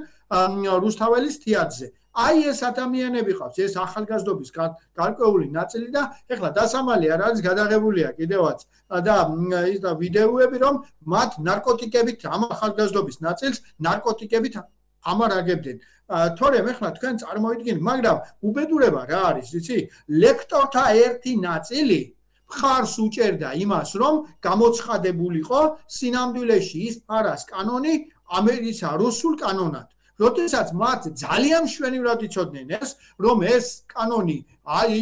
რუსთაველის თეატრზე. აი ეს ადამიანები ყავს, ეს ახალგაზრდობის გარკვეული ნაწილი და ეხლა დასამალი არ არის გადაღებულია კიდევაც და ის და ვიდეოები რომ მათ ნარკოტიკებით ამ ახალგაზრდობის ნაწილს ნარკოტიკებით ამარაგებდნენ. თორემ ეხლა თქვენ წარმოიდგინეთ, მაგრამ უბედურება რა არის, იცი? ლექტორთა ერთი ნაწილი მხარს უჭერდა იმას, რომ გამოცხადებულიყო სინამდვილეში ის ფარას კანონი ამერიკისა რუსულ კანონად. როდესაც მათ ძალიან მშვენივრად იცოდნენ ეს, რომ ეს კანონი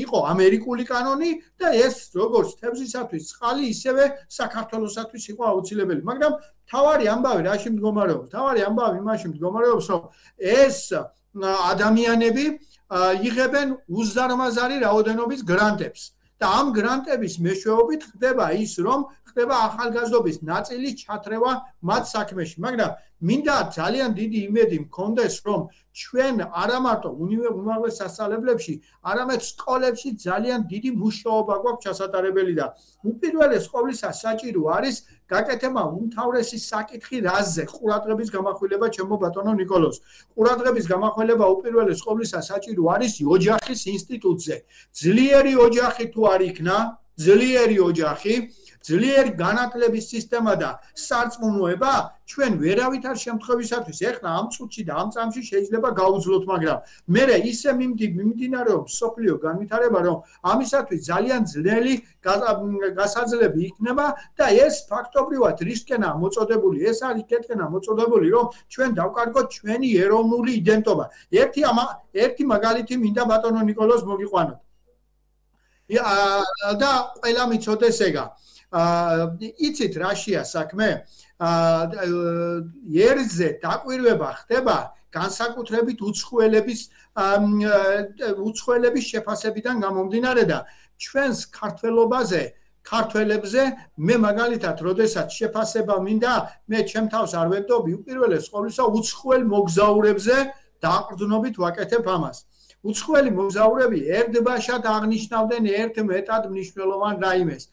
იყო ამერიკული კანონი და ეს როგორც თებზისათვის წყალი, ისევე საქართველოსათვის იყო აუცილებელი. მაგრამ თავარი ამბავი რაში მდგომარეობს? თავარი ამბავი იმაში მდგომარეობს, რომ ეს ადამიანები იღებენ უზარმაზარი რაოდენობის გრანტებს. და ამ გრანტების მეშვეობით ხდება ის, რომ ხდება ახალგაზრდობის ნაწილის ჩათრევა მათ საქმეში. მაგრამ მინდა ძალიან დიდი იმედი მქონდეს, რომ ჩვენ არა მარტო უმაღლეს სასწავლებლებში, არამედ სკოლებში ძალიან დიდი მუშაობა გვაქვს ჩასატარებელი და უპირველეს ყოვლისა საჭირო არის გაკეთება უმთავრესი საკითხი რაზეზე ყურადღების გამახვილება ჩემო ბატონო ნიკოლოზ. ყურადღების გამახვილება უპირველეს ყოვლისა საჭირო არის ოჯახის ინსტიტუტზე. ძლიერი ოჯახი თუ არ იქნა, ძლიერი ოჯახი, ძლიერი განათლების სისტემა და სარწმუნოება ჩვენ ვერავითარ შემთხვევისათვის ეხლა ამ წუთში და ამ წამში შეიძლება გაუძლოთ, მაგრამ მე ისე მიმდინარეობს სოფლიო განვითარება, რომ ამისათვის ძალიან ძნელი გასაძლები იქნება და ეს ფაქტობრივად რისკენაა მოწოდებული, ეს არის კეთკენა მოწოდებული, რომ ჩვენ დავკარგოთ ჩვენი ეროვნული იდენტობა. ერთი მაგალითი მინდა ბატონო ნიკოლოზ მოგიყვანოთ. და ყველა მიცოდეს ეგა. იცით რაშია საქმე? ერზე დაკვირვება ხდება განსაკუთრებით უცხოელების შეფასებიდან გამომდინარე და ჩვენს ქართველებზე მე მაგალითად როდესაც შეფასება მინდა, მე ჩემ თავს არ ვებდობი, უპირველეს ყოვლისა უცხოელ მოგზაურებზე დაყრდნობით ვაკეთებ ამას. უცხოელი მოგზაურები ერთბაშად აღნიშნავდნენ ერთ მეტად მნიშვნელოვან რაიმეს.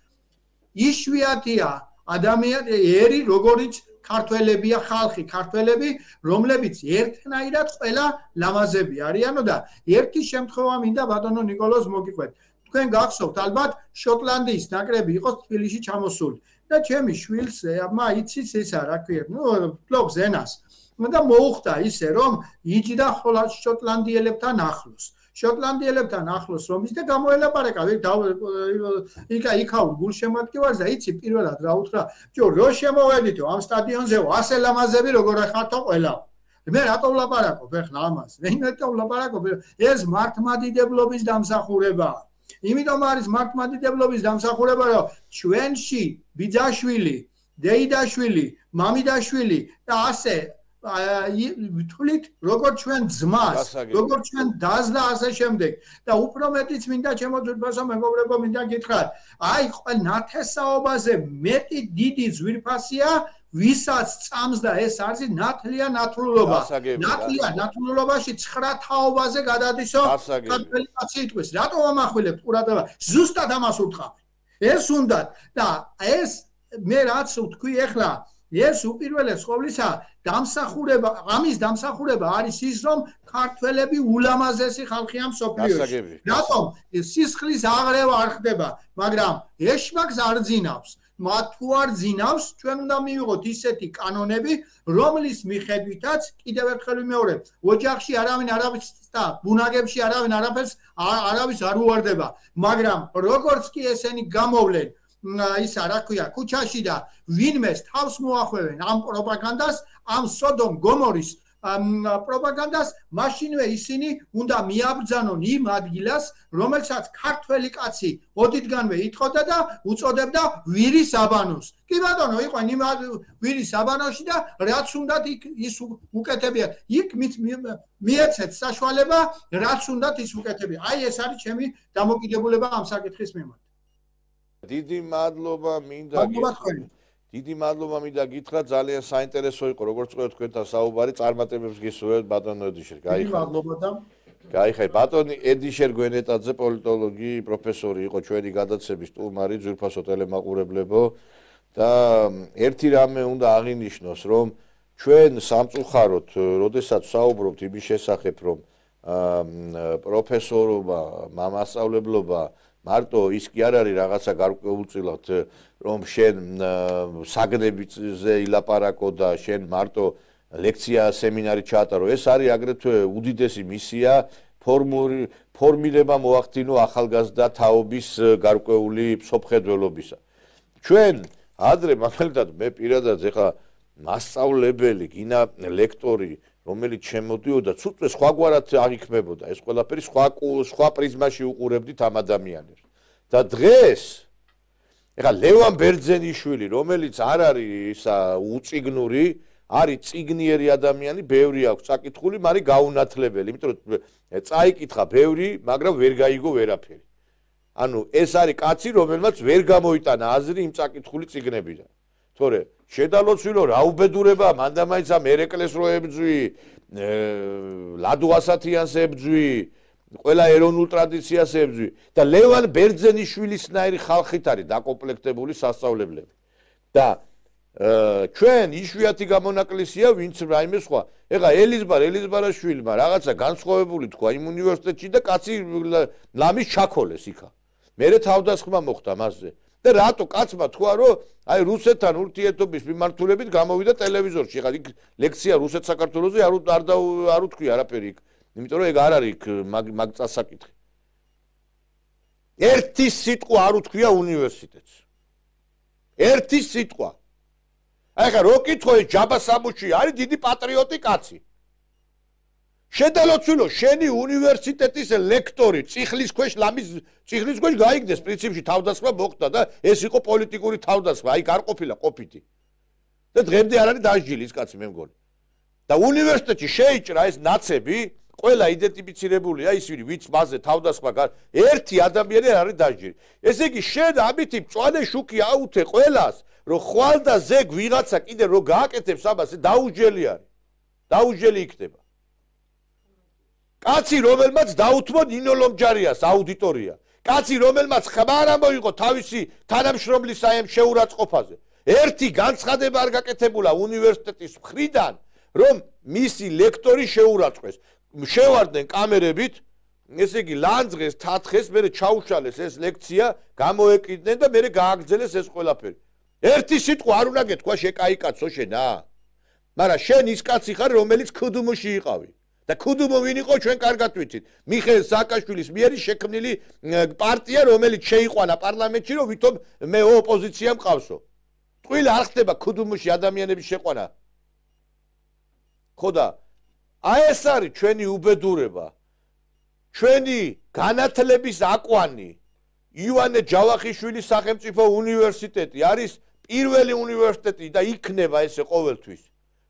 იშვიათია ადამიანი ერი, როგორიც ქართველებია ხალხი, ქართველები, რომლებიც ერთნაირად ყველა ლამაზები არიანო და ერთი შემთხვევა მინდა ბატონო ნიკოლოზ მოგიყვეთ. თქვენ გახსოვთ ალბათ შოტლანდიის ნაკრები იყო თბილისში ჩამოსული და ჩემი შვილს იცის ისა რა ქვია, ფლობს ენას. და მოუხდა ისე რომ იჯდა შოტლანდიელებთან ახლოს. შოტლანდიელებთან ახლოს რომ ის და გამოელაპარაკა იქაურ გულშემატკივარს და იცი პირველად რა უთხრა რო შემოვედითო ამ სტადიონზე ასე ლამაზები როგორ ხართო ყველა მე რატო ვლაპარაკობ ეხლა ამას მე რატო ვლაპარაკობ ეს მართლმადიდებლობის დამსახურებაა იმიტომ არის მართლმადიდებლობის დამსახურება რომ ჩვენში ბიძაშვილი დეიდაშვილი მამიდაშვილი და ასე თulit როგორ ჩვენ ძმას როგორ ჩვენ დას და ასე შემდეგ და უფრო მეტიც მინდა ჩემო ძვირფასო მეგობრებო მინდა გითხრათ აი ყველა ნათესაობაზე მეტი დიდი ძვირფასია ვისაც წამს და ეს არის ნათლია ნათლულობა ნათლია ნათლულობაში 9 თაობაზე გადადისო ქართველი კაცი იტყვის რატო ამახვილებთ ყურადღება ზუსტად ამას უთხრობ ეს უნდა და ეს მე რაც ვთქვი ეხლა ეს უპირველეს ყოვლისა დამსახურება ამის დამსახურება არის ის რომ ქართველები ულამაზესი ხალხია მსოფლიოში რატომ სისხლის აღრევა არ ხდება მაგრამ ეშმაკს არ ძინავს მათ თუ არ ძინავს ჩვენ უნდა მივიღოთ ისეთი კანონები რომლის მიხედვითაც კიდევ ერთხელ ვიმეორებ ოჯახში არავინ არავის და ბუნაგებში არავინ არავის არ უვარდება მაგრამ როგორც კი ესენი გამოვლენ ისა რა ქვია ქუჩაში და ვინმეს თავს მოახვევენ ამ პროპაგანდას ამ სოდომ გომორის პროპაგანდას მაშინვე ისინი უნდა მიაბრძანონ იმ ადგილას რომელსაც ქართველი კაცი ოდითგანვე იტყოდა და უწოდებდა ვირის აბანოს კი ბატონო იყო იმ ვირის აბანოში და რაც უნდათ ის უკეთებია იქ მიეცეთ საშუალება რაც უნდათ ის უკეთებია აი ეს არის ჩემი დამოკიდებულება ამ საკითხის მიმართ დიდი მადლობა მინდა გითხრა ძალიან საინტერესო იყო როგორც ყვეთ თქვენთან საუბარი წარმატებებს გისურვებთ ბატონო ედიშერ გაიხარ ბატონი ედიშერ გვენეტაძე პოლიტოლოგი პროფესორი იყო ჩვენი გადაცემის სტუმარი ძვირფასო ტელემაყურებლებო და ერთი რამე უნდა აღინიშნოს რომ ჩვენ სამწუხაროდ როდესაც საუბრობთ იმის შესახებ რომ პროფესორობა მასწავლებლობა მარტო ის კი არ არის რაღაცა გარკვეულწილად რომ შენ საგნებზე ილაპარაკო და შენ მარტო ლექცია სემინარი ჩაატარო ეს არის აგრეთვე უდიდესი მისია ფორმირება მოახდინო ახალგაზრდა თაობის გარკვეული სოფხედველობისა ჩვენ ადრე მაგალითად მე პირადად ეხლა მასწავლებელი გინა ლექტორი რომელიც შემოდიოდა ცუცვე სხვაგვარად აღიქმებოდა ეს ყველაფერი სხვა პრიზმაში უყურებდით ამ ადამიანებს და დღეს ეხლა ლევან ბერძენიშვილი რომელიც არ არის ისა უწიგნური არის წიგნიერი ადამიანი ბევრი აქვს წაკითხული მაგრამ გაუნათლებელი იმიტომ რომ წაიკითხა ბევრი მაგრამ ვერ გაიგო ვერაფერი ანუ ეს არის კაცი რომელმაც ვერ გამოიტანა აზრი იმ წაკითხული წიგნებიდან თორე შედალოცვილო რა უბედურება მანდამაინც ამ ერეკლეს რო ებძვი ლადო ასათიანს ებძვი ყველა ეროვნულ ტრადიციას ებძვი და ლევან ბერძენიშვილისნაირი ხალხით არის დაკომპლექტებული სასწავლებლები და ჩვენ იშვიათი გამონაკლისია ვინც რაიმე სხვა ეხლა ელიზბარაშვილმა რაღაცა განსხვავებული თქვა იმ უნივერსიტეტში და კაცი ლამის ჩაქოლეს იქა მერე თავდასხმა მოხდა მასზე და რატო კაცმა თქვა რომ აი რუსეთთან ურთიერთობის მიმართულებით გამოვიდა ტელევიზორში ხა იქ ლექცია რუსეთ საქართველოსზე არ უთქვი არაფერი იქ იმიტომ რომ ეგ არ არის მაგ წასაკითხი ერთი სიტყვა არ უთქვია უნივერსიტეტს ერთი სიტყვა აი ხა რო კითხო ეს ჯაბა სამუში არის დიდი პატრიოტი კაცი შედალოცვილო შენი უნივერსიტეტის ლექტორი წიხლის ქვეშ გაიგდეს პრინციპში თავდასხმა მოხდა და ეს იყო პოლიტიკური თავდასხმა აი არ ყოფილა ყოფითი და დღემდე არ არის დასჯილი ის კაცი მე მგონი და უნივერსიტეტში შეიჭრა ეს ნაცები ყველა იდენტიფიცირებულია ისინი ვინც მასზე თავდასხმა ერთი ადამიანი არ არის დასჯილი ესე იგი შენ ამითი მწვანე შუქი აუთე ყველას რომ ხვალ და ზეგ ვიღაცა კიდე რო გააკეთებს ამას დაუჯელი არის დაუჯელი იქნება კაცი რომელმაც დაუთმო ნინო ლომჯარიას აუდიტორია კაცი რომელმაც ხმარ ამოიღო თავისი თანამშრომლის საემ შეურაცხყოფაზე ერთი განცხადება არ გაკეთებულა უნივერსიტეტის მხრიდან რომ მისი ლექტორი შეურაცხეს შევარდნენ კამერებით ესე იგი ლანძღეს თათხეს მე ჩაუშალეს ეს ლექცია გამოეკიდნენ და მე გააგრძელეს ეს ყველაფერი ერთი სიტყვა არ უნდა გეთქვა შეკაიკაცო შენა მაგრამ შენ ის კაცი ხარ რომელიც ქუდუმოში იყავი და ქუდუმო ვინ იყო ჩვენ კარგად ვიცით მიხეილ სააკაშვილის მიერ შექმნილი პარტია რომელიც შეიყვანა პარლამენტში რომ ვითომ მე ოპოზიცია მყავსო ტყუილი არ ხდება ქუდუმოში ადამიანების შეყვანა ხო და აი ეს არის ჩვენი უბედურება ჩვენი განათლების აკვანი ივანე ჯავახიშვილის სახელმწიფო უნივერსიტეტი არის პირველი უნივერსიტეტი და იქნება ესე ყოველთვის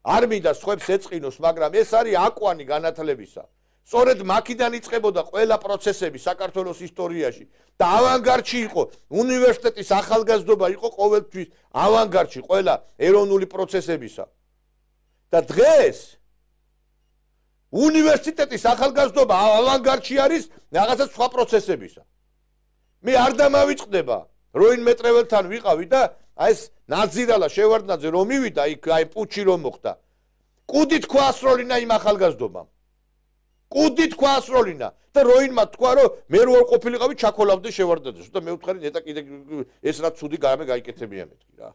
არ მინდა სხვებს ეწყინოს მაგრამ ეს არის აკვანი განათლებისა სწორედ მაქიდან იწყებოდა ყველა პროცესები საქართველოს ისტორიაში და ავანგარდში იყო უნივერსიტეტის ახალგაზრდობა იყო ყოველთვის ავანგარდში ყველა ეროვნული პროცესებისა და დღეს უნივერსიტეტის ახალგაზრდობა ავანგარდში არის რაღაცა სხვა პროცესებისა მე არ დამავიწყდება როინ მეტრეველთან ვიყავი და აი ეს ნაძირალა შევარდნაძე რომ მივიდა იქ აი პუჩი რომ მოხდა კუდით ქვა ასროლინა იმ ახალგაზრდობამ კუდით ქვა ასროლინა და როინმა თქვა რომ მე რო არ ყოფილიყავი ჩაქოლავდე შევარდნაძეს და მე ვთხარი ნეტა კიდე ეს რაც ცუდი გამე გაიკეთებია მეთქი რა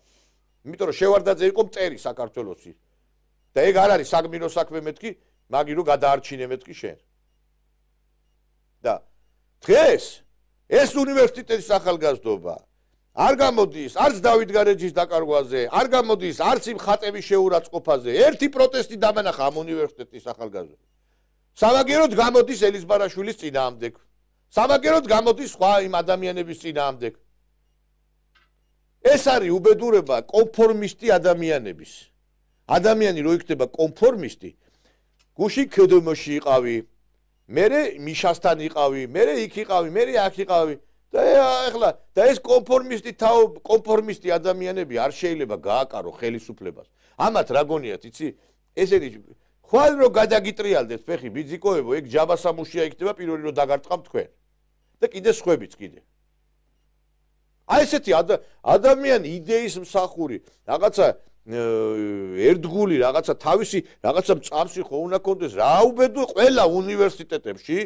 იმიტომ რომ შევარდნაძე იყო მტერი საქართველოსი და ეგ არ არის საგმირო საქმე მეთქი მაგი რო გადაარჩინე მეთქი შენ და დღეს ეს უნივერსიტეტის ახალგაზრდობა არ გამოდის არც დავით გარეჯის დაკარგვაზე არ გამოდის არც იმ ხატების შეურაცხყოფაზე ერთი პროტესტი დამანახა ამ უნივერსიტეტის ახალგაზრდებს სამაგეროდ გამოდის ელიზბარაშვილის წინააღმდეგ სამაგეროდ გამოდის სხვა იმ ადამიანების წინააღმდეგ ეს არის უბედურება კონფორმისტი ადამიანების ადამიანი რო იქნება კონფორმისტი გუში ქედომოში იყავი მე მიშასთან იყავი მე იქ იყავი მე აქ იყავი და ეხლა და ეს კონფორმისტი ადამიანები არ შეიძლება გააკარო ხელისუფლებას ამათ რა გონიათ იცი ესენი ხვალ რო გადაგიტრიალდეთ ფეხი ბიძიკოებო ეგ ჯაბასამუშია იქნება პირველი რო დაგარტყამ თქვენ და კიდე სხვებიც კიდე აი ესეთი ადამიანი იდეის მსახური რაღაცა ერთგული რაღაცა თავისი რაღაცა წამსი ხო უნდა კონდეს რა უბედო ყველა უნივერსიტეტებში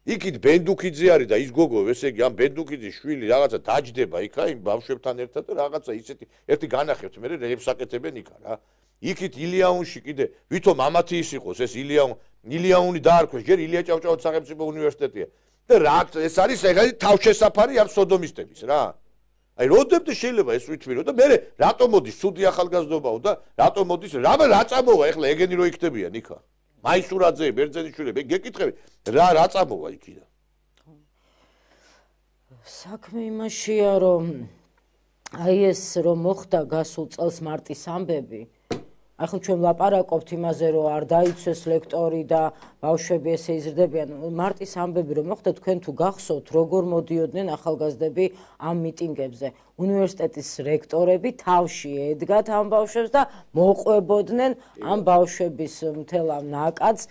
იქით ბენდუქიძე არის და ის გოგო ესე იგი ამ ბენდუქიძის შვილი რაღაცა დაჯდება იქა იმ ბავშვებთან ერთად და რაღაცა ისეთი ერთი განახებთ მე რეებს აკეთებენ იქა რა იქით ილიაუნში კიდე ვითომ ამათი ის იყოს ეს ილიაუნი დაარქვეს ჯერ ილია ჭავჭავაძის სახელმწიფო უნივერსიტეტია და რა ეს არის ეგეთი თავშესაფარი ამ სოდომისტების რა აი როდემდე შეიძლება ეს ვითვირო და მე რატომ მოდის ცუდი ახალგაზრდობაო და რატომ მოდის რა წამოვა ეხლა ეგენი რო იქდებიან იქა მაისურაძე ბერძენიშვილები გეკითხები რა წამოვა იქიდან საქმე იმაშია რომ აი ეს რომ მოხდა გასულ წელს მარტის ამბები ახლა ჩვენ ვლაპარაკობთ იმაზე რომ არ დაიცვეს ლექტორი და ბავშვები ესე იზრდებიან მარტის ამბები რომ მოხდა თქვენ თუ გახსოვთ როგორ მოდიოდნენ ახალგაზრდები ამ მიტინგებზე უნივერსიტეტის რექტორები თავში ედგათ ამ ბავშვებს და მოყვებოდნენ ამ ბავშვების მთელ ამ ნაკადს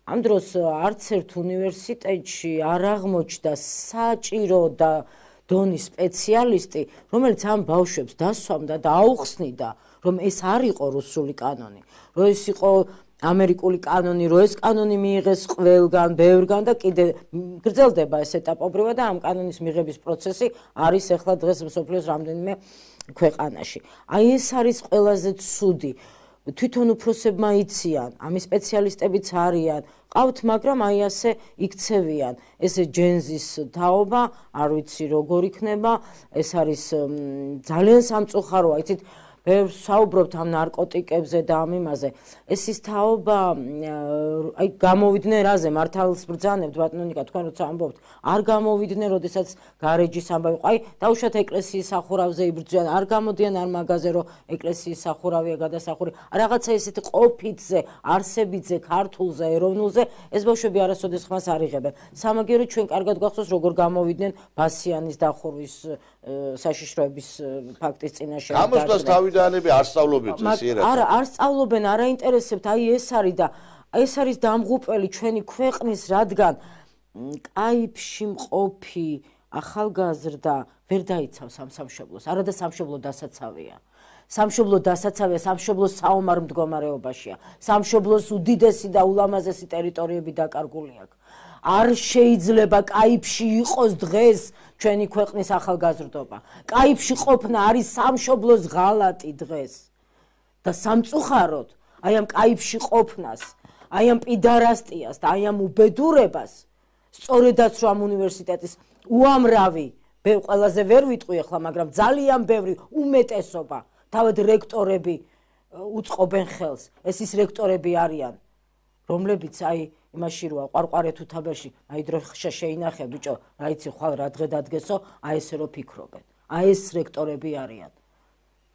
ამ დროს არც ერთ უნივერსიტეტში არ აღმოჩნდა საჭირო და დონის სპეციალისტი რომელიც ამ ბავშვებს დასვამდა და აუხსნიდა რომ ეს არ იყო რუსული კანონი, რომ ეს იყო ამერიკული კანონი, რომ ეს კანონი მიიღეს ყველგან, ბევრგან და კიდე გრძელდება ეს ეტაპობრივად და ამ კანონის მიღების პროცესი არის ახლა დღეს მსოფლიოს რამდენიმე ქვეყანაში. აი ეს არის ყველაზე ცუდი. თვითონ უფროსებმა იციან, ამის სპეციალისტებიც არიან, ყავთ, მაგრამ აი ასე იქცევიან. ესე ჯენზის თაობა, არ ვიცი როგორ იქნება, ეს არის ძალიან სამწუხაროა, იცით ბევრს საუბრობთ ამ ნარკოტიკებზე და ამ იმაზე. ეს ის თაობა, აი გამოვიდნენ რაზე, მართალს ბრძანებთ ბატონიკა, თქვენ როცა ამბობთ, არ გამოვიდნენ, როდესაც გარეჯის ამბავი იყო. აი, დაუშვათ ეკლესიის სახურავზე იბრძვიან, არ გამოდიან არ მაგაზე, რომ ეკლესიის სახურავია გადასახური. რაღაცა ესეთი ყოფითზე, არსებითზე, ქართულზე, ეროვნულზე, ეს ბავშვები არასოდეს ხმას არ იღებენ. სამაგერო ჩვენ კარგად გახსოვს, როგორ გამოვიდნენ ბასიანის დახურვის საშიშროების ფაქტის წინაშე. გამოსვლას თავიდანები არ სწავლობენ წესიერად. არა, არ სწავლობენ, არ აინტერესებთ, აი ეს არის და ეს არის დამღუპველი ჩვენი ქვეყნის, რადგან კაიფში მყოფი ახალგაზრდა ვერ დაიცავს ამ სამშობლოს, არადა სამშობლო დასაცავია. სამშობლო დასაცავია, სამშობლოს საომარ მდგომარეობაშია. სამშობლოს უდიდესი და ულამაზესი ტერიტორიები დაკარგული აქვს. არ შეიძლება კაიფში იყოს დღეს ჩვენი ქვეყნის ახალგაზრდობა. კაიფში ყოფნა არის სამშობლოს ღალატი დღეს. და სამწუხაროდ, აი ამ კაიფში ყოფნას, აი ამ პიდარასტიას და აი ამ უბედურებას სწორედაც რომ ამ უნივერსიტეტის უამრავი ყველაზე ვერ ვიტყვი ახლა, მაგრამ ძალიან ბევრი უმეტესობა თავად რექტორები უწყობენ ხელს. ეს ის რექტორები არიან, რომლებიც აი იმაში როა ყვარყვარე თუ თაბერში აი დრო ხშა შეინახე ბიჭო, რა იცი ხვალ რა დღე დადგესო, აი ესე რო ფიქრობენ. აი ეს რექტორები არიან.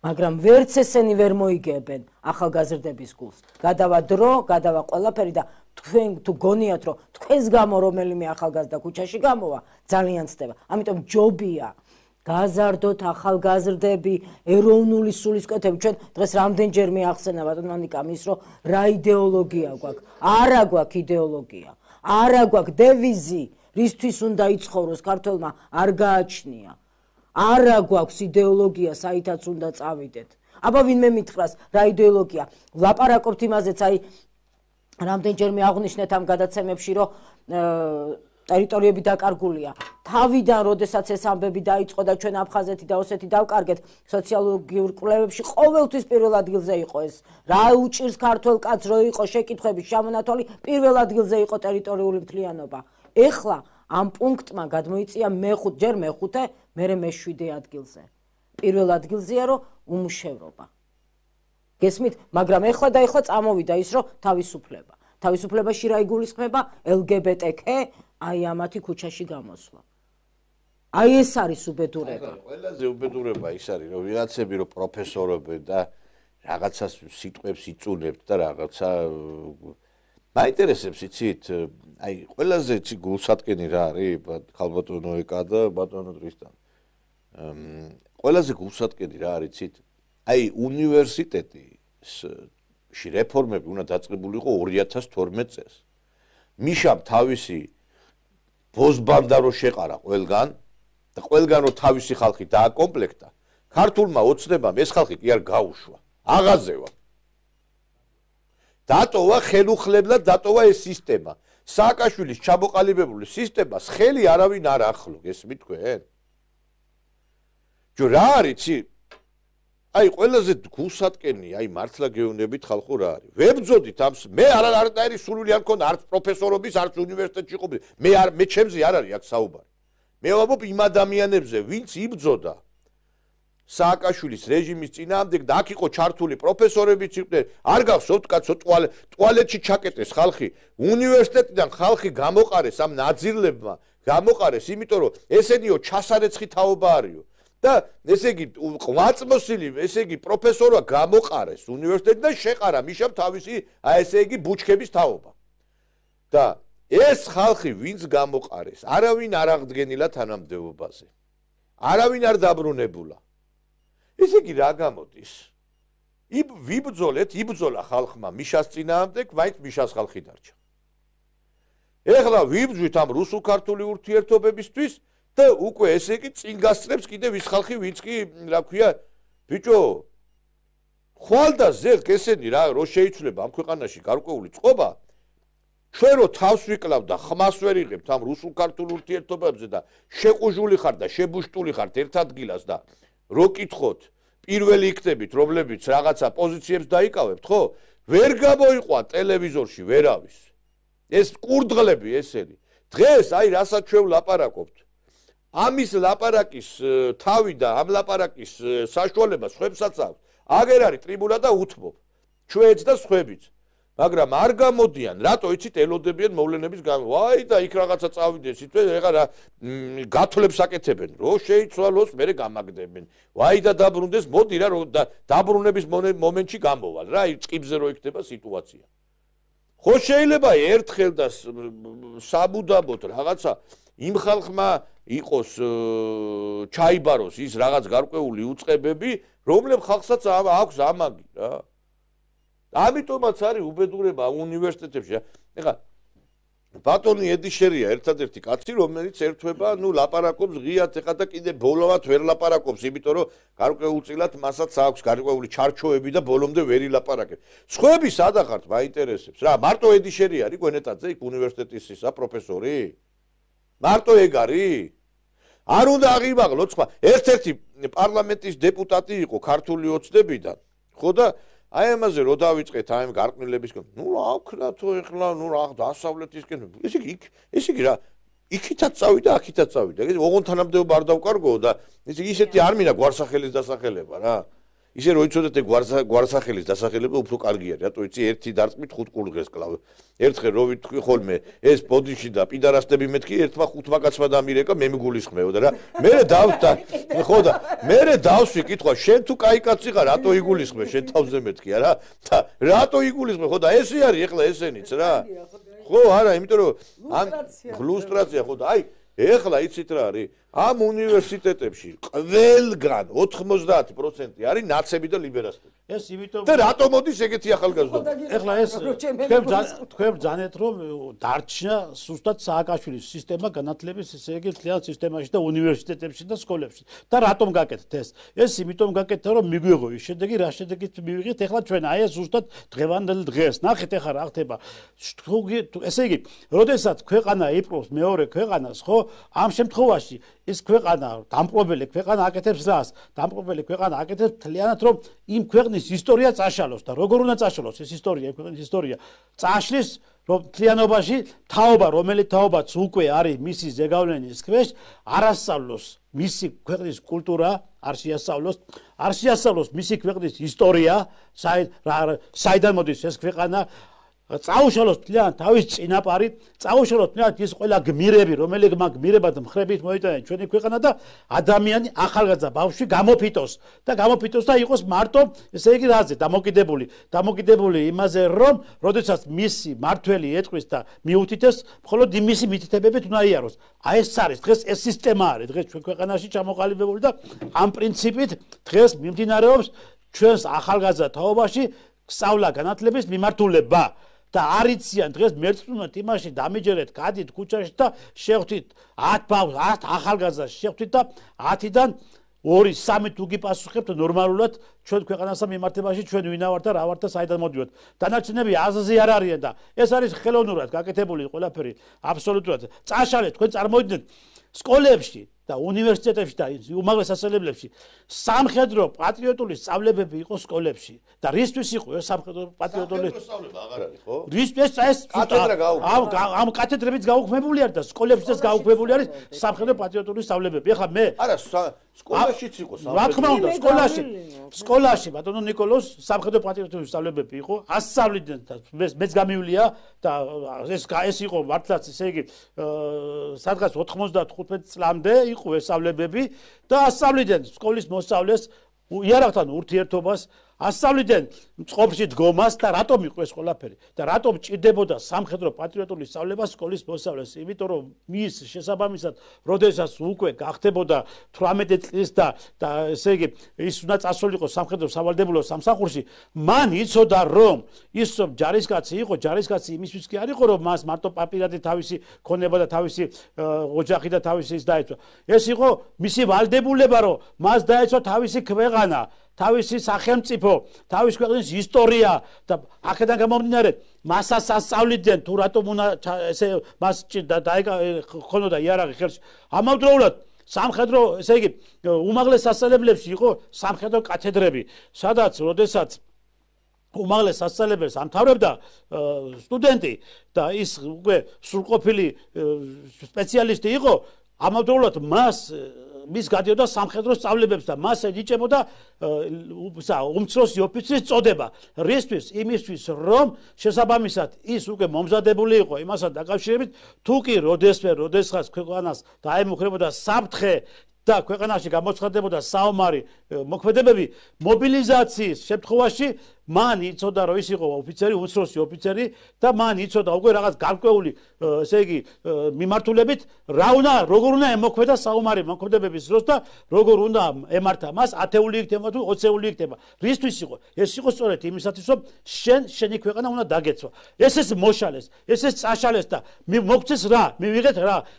მაგრამ ვერც ესენი ვერ მოიგებენ ახალგაზრდების გულს. გადავა დრო, გადავა ყველაფერი და თქვენ თუ გონიათ რომ თქვენს გამო რომელიმე ახალგაზრდა ქუჩაში გამოვა, ძალიან ცდება. ამიტომ ჯობია გაზარდოთ ახალგაზრდები, ეროვნული სულისკვეთები. ჩვენ დღეს რამდენჯერ მიახსენა ბატონ მანიკამ ის რომ რა იდეოლოგია გვაქვს. არა გვაქვს იდეოლოგია. არა გვაქვს დევიზი, რისთვის უნდა იცხოვროს ქართველმა არ გააჩნია. არა გვაქვს იდეოლოგია, საითაც უნდა წავიდეთ. აბა ვინმე მითხრას რა იდეოლოგია? ვლაპარაკობთ იმაზეც, აი რამდენჯერ მეაღვნიშნეთ ამ გადაცემებში, რომ ტერიტორიები დაკარგულია. თავიდან, როდესაც ეს ამბები დაიწყო და ჩვენ აფხაზეთი და ოსეთი დავკარგეთ, სოციოლოგიურ კვლევებში ყოველთვის პირველ ადგილზე იყო ეს. რა უჭირს ქართველ კაცს რო იყო შეკითხვების შემონათვალი, პირველ ადგილზე იყო ტერიტორიული მთლიანობა. ეხლა ამ პუნქტმა გადმოიწია ჯერ მეხუთე, მერე მე-7 ადგილზე. პირველ ადგილზეა რომ უმუშევრობა. გესმით, მაგრამ ეხლა და ეხლა წამოვიდა ის რომ თავისუფლება. თავისუფლებაში რა იგულისხმება? LGBT-Q, აი ამათი ქუჩაში გამოსვლა. აი ეს არის უბედურება. ყველაზე უბედურება ის არის, რომ ვიღაცები რომ პროფესორობენ და რაღაცას სიტყვებს იწუნებთ და რაღაცა მაინტერესებს იცით, აი ყველაზე იცი გულსატკენი რა არის, ხალბატონო ეკა და ბატონო დრისთან. ყველაზე გულსატკენი რა არის იცით? აი უნივერსიტეტში რეფორმები უნდა დაწყებულიყო 2012 წელს. მიშამ თავისი ბოზბანდა რო შეყარა ყველგან და ყველგან რო თავისი ხალხი დააკომპლექტა, ქართულმა ოცნებამ ეს ხალხი კი არ გაუშვა, აღაზევა. დატოვა ხელუხლებლად, დატოვა ეს სისტემა. სააკაშვილის ჩამოყალიბებული სისტემას ხელი არავინ არ ახლო, გესმით თქვენ? ჯო რა არის ცი? აი ყველაზე გულსატკენი, აი მართლა გეუბნებით ხალხო რა არის. ვებძოდით ამ მე არანაირი სურვილი არ მქონდა არც პროფესორობის, არც უნივერსიტეტში ყოფილი. მე ჩემზე არ არის აქ საუბარი. მე ვამბობ იმ ადამიანებზე, ვინც იბძოდა სააკაშვილის რეჟიმის წინააღმდეგ და აქ იყო ჩართული პროფესორებიც იყვნენ, არ გახსოვთ კაცო ტუალეტში ჩაკეტეს ხალხი, უნივერსიტეტიდან ხალხი გამოყარეს ამ ნაძირლებმა, გამოყარეს, იმიტომ რომ ესენიო ჩასარეცხი თაობა არისო. და ესე იგი ყვაწმოსილი, ესე იგი პროფესორმა გამოყარეს უნივერსიტეტიდან შეყარა მიშამ თავისი, აი ესე იგი ბუჩქების თაობა. და ეს ხალხი ვინც გამოყარეს, არავინ არ აღდგენილა თანამდებობაზე. არავინ არ დაბრუნებულა. ესე იგი რა გამოდის? იბძოლა ხალხმა მიშას წინააღმდეგ, მაინც მიშას ხალხი დარჩა. ეხლა ვიბძვით ამ რუსულ-ქართული ურთიერთობებისთვის და უკვე ესე იგი წინ გასწრებს კიდევ ის ხალხი, ვინც კი რა ქვია, ბიჭო, ხვალ და ზეღ ესენი რა რო შეიცვლება ამ ქვეყანაში გარკვეული წყობა, ჩვენ რო თავს ვიკლავ და ხმას ვერ იღებთ ამ რუსულ-ქართულ ურთიერთობებზე და შეყუჟული ხარ და შებუშტული ხართ ერთ ადგილას და რო კითხოთ, პირველი იქნებით, რომლებიც რაღაცა პოზიციებს დაიკავებთ, ხო? ვერ გამოიყვა ტელევიზორში ვერავის. ეს კურდღლები ესენი. დღეს აი რასაც ჩვენ ლაპარაკობთ. ამის ლაპარაკის თავი და ამ ლაპარაკის საშუალება სხვებსაც აქვს. აგერ არის ტრიბუნა და უთმობ. ჩვენც და სხვებიც. მაგრამ არ გამოდიან, რატო იცით ელოდებიან მოვლენების გამო. ვაი და იქ რაღაცა წავიდეს, იცით, ეხლა რა გათვლებს აკეთებენ, რო შეიცვალოს, მერე გამაგდებენ. ვაი და დაბრუნდეს, მოდი რა, და დაბრუნების მომენტში გამოვალ რა, წყიბზე რო იქნება სიტუაცია. ხო შეიძლება ერთხელ და საბუდაბოდ რაღაცა იმ ხალხმა იყოს ჩაიბაროს ის რაღაც გარკვეული უწყებები, რომლებიც ხალხსაც აქვს ამაგი რა. ამიტომაც არის უბედურება უნივერსიტეტებში. ეხლა ბატონი ედიშერია ერთადერთი კაცი, რომელიც ერთვება, ლაპარაკობს ღიად ეხლა და კიდე ბოლომდე ვერ ლაპარაკობს, იმიტომ რომ გარკვეულწილად მასაც აქვს გარკვეული ჩარჩოები და ბოლომდე ვერ ილაპარაკებს. სხვები სად ახართ, მაინტერესებს რა, მარტო ედიშერი არის გვენეტაძე იქ უნივერსიტეტის ისა პროფესორი? მარტო ეგ არის? არ უნდა აღიმაღლოთ სხვა. ერთ-ერთი პარლამენტის დეპუტატი იყო ქართული ოცნებიდან, ხო და აი ამაზე რო დავიწყეთ აი გარყვნილებისკენ. რა ვქნათო ეხლა, რა დასავლეთისკენ. ესე იგი რა, იქითაც წავიდა, აქითაც წავიდა. ოღონდ თანამდებობა არ დავკარგო და ისეთი არ მინდა გვარსახელის დასახელება რა. ისე რო იცოდეთ გვარსახელის დასახელება უფრო კარგი არის, რატო იცი ერთი დარწმით 5 კურდღეს კლავ. ერთხელ რო ვიტყვი ხოლმე ეს ბოდიში და პიდარასტები მეთქი ერთმა 5 კაცმა დამირეკა მე მიგულისხმეოდა რა. მე დავსვი, ხო და მე დავსვი კითხვა, შენ თუ კაი კაცი ხარ, რატო იგულისხმე, შენ თავზე მეთქია რა. და რატო იგულისხმე, ხო და ესე არის ეხლა ესენიც რა. ხო არა, იმიტომ რომ ამ ლუსტრაცია ხო და აი ეხლა იცით რა არის? ამ უნივერსიტეტებში ყველგან 90% არის ნაცები და ლიბერასტები. ეს იმიტომ და რატომ მოდის ეგეთი ახალგაზრდობა? ეხლა ეს თქვენ ბრძანეთ რომ დარჩა ზუსტად სააკაშვილის სისტემა განათლების ესე იგი მთლიან სისტემაში და უნივერსიტეტებში და სკოლებში. და რატომ გაკეთეთ ეს? ეს იმიტომ გაკეთდა რომ მიგვიღო ის შედეგი, რა შედეგით მივიღეთ ეხლა ჩვენ აი ეს ზუსტად დღევანდელ დღეს. ნახეთ ეხლა რა ხდება. ესე იგი, როდესაც ქვეყანა იპყრობს მეორე ქვეყანას, ხო? ამ შემთხვევაში ეს ქვეყანა დამპყრობელი ქვეყანა აკეთებს რას? დამპყრობელი ქვეყანა აკეთებს მთლიანად რომ იმ ქვეყნის ისტორია წაშალოს და როგორ უნდა წაშალოს ეს ისტორია, ქვეყნის ისტორია წაშლის რომ მთლიანობაში თაობა, რომელიც თაობაც უკვე არის მისი ზეგავლენის ქვეშ, არასწავლოს მისი ქვეყნის კულტურა, არ შეასწავლოს მისი ქვეყნის ისტორია, საიდან მოდის ეს ქვეყანა, წაუშალოს თლიან თავის წინაპარი, წაუშალოს თლიან ის ყველა გმირები, რომელიც მაგ გმირებად მხრებით მოიტანენ ჩვენი ქვეყანა და ადამიანი ახალგაზრდა ბავშვი გამოფიტოს და იყოს მარტო, ესე იგი რაზე, დამოკიდებული იმაზე, რომ როდესაც მისი მართველი ეტყვის და მიუთითებს, მხოლოდ იმისი მითითებებით უნდა იაროს. აი ეს არის დღეს ეს სისტემა არის დღეს ჩვენ ქვეყანაში ჩამოყალიბებული და ამ პრინციპით დღეს მიმდინარეობს ჩვენს ახალგაზრდა თაობაში სწავლა განათლების მიმართულება. და არიციან დღეს მერწმუნად იმაში დამიჯერეთ, გადით ქუჩაში და შეხვდით 10 ახალგაზრდას შეხვდით და 10-დან 2-3 თუ გიპასუხებთ ნორმალურად ჩვენ ქვეყანასა მიმართებაში ჩვენ ვინა ვართ და რა ვართ და საიდან მოდივართ. დანარჩენები აზზე არ არიან და ეს არის ხელოვნურად გაკეთებული ყველაფერი აბსოლუტურად. წაშალეთ თქვენ წარმოვიდგინეთ სკოლებში და უნივერსიტეტებში და უმაღლეს სასწავლებლებში სამხედრო პატრიოტული სწავლებები იყო სკოლებში და რისთვის იყო ეს სამხედრო პატრიოტული სწავლება აღარ არის ხო? რისთვის ეს ამ კათედრებიც გაუქმებული არის და სკოლებშიც გაუქმებული არის სამხედრო პატრიოტული სწავლებები. ეხლა მე არა სკოლაშიც იყო სამხედრო. რა თქმა უნდა სკოლაში ბატონო ნიკოლოს სამხედრო პატრიოტული სწავლებები იყო. ასწავლიდნენ და მეც გამივლია და ეს იყო მართლაც ესე იგი სადღაც 95 წლამდე იყო ესწავლებები და ასწავლიდნენ სკოლის მოსწავლეს იარაღთან ურთიერთობას, ასწავლიდნენ წყობში დგომას და რატომ იყო ეს ყველაფერი და რატომ ჭირდებოდა სამხედრო პატრიოტული სწავლება სკოლის მოსწავლეს? იმიტომ რომ მის შესაბამისად, როდესაც უკვე გახდებოდა 18 წლის და ესე იგი ის უნდა წასულიყო სამხედრო სავალდებულო სამსახურში, მან იცოდა რომ ის ჯარისკაცი იყო, ჯარისკაცი იმისთვის კი არ იყო რომ მას მარტო პაპირადი თავისი ქონება და თავისი ოჯახი და თავისი ის დაეცვა. ეს იყო მისი ვალდებულება რომ მას დაეცვა თავისი ქვეყანა, თავისი სახელმწიფო, თავის ქვეყნის ისტორია და აქედან გამომდინარე მასაც ასწავლიდნენ თუ რატომ უნდა ესე მას ხონოდა იარაღი ხელში. ამავდროულად სამხედრო, ესე იგი უმაღლეს სასწავლებლებში იყო სამხედრო კათედრები, სადაც როდესაც უმაღლეს სასწავლებელს ამთავრებდა სტუდენტი და ის უკვე სრულყოფილი სპეციალისტი იყო, ამავდროულად მის გადიოდა სამხედრო სწავლებებს და მას ეჯიჭებოდა უმცროსი ოფიცრის წოდება. რისთვის? იმისთვის, რომ შესაბამისად ის უკვე მომზადებული იყო იმასთან დაკავშირებით, თუ კი როდესაც ქვეყანას დაემუქრებოდა საფრთხე და ქვეყანაში გამოცხადდებოდა საომარი მოქმედებები, მობილიზაციის შემთხვევაში მან იცოდა რომ ის იყო ოფიცერი, უმცროსი ოფიცერი და მან იცოდა უკვე რაღაც გარკვეული ესე იგი მიმართულებით როგორ უნდა ემოქმედა საომარი მოქმედებების დროს და როგორ უნდა ემართა მას 10-ული იქნება თუ 20-ული იქნება. რისთვის იყო? ეს იყო სწორედ იმისათვის რომ შენი ქვეყანა უნდა დაგეცვა. ეს მოშალეს, ეს წაშალეს და მოგცეს რა?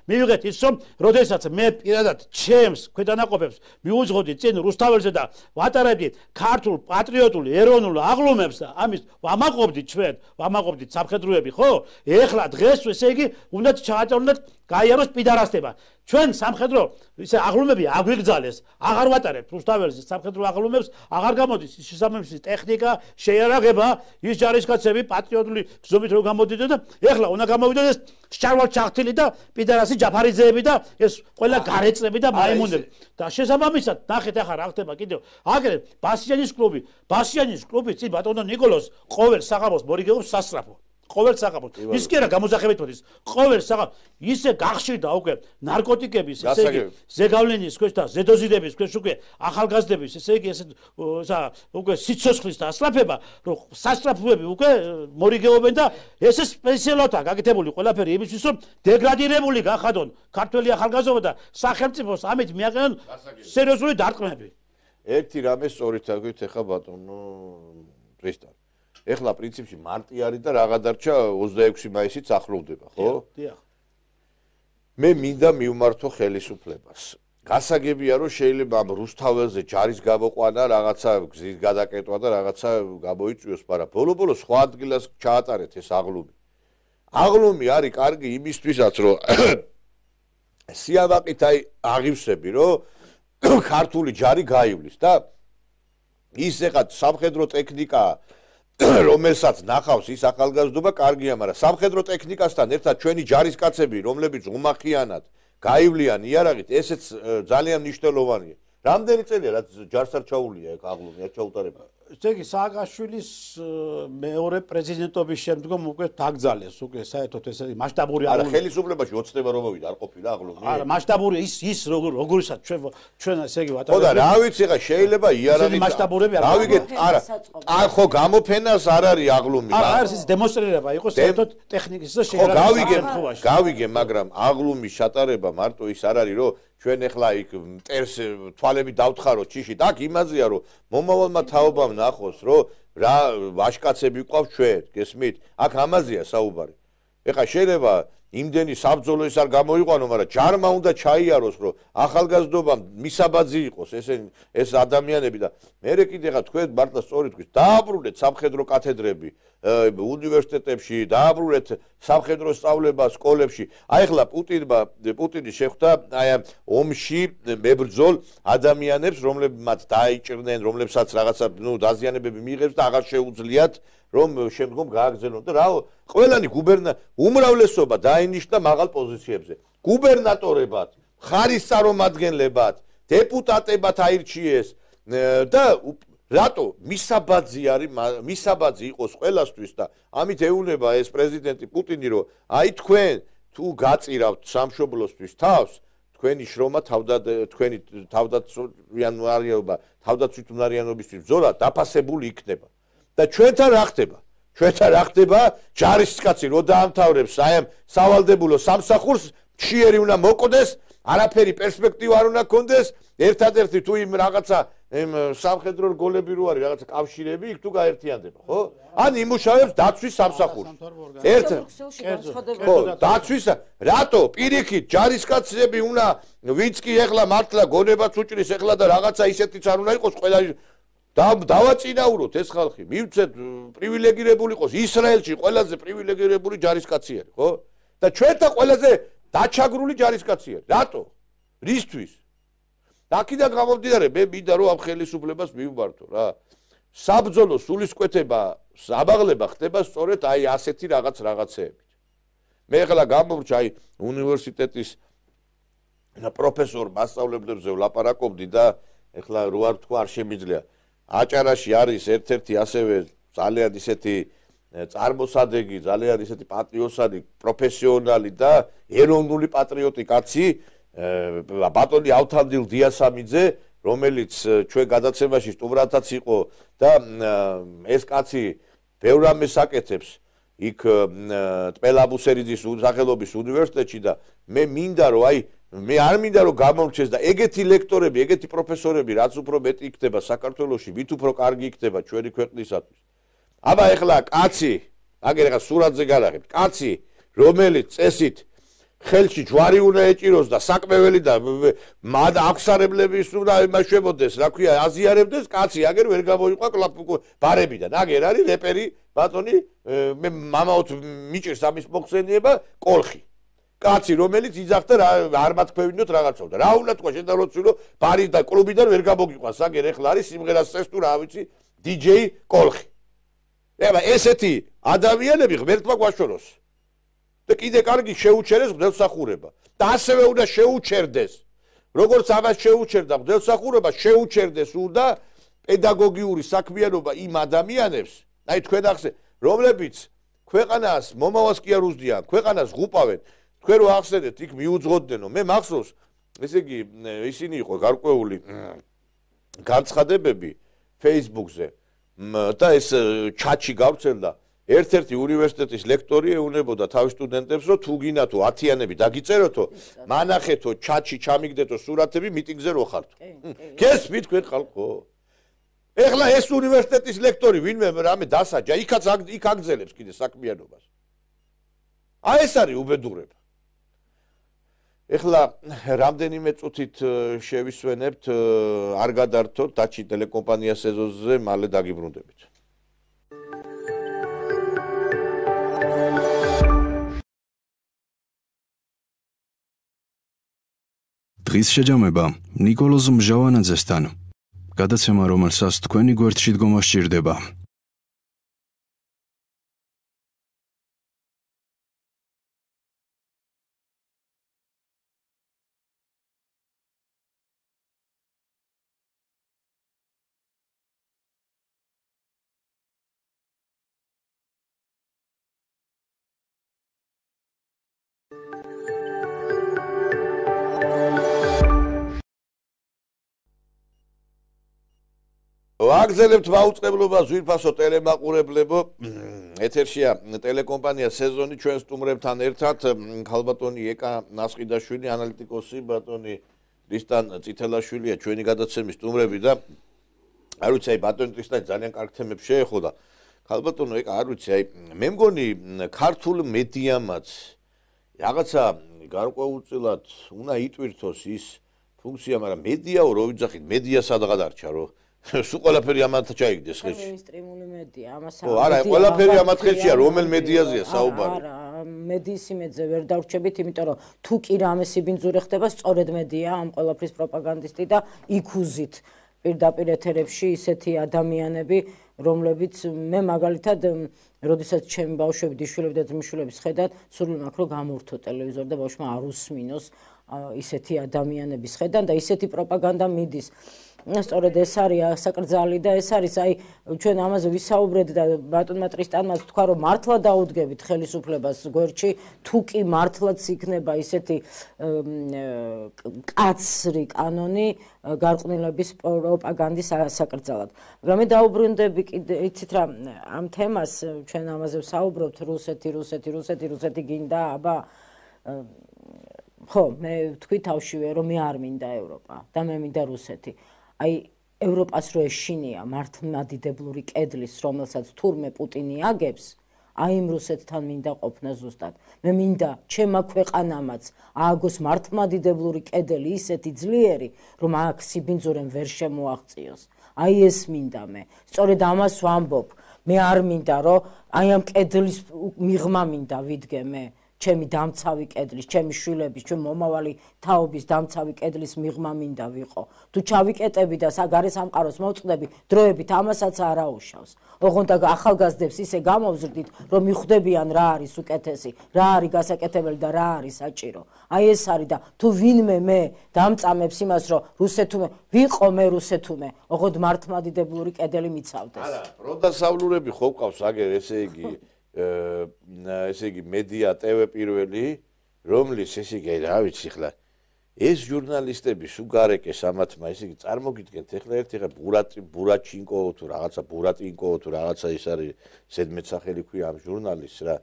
მივიღეთ ის რომ როდესაც მე პირადად ჩემს ქვედანაყოფებს მიუძღოდი წინ რუსთაველზე და ვატარებდი ქართულ პატრიოტულ ეროვნულ აღლუმებს და ამის ვამაყობდით სამხედროები, ხო? ეხლა დღეს ესე იგი უნდა ჩაატაროთ გაიაროს პიდარასტება. ჩვენ სამხედრო ისე აღლუმები აგვიგზალეს, აღარ ვატარებთ რუსთაველზე სამხედრო აღლუმებს, აღარ გამოდის შესაბამისი ტექნიკა, შეიარაღება, ის ჯარისკაცები პატრიოტული გზობით რომ გამოდიდნენ და ეხლა უნდა გამოვიდეს შარვალ ჩახთილი და პიდარასი ჯაფარიძეები და ეს ყველა გარეწები და მაიმუნები. და შესაბამისად ნახეთ ახლა რა ხდება კიდევ. აგერე ბასიანის კლუბი წინ ბატონო ნიკოლოს ყოველ საღამოს მორიგეობს სასწრაფო. ყოველ საღამოს. ის კი არა გამოსახებით მოდის. ყოველ საღამოს ისე გახშირდა უკვე ნარკოტიკების, ესე იგი ზეგავლენის ქვეშ და ზედოზიდების ქვეშ უკვე ახალგაზრდების, ესე იგი ესე უკვე სიცოცხლის დასწრაფება, რომ სასწრაფოები უკვე მორიგეობენ და ესე სპეციალოთაა გაკეთებული ყველაფერი იმისთვის, რომ დეგრადირებული გახადონ ქართველი ახალგაზრდობა და სახელმწიფოს ამით მიაყენონ სერიოზული დარტყმები. ერთი რამე სწორით აგვით ეხა ბატონო პრესტან. ეხლა პრინციპში მარტი არის და რაღა დარჩა 26 მაისიც ახლოვდება, ხო? დიახ. მე მინდა მივმართო ხელისუფლებას. გასაგებია რომ შეიძლება ამ რუსთაველზე ჯარის გამოყვანა, რაღაცა გზის გადაკეტვა და რაღაცა გამოიწვიოს, მაგრამ ბოლო-ბოლო სხვა ადგილას ჩაატარეთ ეს აღლუმი. აღლუმი არის კარგი იმისთვისაც, რომ სიავაყით აღივსები, რომ ქართული ჯარი გაივლის და ის ეხლა სამხედრო ტექნიკა რომელსაც ნახავს ის ახალგაზრდობა კარგია, მაგრამ სამხედრო ტექნიკასთან ერთად ჩვენი ჯარისკაცები, რომლებიც უმახიანად გაივლიან იარაღით, ესეც ძალიან მნიშვნელოვანია. რამდენი წელია რაც ჯარს არ ჩაულია ეგ აღლუმი, არ ჩაუტარება? ესე იგი სააკაშვილის მეორე პრეზიდენტობის შემდგომ უკვე დაგძალეს უკვე საერთოდ ესე მასშტაბური აღლუმი. არა, ხელისუფლებაში ოცნება რომ მოვიდა, არ ყოფილა აღლუმი. არა, მასშტაბური ის როგორიცაც ჩვენ ესე იგი ვატარებთ. ხო და რა ვიცი ხა შეიძლება იარაღით მასშტაბურები არ გავიგეთ, არა. ხო გამოფენას არ არის აღლუმი. არა, არის ის დემონსტრირება იყო საერთოდ ტექნიკის და შეერაღების. გავიგე, მაგრამ აღლუმის შეტარება მარტო ის არ არის რომ ჩვენ ეხლა იქ მტერს თვალები დავთხაროთ ჩიშით, აქ იმაზეა რომ მომავალმა თაობამ ნახოს რომ რა ვაშკაცები ყავს ჩვენ, გესმით? აქ ამაზეა საუბარი. ეხლა შეიძლება იმდენი საბრძოლო ის არ გამოიყვანო, მაგრამ ჯარმა უნდა ჩაიაროს რომ ახალგაზრდობამ მისაბაძი იყოს ეს ადამიანები და მერე კიდე ხა თქვენ მართლა სწორი თქვით, დააბრუნეთ სამხედრო კათედრები უნივერსიტეტებში, დააბრუნეთ სამხედრო სწავლება სკოლებში. აი ახლა პუტინი შეხვდა აი ამ ომში მებრძოლ ადამიანებს, რომლებმაც დაიჭრნენ, რომლებსაც რაღაცა დაზიანებები მიიღებს და აღარ შეუძლიათ რომ შემდგომ გააგზავნონ და რა ყველანი უმრავლესობა დაინიშნა მაღალ პოზიციებზე. გუბერნატორებად, მხარის წარმომადგენლებად, დეპუტატებად აირჩიეს და რატო მისაბაძი იყოს ყველასთვის და ამით ეუბნება ეს პრეზიდენტი პუტინი რომ აი თქვენ თუ გაწირავთ სამშობლოსთვის თავს თქვენი შრომა თქვენი თავდაცვითუნარიანობისთვის ბრძოლა დაფასებული იქნება და ჩვენთან რა ხდება? ჩვენთან რა ხდება? ჯარისკაცი რო დაამთავრებს აი ამ სავალდებულო სამსახურს, მშიერი უნდა მოკვდეს, არაფერი პერსპექტივა არ უნდა კონდეს, ერთადერთი თუ იმ რაღაცა სამხედრო რგოლები რო არის, რაღაცა კავშირები, იქ თუ გაერთიანდება, ხო? ან იმუშავებს დაცვის სამსახურში. ხო, დაცვის რატო პირიქით ჯარისკაცები უნდა ვინც კი ეხლა მართლა გონებას უჭრის ეხლა და რაღაცა ისეთიც არ უნდა იყოს ყველა დავაწინაუროთ ეს ხალხი, მივცეთ პრივილეგირებული იყოს ისრაელში ყველაზე პრივილეგირებული ჯარისკაცი არის, ხო? და ჩვენთან ყველაზე დაჩაგრული ჯარისკაცი არის. რატო? რისთვის? აქედან გამომდინარე, მე მინდა რომ ამ ხელისუფლებას მივმართო რა. საბრძოლო სულისკვეთება, საბაღლება ხდება სწორედ აი ასეთი რაღაცეებით. მე ახლა გამომრჩა აი უნივერსიტეტის პროფესორ მასწავლებლებზე ვლაპარაკობდი და ახლა რო არ თქვა არ შემიძლია. აჭარაში არის ერთ-ერთი ასევე ძალიან ისეთი წარმოსადეგი, ძალიან ისეთი პატრიოტი, პროფესიონალი და ეროვნული პატრიოტი კაცი ბატონი ავთანდილ დიასამიძე, რომელიც ჩვენ გადაცემაში სტუმრათაც იყო და ეს კაცი ბევრ რამეს აკეთებს იქ ტპელაბუსერიძის სახელობის უნივერსიტეტში და მე მინდა რომ მე არ მინდა რომ გამორჩეს და ეგეთი ლექტორები, ეგეთი პროფესორები რაც უფრო მეტი იქნება საქართველოში, მით უფრო კარგი იქნება ჩვენი ქვეყნისათვის. აბა ეხლა კაცი, აგერ ეხლა სურათზე გარაღებთ, კაცი, რომელიც წესით ხელში ჯვარი უნდა ეჭიროს და საკმეველი და აღსარებლების უნდა იმაშებოდეს, რა ქვია, აზიარებდეს, კაცი აგერ ვერ გამოიყვა ბარებიდან. აგერ არის რეპერი ბატონი, მე მამაოთ მიჭირს ამის მოხსენება კოლხი. კაცი, რომელიც იძახდა არ მათქვევინოთ რაღაცով და რა უნდა თქვა შენ და როცილო ბარი და კლუბიდან ვერ გამოგიყვანს, აგერ ეხლა არის სიმღერას წეს თუ რა ვიცი, DJ კოლხი. ეხლა ესეთი ადამიანები ღმერთმა გვაშოროს. და კიდე კარგი შეუჩერეს ღმერთსახურება და ასევე უნდა შეუჩერდეს როგორც ამას შეუჩერდა ღმერთსახურება შეუჩერდეს უნდა პედაგოგიური საქმიანობა იმ ადამიანებს აი თქვენ ახსენეთ რომლებიც ქვეყანას მომავალს კი არ უზდიან ქვეყანას ღუპავენ თქვენ რო ახსენეთ იქ მიუძღოდნენ მე მახსოვს ესე იგი ისინი იყო გარკვეული განცხადებები Facebook-ზე და ეს ჩატში გავრცელდა ერთ-ერთი უნივერსიტეტის ლექტორი ეუბნებოდა თავის სტუდენტებს, რომ თუ გინდა თუ 10-იანები დაგიწეროთო, მანახეთო, ჩატში ჩამიგდეთო სურათები, მიტინგზე რო ხართ. გესმით თქვენ ხალხო? ეხლა ეს უნივერსიტეტის ლექტორი ვინმე რამე დასაჯა, იქ აგზელებს კიდე საქმიანობას. აი ეს არის უბედურება. ეხლა რამდენიმე წუთით შევისვენებთ, არ გადართოთ დაჩი ტელეკომპანია სეზონზე, მალე დაგიბრუნდებით. დღის შეჯამება ნიკოლოზ მჟავანაძესთან. გადაცემა, რომელსაც თქვენი გვერდში დგომა სჭირდება. ვაგზელებთ მაუწყებლობა ზვირფასო ტელემაყურებლებო ეთერშია ტელეკომპანია სეზონი ჩვენ სტუმრებთან ერთად ხალბატონი ეკა ნასყიდაშვილი ანალიტიკოსი ბატონი რისტან წითელაშვილია ჩვენი გადაცემის სტუმრები და არ ვიცი აი ბატონი რისტანი ძალიან კარგ თემებს შეეხო და ხალბატონო ეკა არ ვიცი აი მე მგონი ქართულ მედიამაც რაღაცა გარკვეულწილად უნდა იტვირთოს ის ფუნქცია მაგრამ მედიაო რო ვიძახით მედია სადღა დარჩა რო სულ ყველაფერი ამათ ჩაიგდეს ხელში. მეინსტრიმული მედია, ამას არა, ყველაფერი ამათ ხელშია, რომელ მედიაზეა საუბარი? არა, მედიის იმედზე ვერ დავრჩებით, იმიტომ რომ თუ კი რამე სიბინძური ხდება, სწორედ მედია ამ ყველაფრის პროპაგანდისტი და იქუზით პირდაპირ ეთერებში ისეთი ადამიანები, რომლებიც მე მაგალითად, როდესაც ჩემი ბავშვები, დიშვილები და ძმისშვილები სხედათ, სურვილი მაქვს რომ გამორთო ტელევიზორი და ბავშვმა არ უსმინოს ისეთი ადამიანების ხედან და ისეთი პროპაგანდა მიდის. სწორედ ეს არის საკრძალი და ეს არის აი ჩვენ ამაზე ვისაუბრეთ და ბატონმა ტრისტანმაც თქვა რომ მართლა დაუდგებით ხელისუფლებას გვერდში თუ კი მართლაც იქნება ისეთი კაცრი კანონი გარყვნილების პროპაგანდის საკრძალად. მაგრამ მე დაუბრუნდები კიდე იცით რა ამ თემას ჩვენ ამაზე ვსაუბრობთ რუსეთი გინდა აბა ხო მე თქვი თავშივე რომ მე არ მინდა ევროპა და მე მინდა რუსეთი. აი ევროპას რო ეშინია მართლმადიდებლური კედლის რომელსაც თურმე პუტინი აგებს აი იმ რუსეთთან მინდა ყოფნა ზუსტად მე მინდა ჩემა ქვეყანამაც ააგოს მართლმადიდებლური კედელი ისეთი ძლიერი რომ აქ სიბინძურემ ვერ შემოაღწიოს აი ეს მინდა მე სწორედ ამას ვამბობ მე არ მინდა რომ აი ამ კედლის მიღმა მინდა ვიდგე მე ჩემი დამცავი კედლის, ჩემი შვილების, ჩემი მომავალი თაობის დამცავი კედლის მიღმა მინდა ვიყო. თუ ჩავიკეტები და გარე სამყაროს მოვწყდები, დროებით ამასაც არ აუშავს. ოღონდ ახალგაზრდებს ისე გამოვზრდით, რომ მიხვდებიან რა არის უკეთესი, რა არის გასაკეთებელი და რა არის საჭირო. აი ეს არის და თუ ვინმე მე დამწამებს იმას, რომ რუსეთუმე ვიყო მე რუსეთუმე, ოღონდ მართლმადიდებლური კედელი მიცავდეს. არა, პროდასავლურები ხო ყავს აგერ ესე იგი მედია ტევ პირველი რომლის ესე იგი რა ვიცი ხლა ეს ჟურნალისტები სუგარეკეს ამათმა, ესე იგი წარმოგიდგენთ ახლა ერთი ბურაჩინკო თუ რაღაცა ბურატინკო თუ რაღაცა ის არის ზედმეტსახელი ქვია ამ ჟურნალისტს რა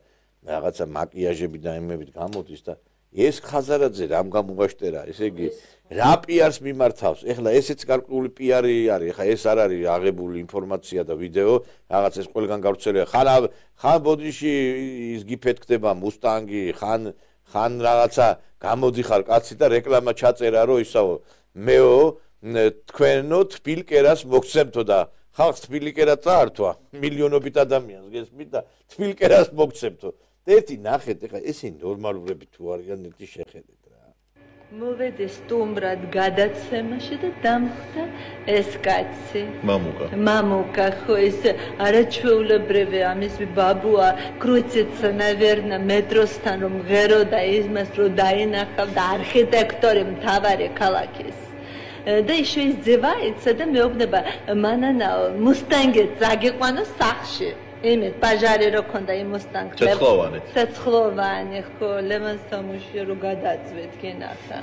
რაღაცა მაკიაჟები და იმებით გამოდის და ეს ხაზარაძე რამ გამოვაშტერა, ესე იგი რა პიარს მიმართავს. ეხლა ესეც გარკვეული პიარი არის, ეხლა ეს არ არის აღებული ინფორმაცია და ვიდეო, რაღაც ეს ყველგან გავრცელია. ხან ბოდიში ის გიფეთქდება მუსტანგი, ხან რაღაცა გამოდიხარ კაცი და რეკლამა ჩაწერა რომ ისაო მეო თქვენო თბილკერას მოგცემთო და ხალხს თბილკერა წაართვა მილიონობით ადამიანს გესმით და თბილკერას მოგცემთო. ერთი ნახეთ, ეხლა ესენი ნორმალურები თუ არიან ერთი შეხედეთ რა. მოვედი სტუმრად გადაცემაში და დამხდა ეს კაცი. მამუკა ხო ეს არაჩვეულებრივი ამის ბაბუა კრუციც ნავერნა მეტროსთან რომ ღერო და იმას რომ დაინახავდა არქიტექტორი მთავარი ქალაქის. და შეიძლება იცი და მეუბნება მანანა მუსტანგი წაგიყვანო სახში. იმით პაჟარი რო ქონდა იმ მუსტანგს ცეცხლოვანი ხო ლემონ სამუში რო გადაწვეთ გენახა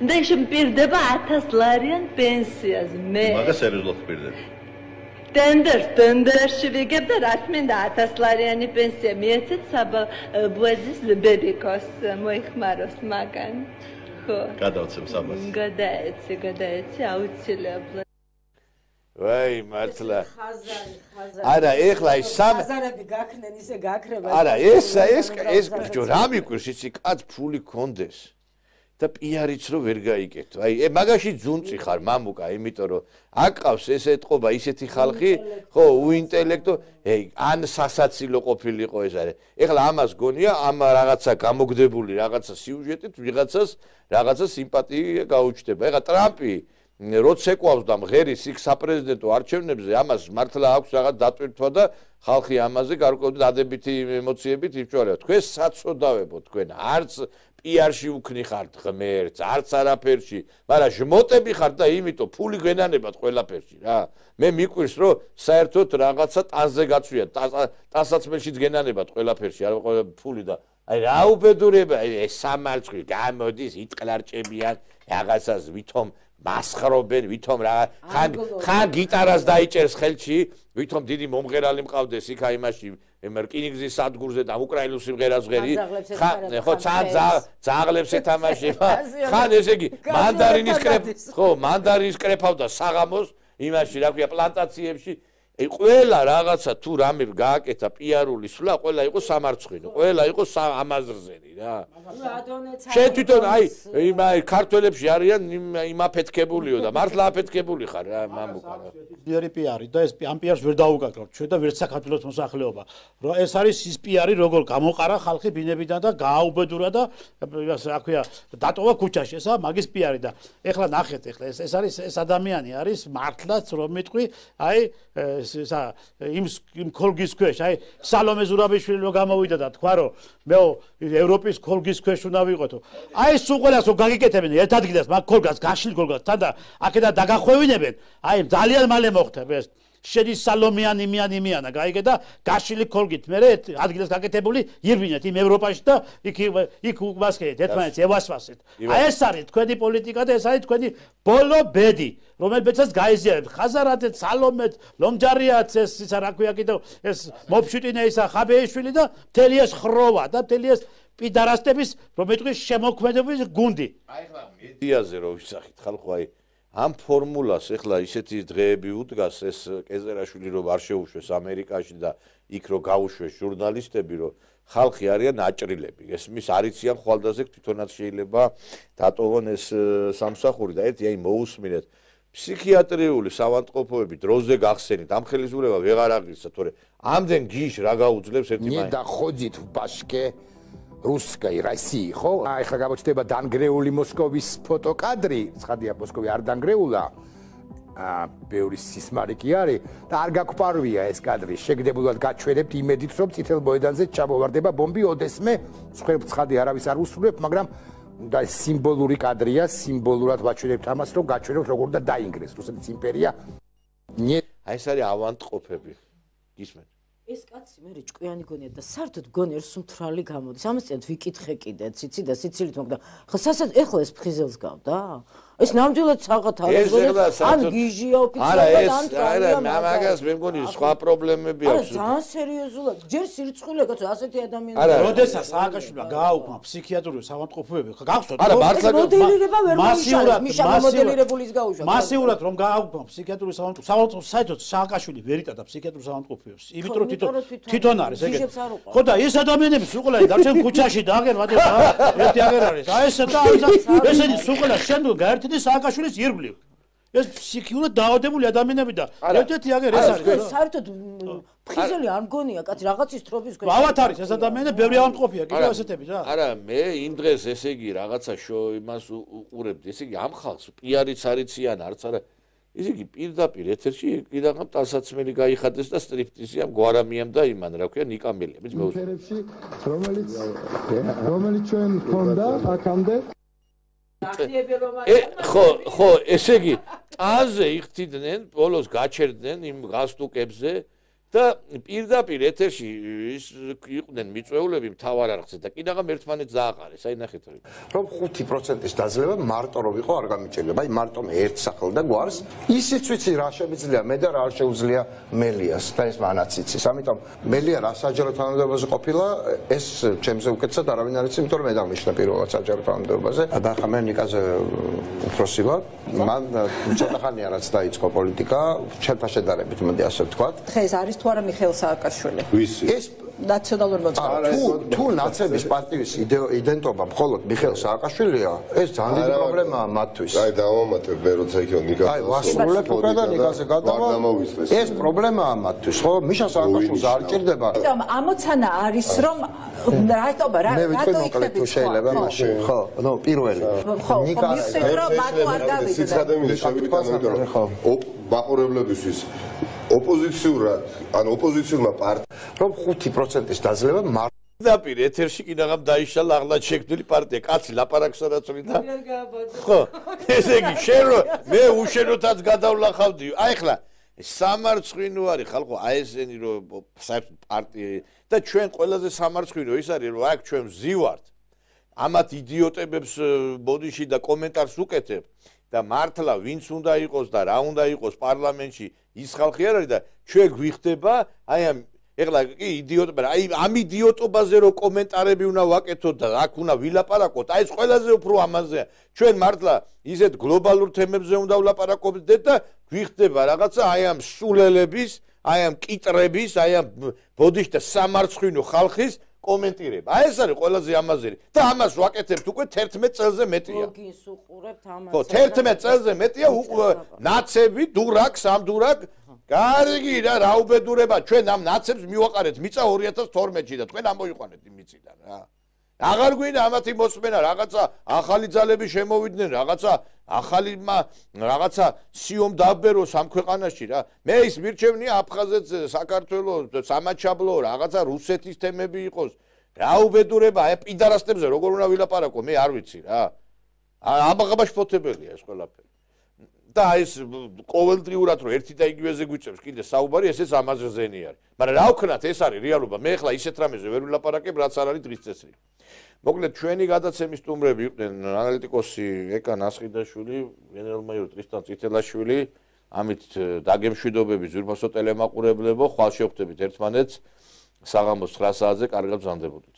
და ის მპირდება 1000 ლარიან პენსიას მე მაგას სერიოზულად მპირდება ტენდერში ვიგებ და რაც მინდა 1000 ლარიანი პენსია მიეცეთ საბა ბუეზის ბებიკოს მოიხმაროს მაგან ხო გადავცემ საბას გადაეცი აუცილებლად ვაი მართლა არა ეხლა ის ხაზარები გაქნენ ისე გაქრება არა ეს ბიჭო რა მიკვირს იცი კაც ფული კონდეს და პიარიც რო ვერ გაიკეთო აი მაგაში ძუნწი ხარ მამუკა იმიტომ რომ აკყავს ეს ეთყობა ისეთი ხალხი ხო უინტელექტო ან სასაცილო ყოფილიყო ეს არის ეხლა ამას გონია ამ რაღაცა გამოგდებული რაღაცა სიუჟეტით რაღაცა სიმპათია გაუჩნდება ეხლა ტრამპი როცა ეკვავს და მღერის იქ საპრეზიდენტო არჩევნებზე ამას მართლა აქვს რაღაც დატვირთვა და ხალხი ამაზე გარკვეული დადებითი ემოციებით იფჭვარება. თქვენ საწოდავებო თქვენ არც პიარში უქნი ხართ ღმერთს, არც არაფერში, მაგრამ ჟმოტები ხართ და იმიტომ ფული გენანებათ ყველაფერში რა. მე მიკვირს რომ საერთოდ რაღაცა ტანზე გაცვიათ, ტანსაცმელშიც გენანებათ ყველაფერში, არა ფული და აი რა უბედურება, ეს სამარცხვი გამოდის, იტყლარჭებიან რაღაცას ვითომ მასხრობენ ვითომ რა ხან გიტარას დაიჭერს ხელში ვითომ დიდი მომღერალი მყავდეს იქ აი იმაში რკინიგზის სადგურზე და უკრაინულ სიმღერას ღერი ხო ძაღლებს ეთამაშება ხან ესე იგი მანდარინის კრეფავდა საღამოს იმაში რა ქვია პლანტაციებში ყველა რაღაცა თუ რამე გააკეთა პიარული სვლა ყველა იყო სამარცხვინო ყველა იყო ამაზრზენი რა შენ თვითონ აი ქართველებში არიან იმ აფეთქებულიო და მართლა აფეთქებული ხარ რა მამუკა პიარი პიარი და ეს ამ პიარს ვერ დაუკაკრავთ ჩვენ და ვერც საქართველოს მოსახლეობა რომ ეს არის ის პიარი როგორ გამოყარა ხალხი ბინებიდან და გააუბედურა და რა ქვია დატოვა ქუჩაში ესა მაგის პიარი და ეხლა ნახეთ ეხლა ეს არის ეს ადამიანი არის მართლაც რომ მიტყვი აი იმ ქოლგის ქვეშ აი სალომე ზურაბიშვილი რო გამოვიდა და თქვა რომ მეო ევროპის ქოლგის ქვეშ უნდა ვიყოთო აი სულ ყველას რო გაგიკეთებენ ერთ ადგილას მაგ ქოლგას გაშლილ ქოლგას თან და აქედან დაგახვევინებენ აი ძალიან მალე მოხდება ეს შედის სალომიანი გაიგე და გაშლილი ქოლგით მე ადგილას გაკეთებული ირბინეთ იმ ევროპაში და იქ უკმასკეთ ერთმანეთს ევასვასეთ აი ეს არის თქვენი პოლიტიკა და ეს არის თქვენი ბოლო ბედი რომელსაც გაიზიარებთ ხაზარაძე სალომეთ ლომჯარიაც ეს რა ქვია კიდევ ეს მოფშუტინე ისა ხაბეიშვილი და მთელი ეს ხროვა და მთელი ეს პიდარასტების რომ ეთქვი შემოქმედების გუნდი აი ხლა მედიაზე რო ვისახით ხალხო აი ამ ფორმულას ეხლა ისეთი დღეები უდგას ეს კეზერაშვილი რომ არ შეუშვეს ამერიკაში და იქ რომ გაუშვეს ჟურნალისტები რომ ხალხი არიან აჭრილები ესმის არიციან ხვალდაზე თვითონაც შეიძლება დატოვონ ეს სამსახური და ერთი აი მოусმინეთ ფსიქიატრიული სავანტყოფოები დროზე გახსენით ამ ხელისურება ვეღარ აღიცა თორე ამდენ გიშ რა გაუძლებს ერთი მაინც და ხოძით ბაშკე რუსკაი რასი ხო აი ხა გამოჩნდება დანგრეული მოსკოვის ფოტოკადრი ცხადია მოსკოვი არ დანგრეულა ბევრი სისმარი კი არის და არ გაგყვარვია ეს კადრი შეგდებულად გაჩვენებთ იმედით რომ წითელ მოედანზე ჩამოვარდება ბომბი ოდესმე ცხადი არავის არ უსრულებ მაგრამ და სიმბოლური კადრია სიმბოლურად ვაჩვენებთ ამას რომ გაჩვენოთ როგორ დაინგრეს რუსეთის იმპერია აი ეს არის ავანტყოფები გისმენთ ეს კაცი მე ჭკვიანი გონია და საერთოდ გონი ერთ სუმთრალი გამოდის. ამას წინ ვიკითხე კიდე, ციცი და სიცილით მოგდა. ხო სასაც ეხლა ეს ფრიზელს გავდა? ეს ნამდვილად საღათ არის ან გიჟია ოფიციალურად ან არა მაგას მე მგონი სხვა პრობლემები აქვს. არა ძალიან სერიოზულად ჯერ სირცხვილია კაცო ასეთი ადამიანები. არა როდესაც სააკაშვილმა გააუქმა ფსიქიატრიული საავადმყოფოები გახსოვთ არა მართლა მოდელირება ვერ მოიშალეს მიშა მოდელირებულის გაუშვა. მასიურად რომ გააუქმა ფსიქიატრიული საავადმყოფო საერთოდ სააკაშვილი ვერ იტადა ფსიქიატრიულ საავადმყოფოებს. იმიტომ რომ თვითონ არის ეგ. ხო და ეს ადამიანები სუყლარი დარჩენ ქუჩაში და აგერ ვადე ერთი აგერ არის. აი ეს და ესენი სუყლარი შემდგომ გაერთიანდა სააკაშვილის ირგვლივ. ეს ფსიქიურად დაავადებული ადამიანები და ერთ-ერთი აგერ ეს არის. საერთოდ ფრიზელი არ მგონია კაცი რაღაცის თრობის ქვეშ. ავათ არის ეს ადამიანები ბევრი ავადმყოფია კიდევ ესეთები რა. არა მე იმ დღეს ესე იგი რაღაცა იმას უყურებდი ესე იგი ამ ხალხს პიარიც არიციან არც არა ესე იგი პირდაპირ ეთერში კიდაღამ ტანსაცმელი გაიხადეს და სტრიპტიზიამ გვარამიამ და იმან რა ქვია ნიკამელია მე ფერებში რომელიც ჩვენ ქონდა აქამდე ხო ესე იგი ტანზე იხდიდნენ ბოლოს გაჩერდნენ იმ გასტუკებზე და პირდაპირ ეთერში იყვნენ მიწვეულები მთავარ არხზე და კიდაღამ ერთმანეთს დააყარეს აი ნახეთ რომ 5%-ის დაძლევა მარტო რომ იყო არ გამიჭირდება აი მარტო ერთ სახლ და გვარს ისიც ვიცი რა შემიძლია მე და რა არ შეუძლია მელიას და ეს მანაც იცის ამიტომ მელია რა საჯარო თანამდებობაზე ყოფილა ეს ჩემზე უკეთესად არავინ არ იცი იმიტომ რომ მე დამიშნა პირველად საჯარო თანამდებობაზე და ხა მე ნიკაზე უფროსი ვარ მან ცოტა ხანია რაც დაიწყო პოლიტიკა ჩემთან შედარებით მოდი ასე ვთქვა დღეს არის თუ არა მიხეილ სააკაშვილი ეს ნაციონალური მოძრაობა თუ ნაცების პარტიის იდენტობა მხოლოდ მიხეილ სააკაშვილია ეს ძალიან დიდი პრობლემაა მათთვის აი დავამატებ მე როცა იქ ნიკა აი ვასრულებ უკვე და ნიკაზე გადავა ეს პრობლემაა მათთვის ხო მიშა სააკაშვილს არ ჭირდება ამოცანა არის რომ რატომ მე ვიტყვი მოკლედ თუ შეიძლება მაშინ ხო ნუ პირველი ნიკა სიცადემილი შევიდეთ ამიტომ რომ მაყურებლებისთვის ოპოზიციურად ან ოპოზიციურმა პარტიამ რომ 5%-ის დაძლევა დაპირ ეთერში კიდაღამ დაიშალა აღლად შექმნილი პარტია კაცი ლაპარაკს რაც ვიდა ხო ესე იგი შენ რო მე უშენოთაც გადავლახავდი აი ხლა სამარცხვინო არის ხალხო აი ესენი რო საერთოდ პარტია და ჩვენ ყველაზე სამარცხვინო ის არის რომ აქ ჩვენ ვზივართ ამათ იდიოტებებს ბოდიში და კომენტარს უკეთებ და მართლა ვინც უნდა იყოს და რა უნდა იყოს პარლამენტში ის ხალხი არ არის და ჩვენ გვიხდება აი ამ ეხლა კი იდიოტობა აი ამ იდიოტობაზე რო კომენტარები უნდა ვაკეთოთ და აქ უნდა ვილაპარაკოთ აი ეს ყველაზე უფრო ამაზეა ჩვენ მართლა ისეთ გლობალურ თემებზე უნდა ვლაპარაკობდეთ და გვიხდება რაღაცა აი ამ სულელების აი ამ კიტრების აი ამ ბოდიშ და სამარცხვინო ხალხის კომენტირება. აი ეს არის ყველაზე ამაზერი და ამას ვაკეთებთ უკვე 11 წელზე მეტია. გოგინს უყურებთ ამას. ხო 11 წელზე მეტია ნაცები დურაკ სამდურაკ გარიგი რა უბედურება ჩვენ ამ ნაცებს მივაყარეთ მიწა 2012-ში და თქვენ ამოიყვანეთ იმ მიწიდან რა. აღარ გვინდა ამათი მოსმენა რაღაცა ახალი ძალები შემოვიდნენ რაღაცა ახალი რაღაცა სიომ დაბეროს ამ ქვეყანაში რა. მე ის მირჩევნია აფხაზეთს საქართველოს სამაჩაბლო რაღაცა რუსეთის თემები იყოს. რა უბედურება აი პიდარასტებზე როგორ უნდა ვილაპარაკო მე არ ვიცი რა. აბაღაბაშფოთებელია ეს ყველაფერი. და ეს ყოველდღიურად რომ ერთი და იგივეზე გვიწევს კიდე საუბარი ესეც ამაზე ზენი არის. მაგრამ რა ვქნათ ეს არის რეალობა. მე ახლა ისეთ რამეზე ვერ ვილაპარაკებ რაც არ არის დღის წესრიგი. მოკლედ ჩვენი გადაცემის სტუმრები იყვნენ ანალიტიკოსი ეკა ნასხიდაშვილი, გენერალ-მაიორი ტრისტან წითელაშვილი, ამით დაგემშვიდობები ზურფასო ტელემაყურებლებო, ხვალ შევხვდებით ერთმანეთს საღამოს 9 საათზე, კარგად ვზანდებოდით.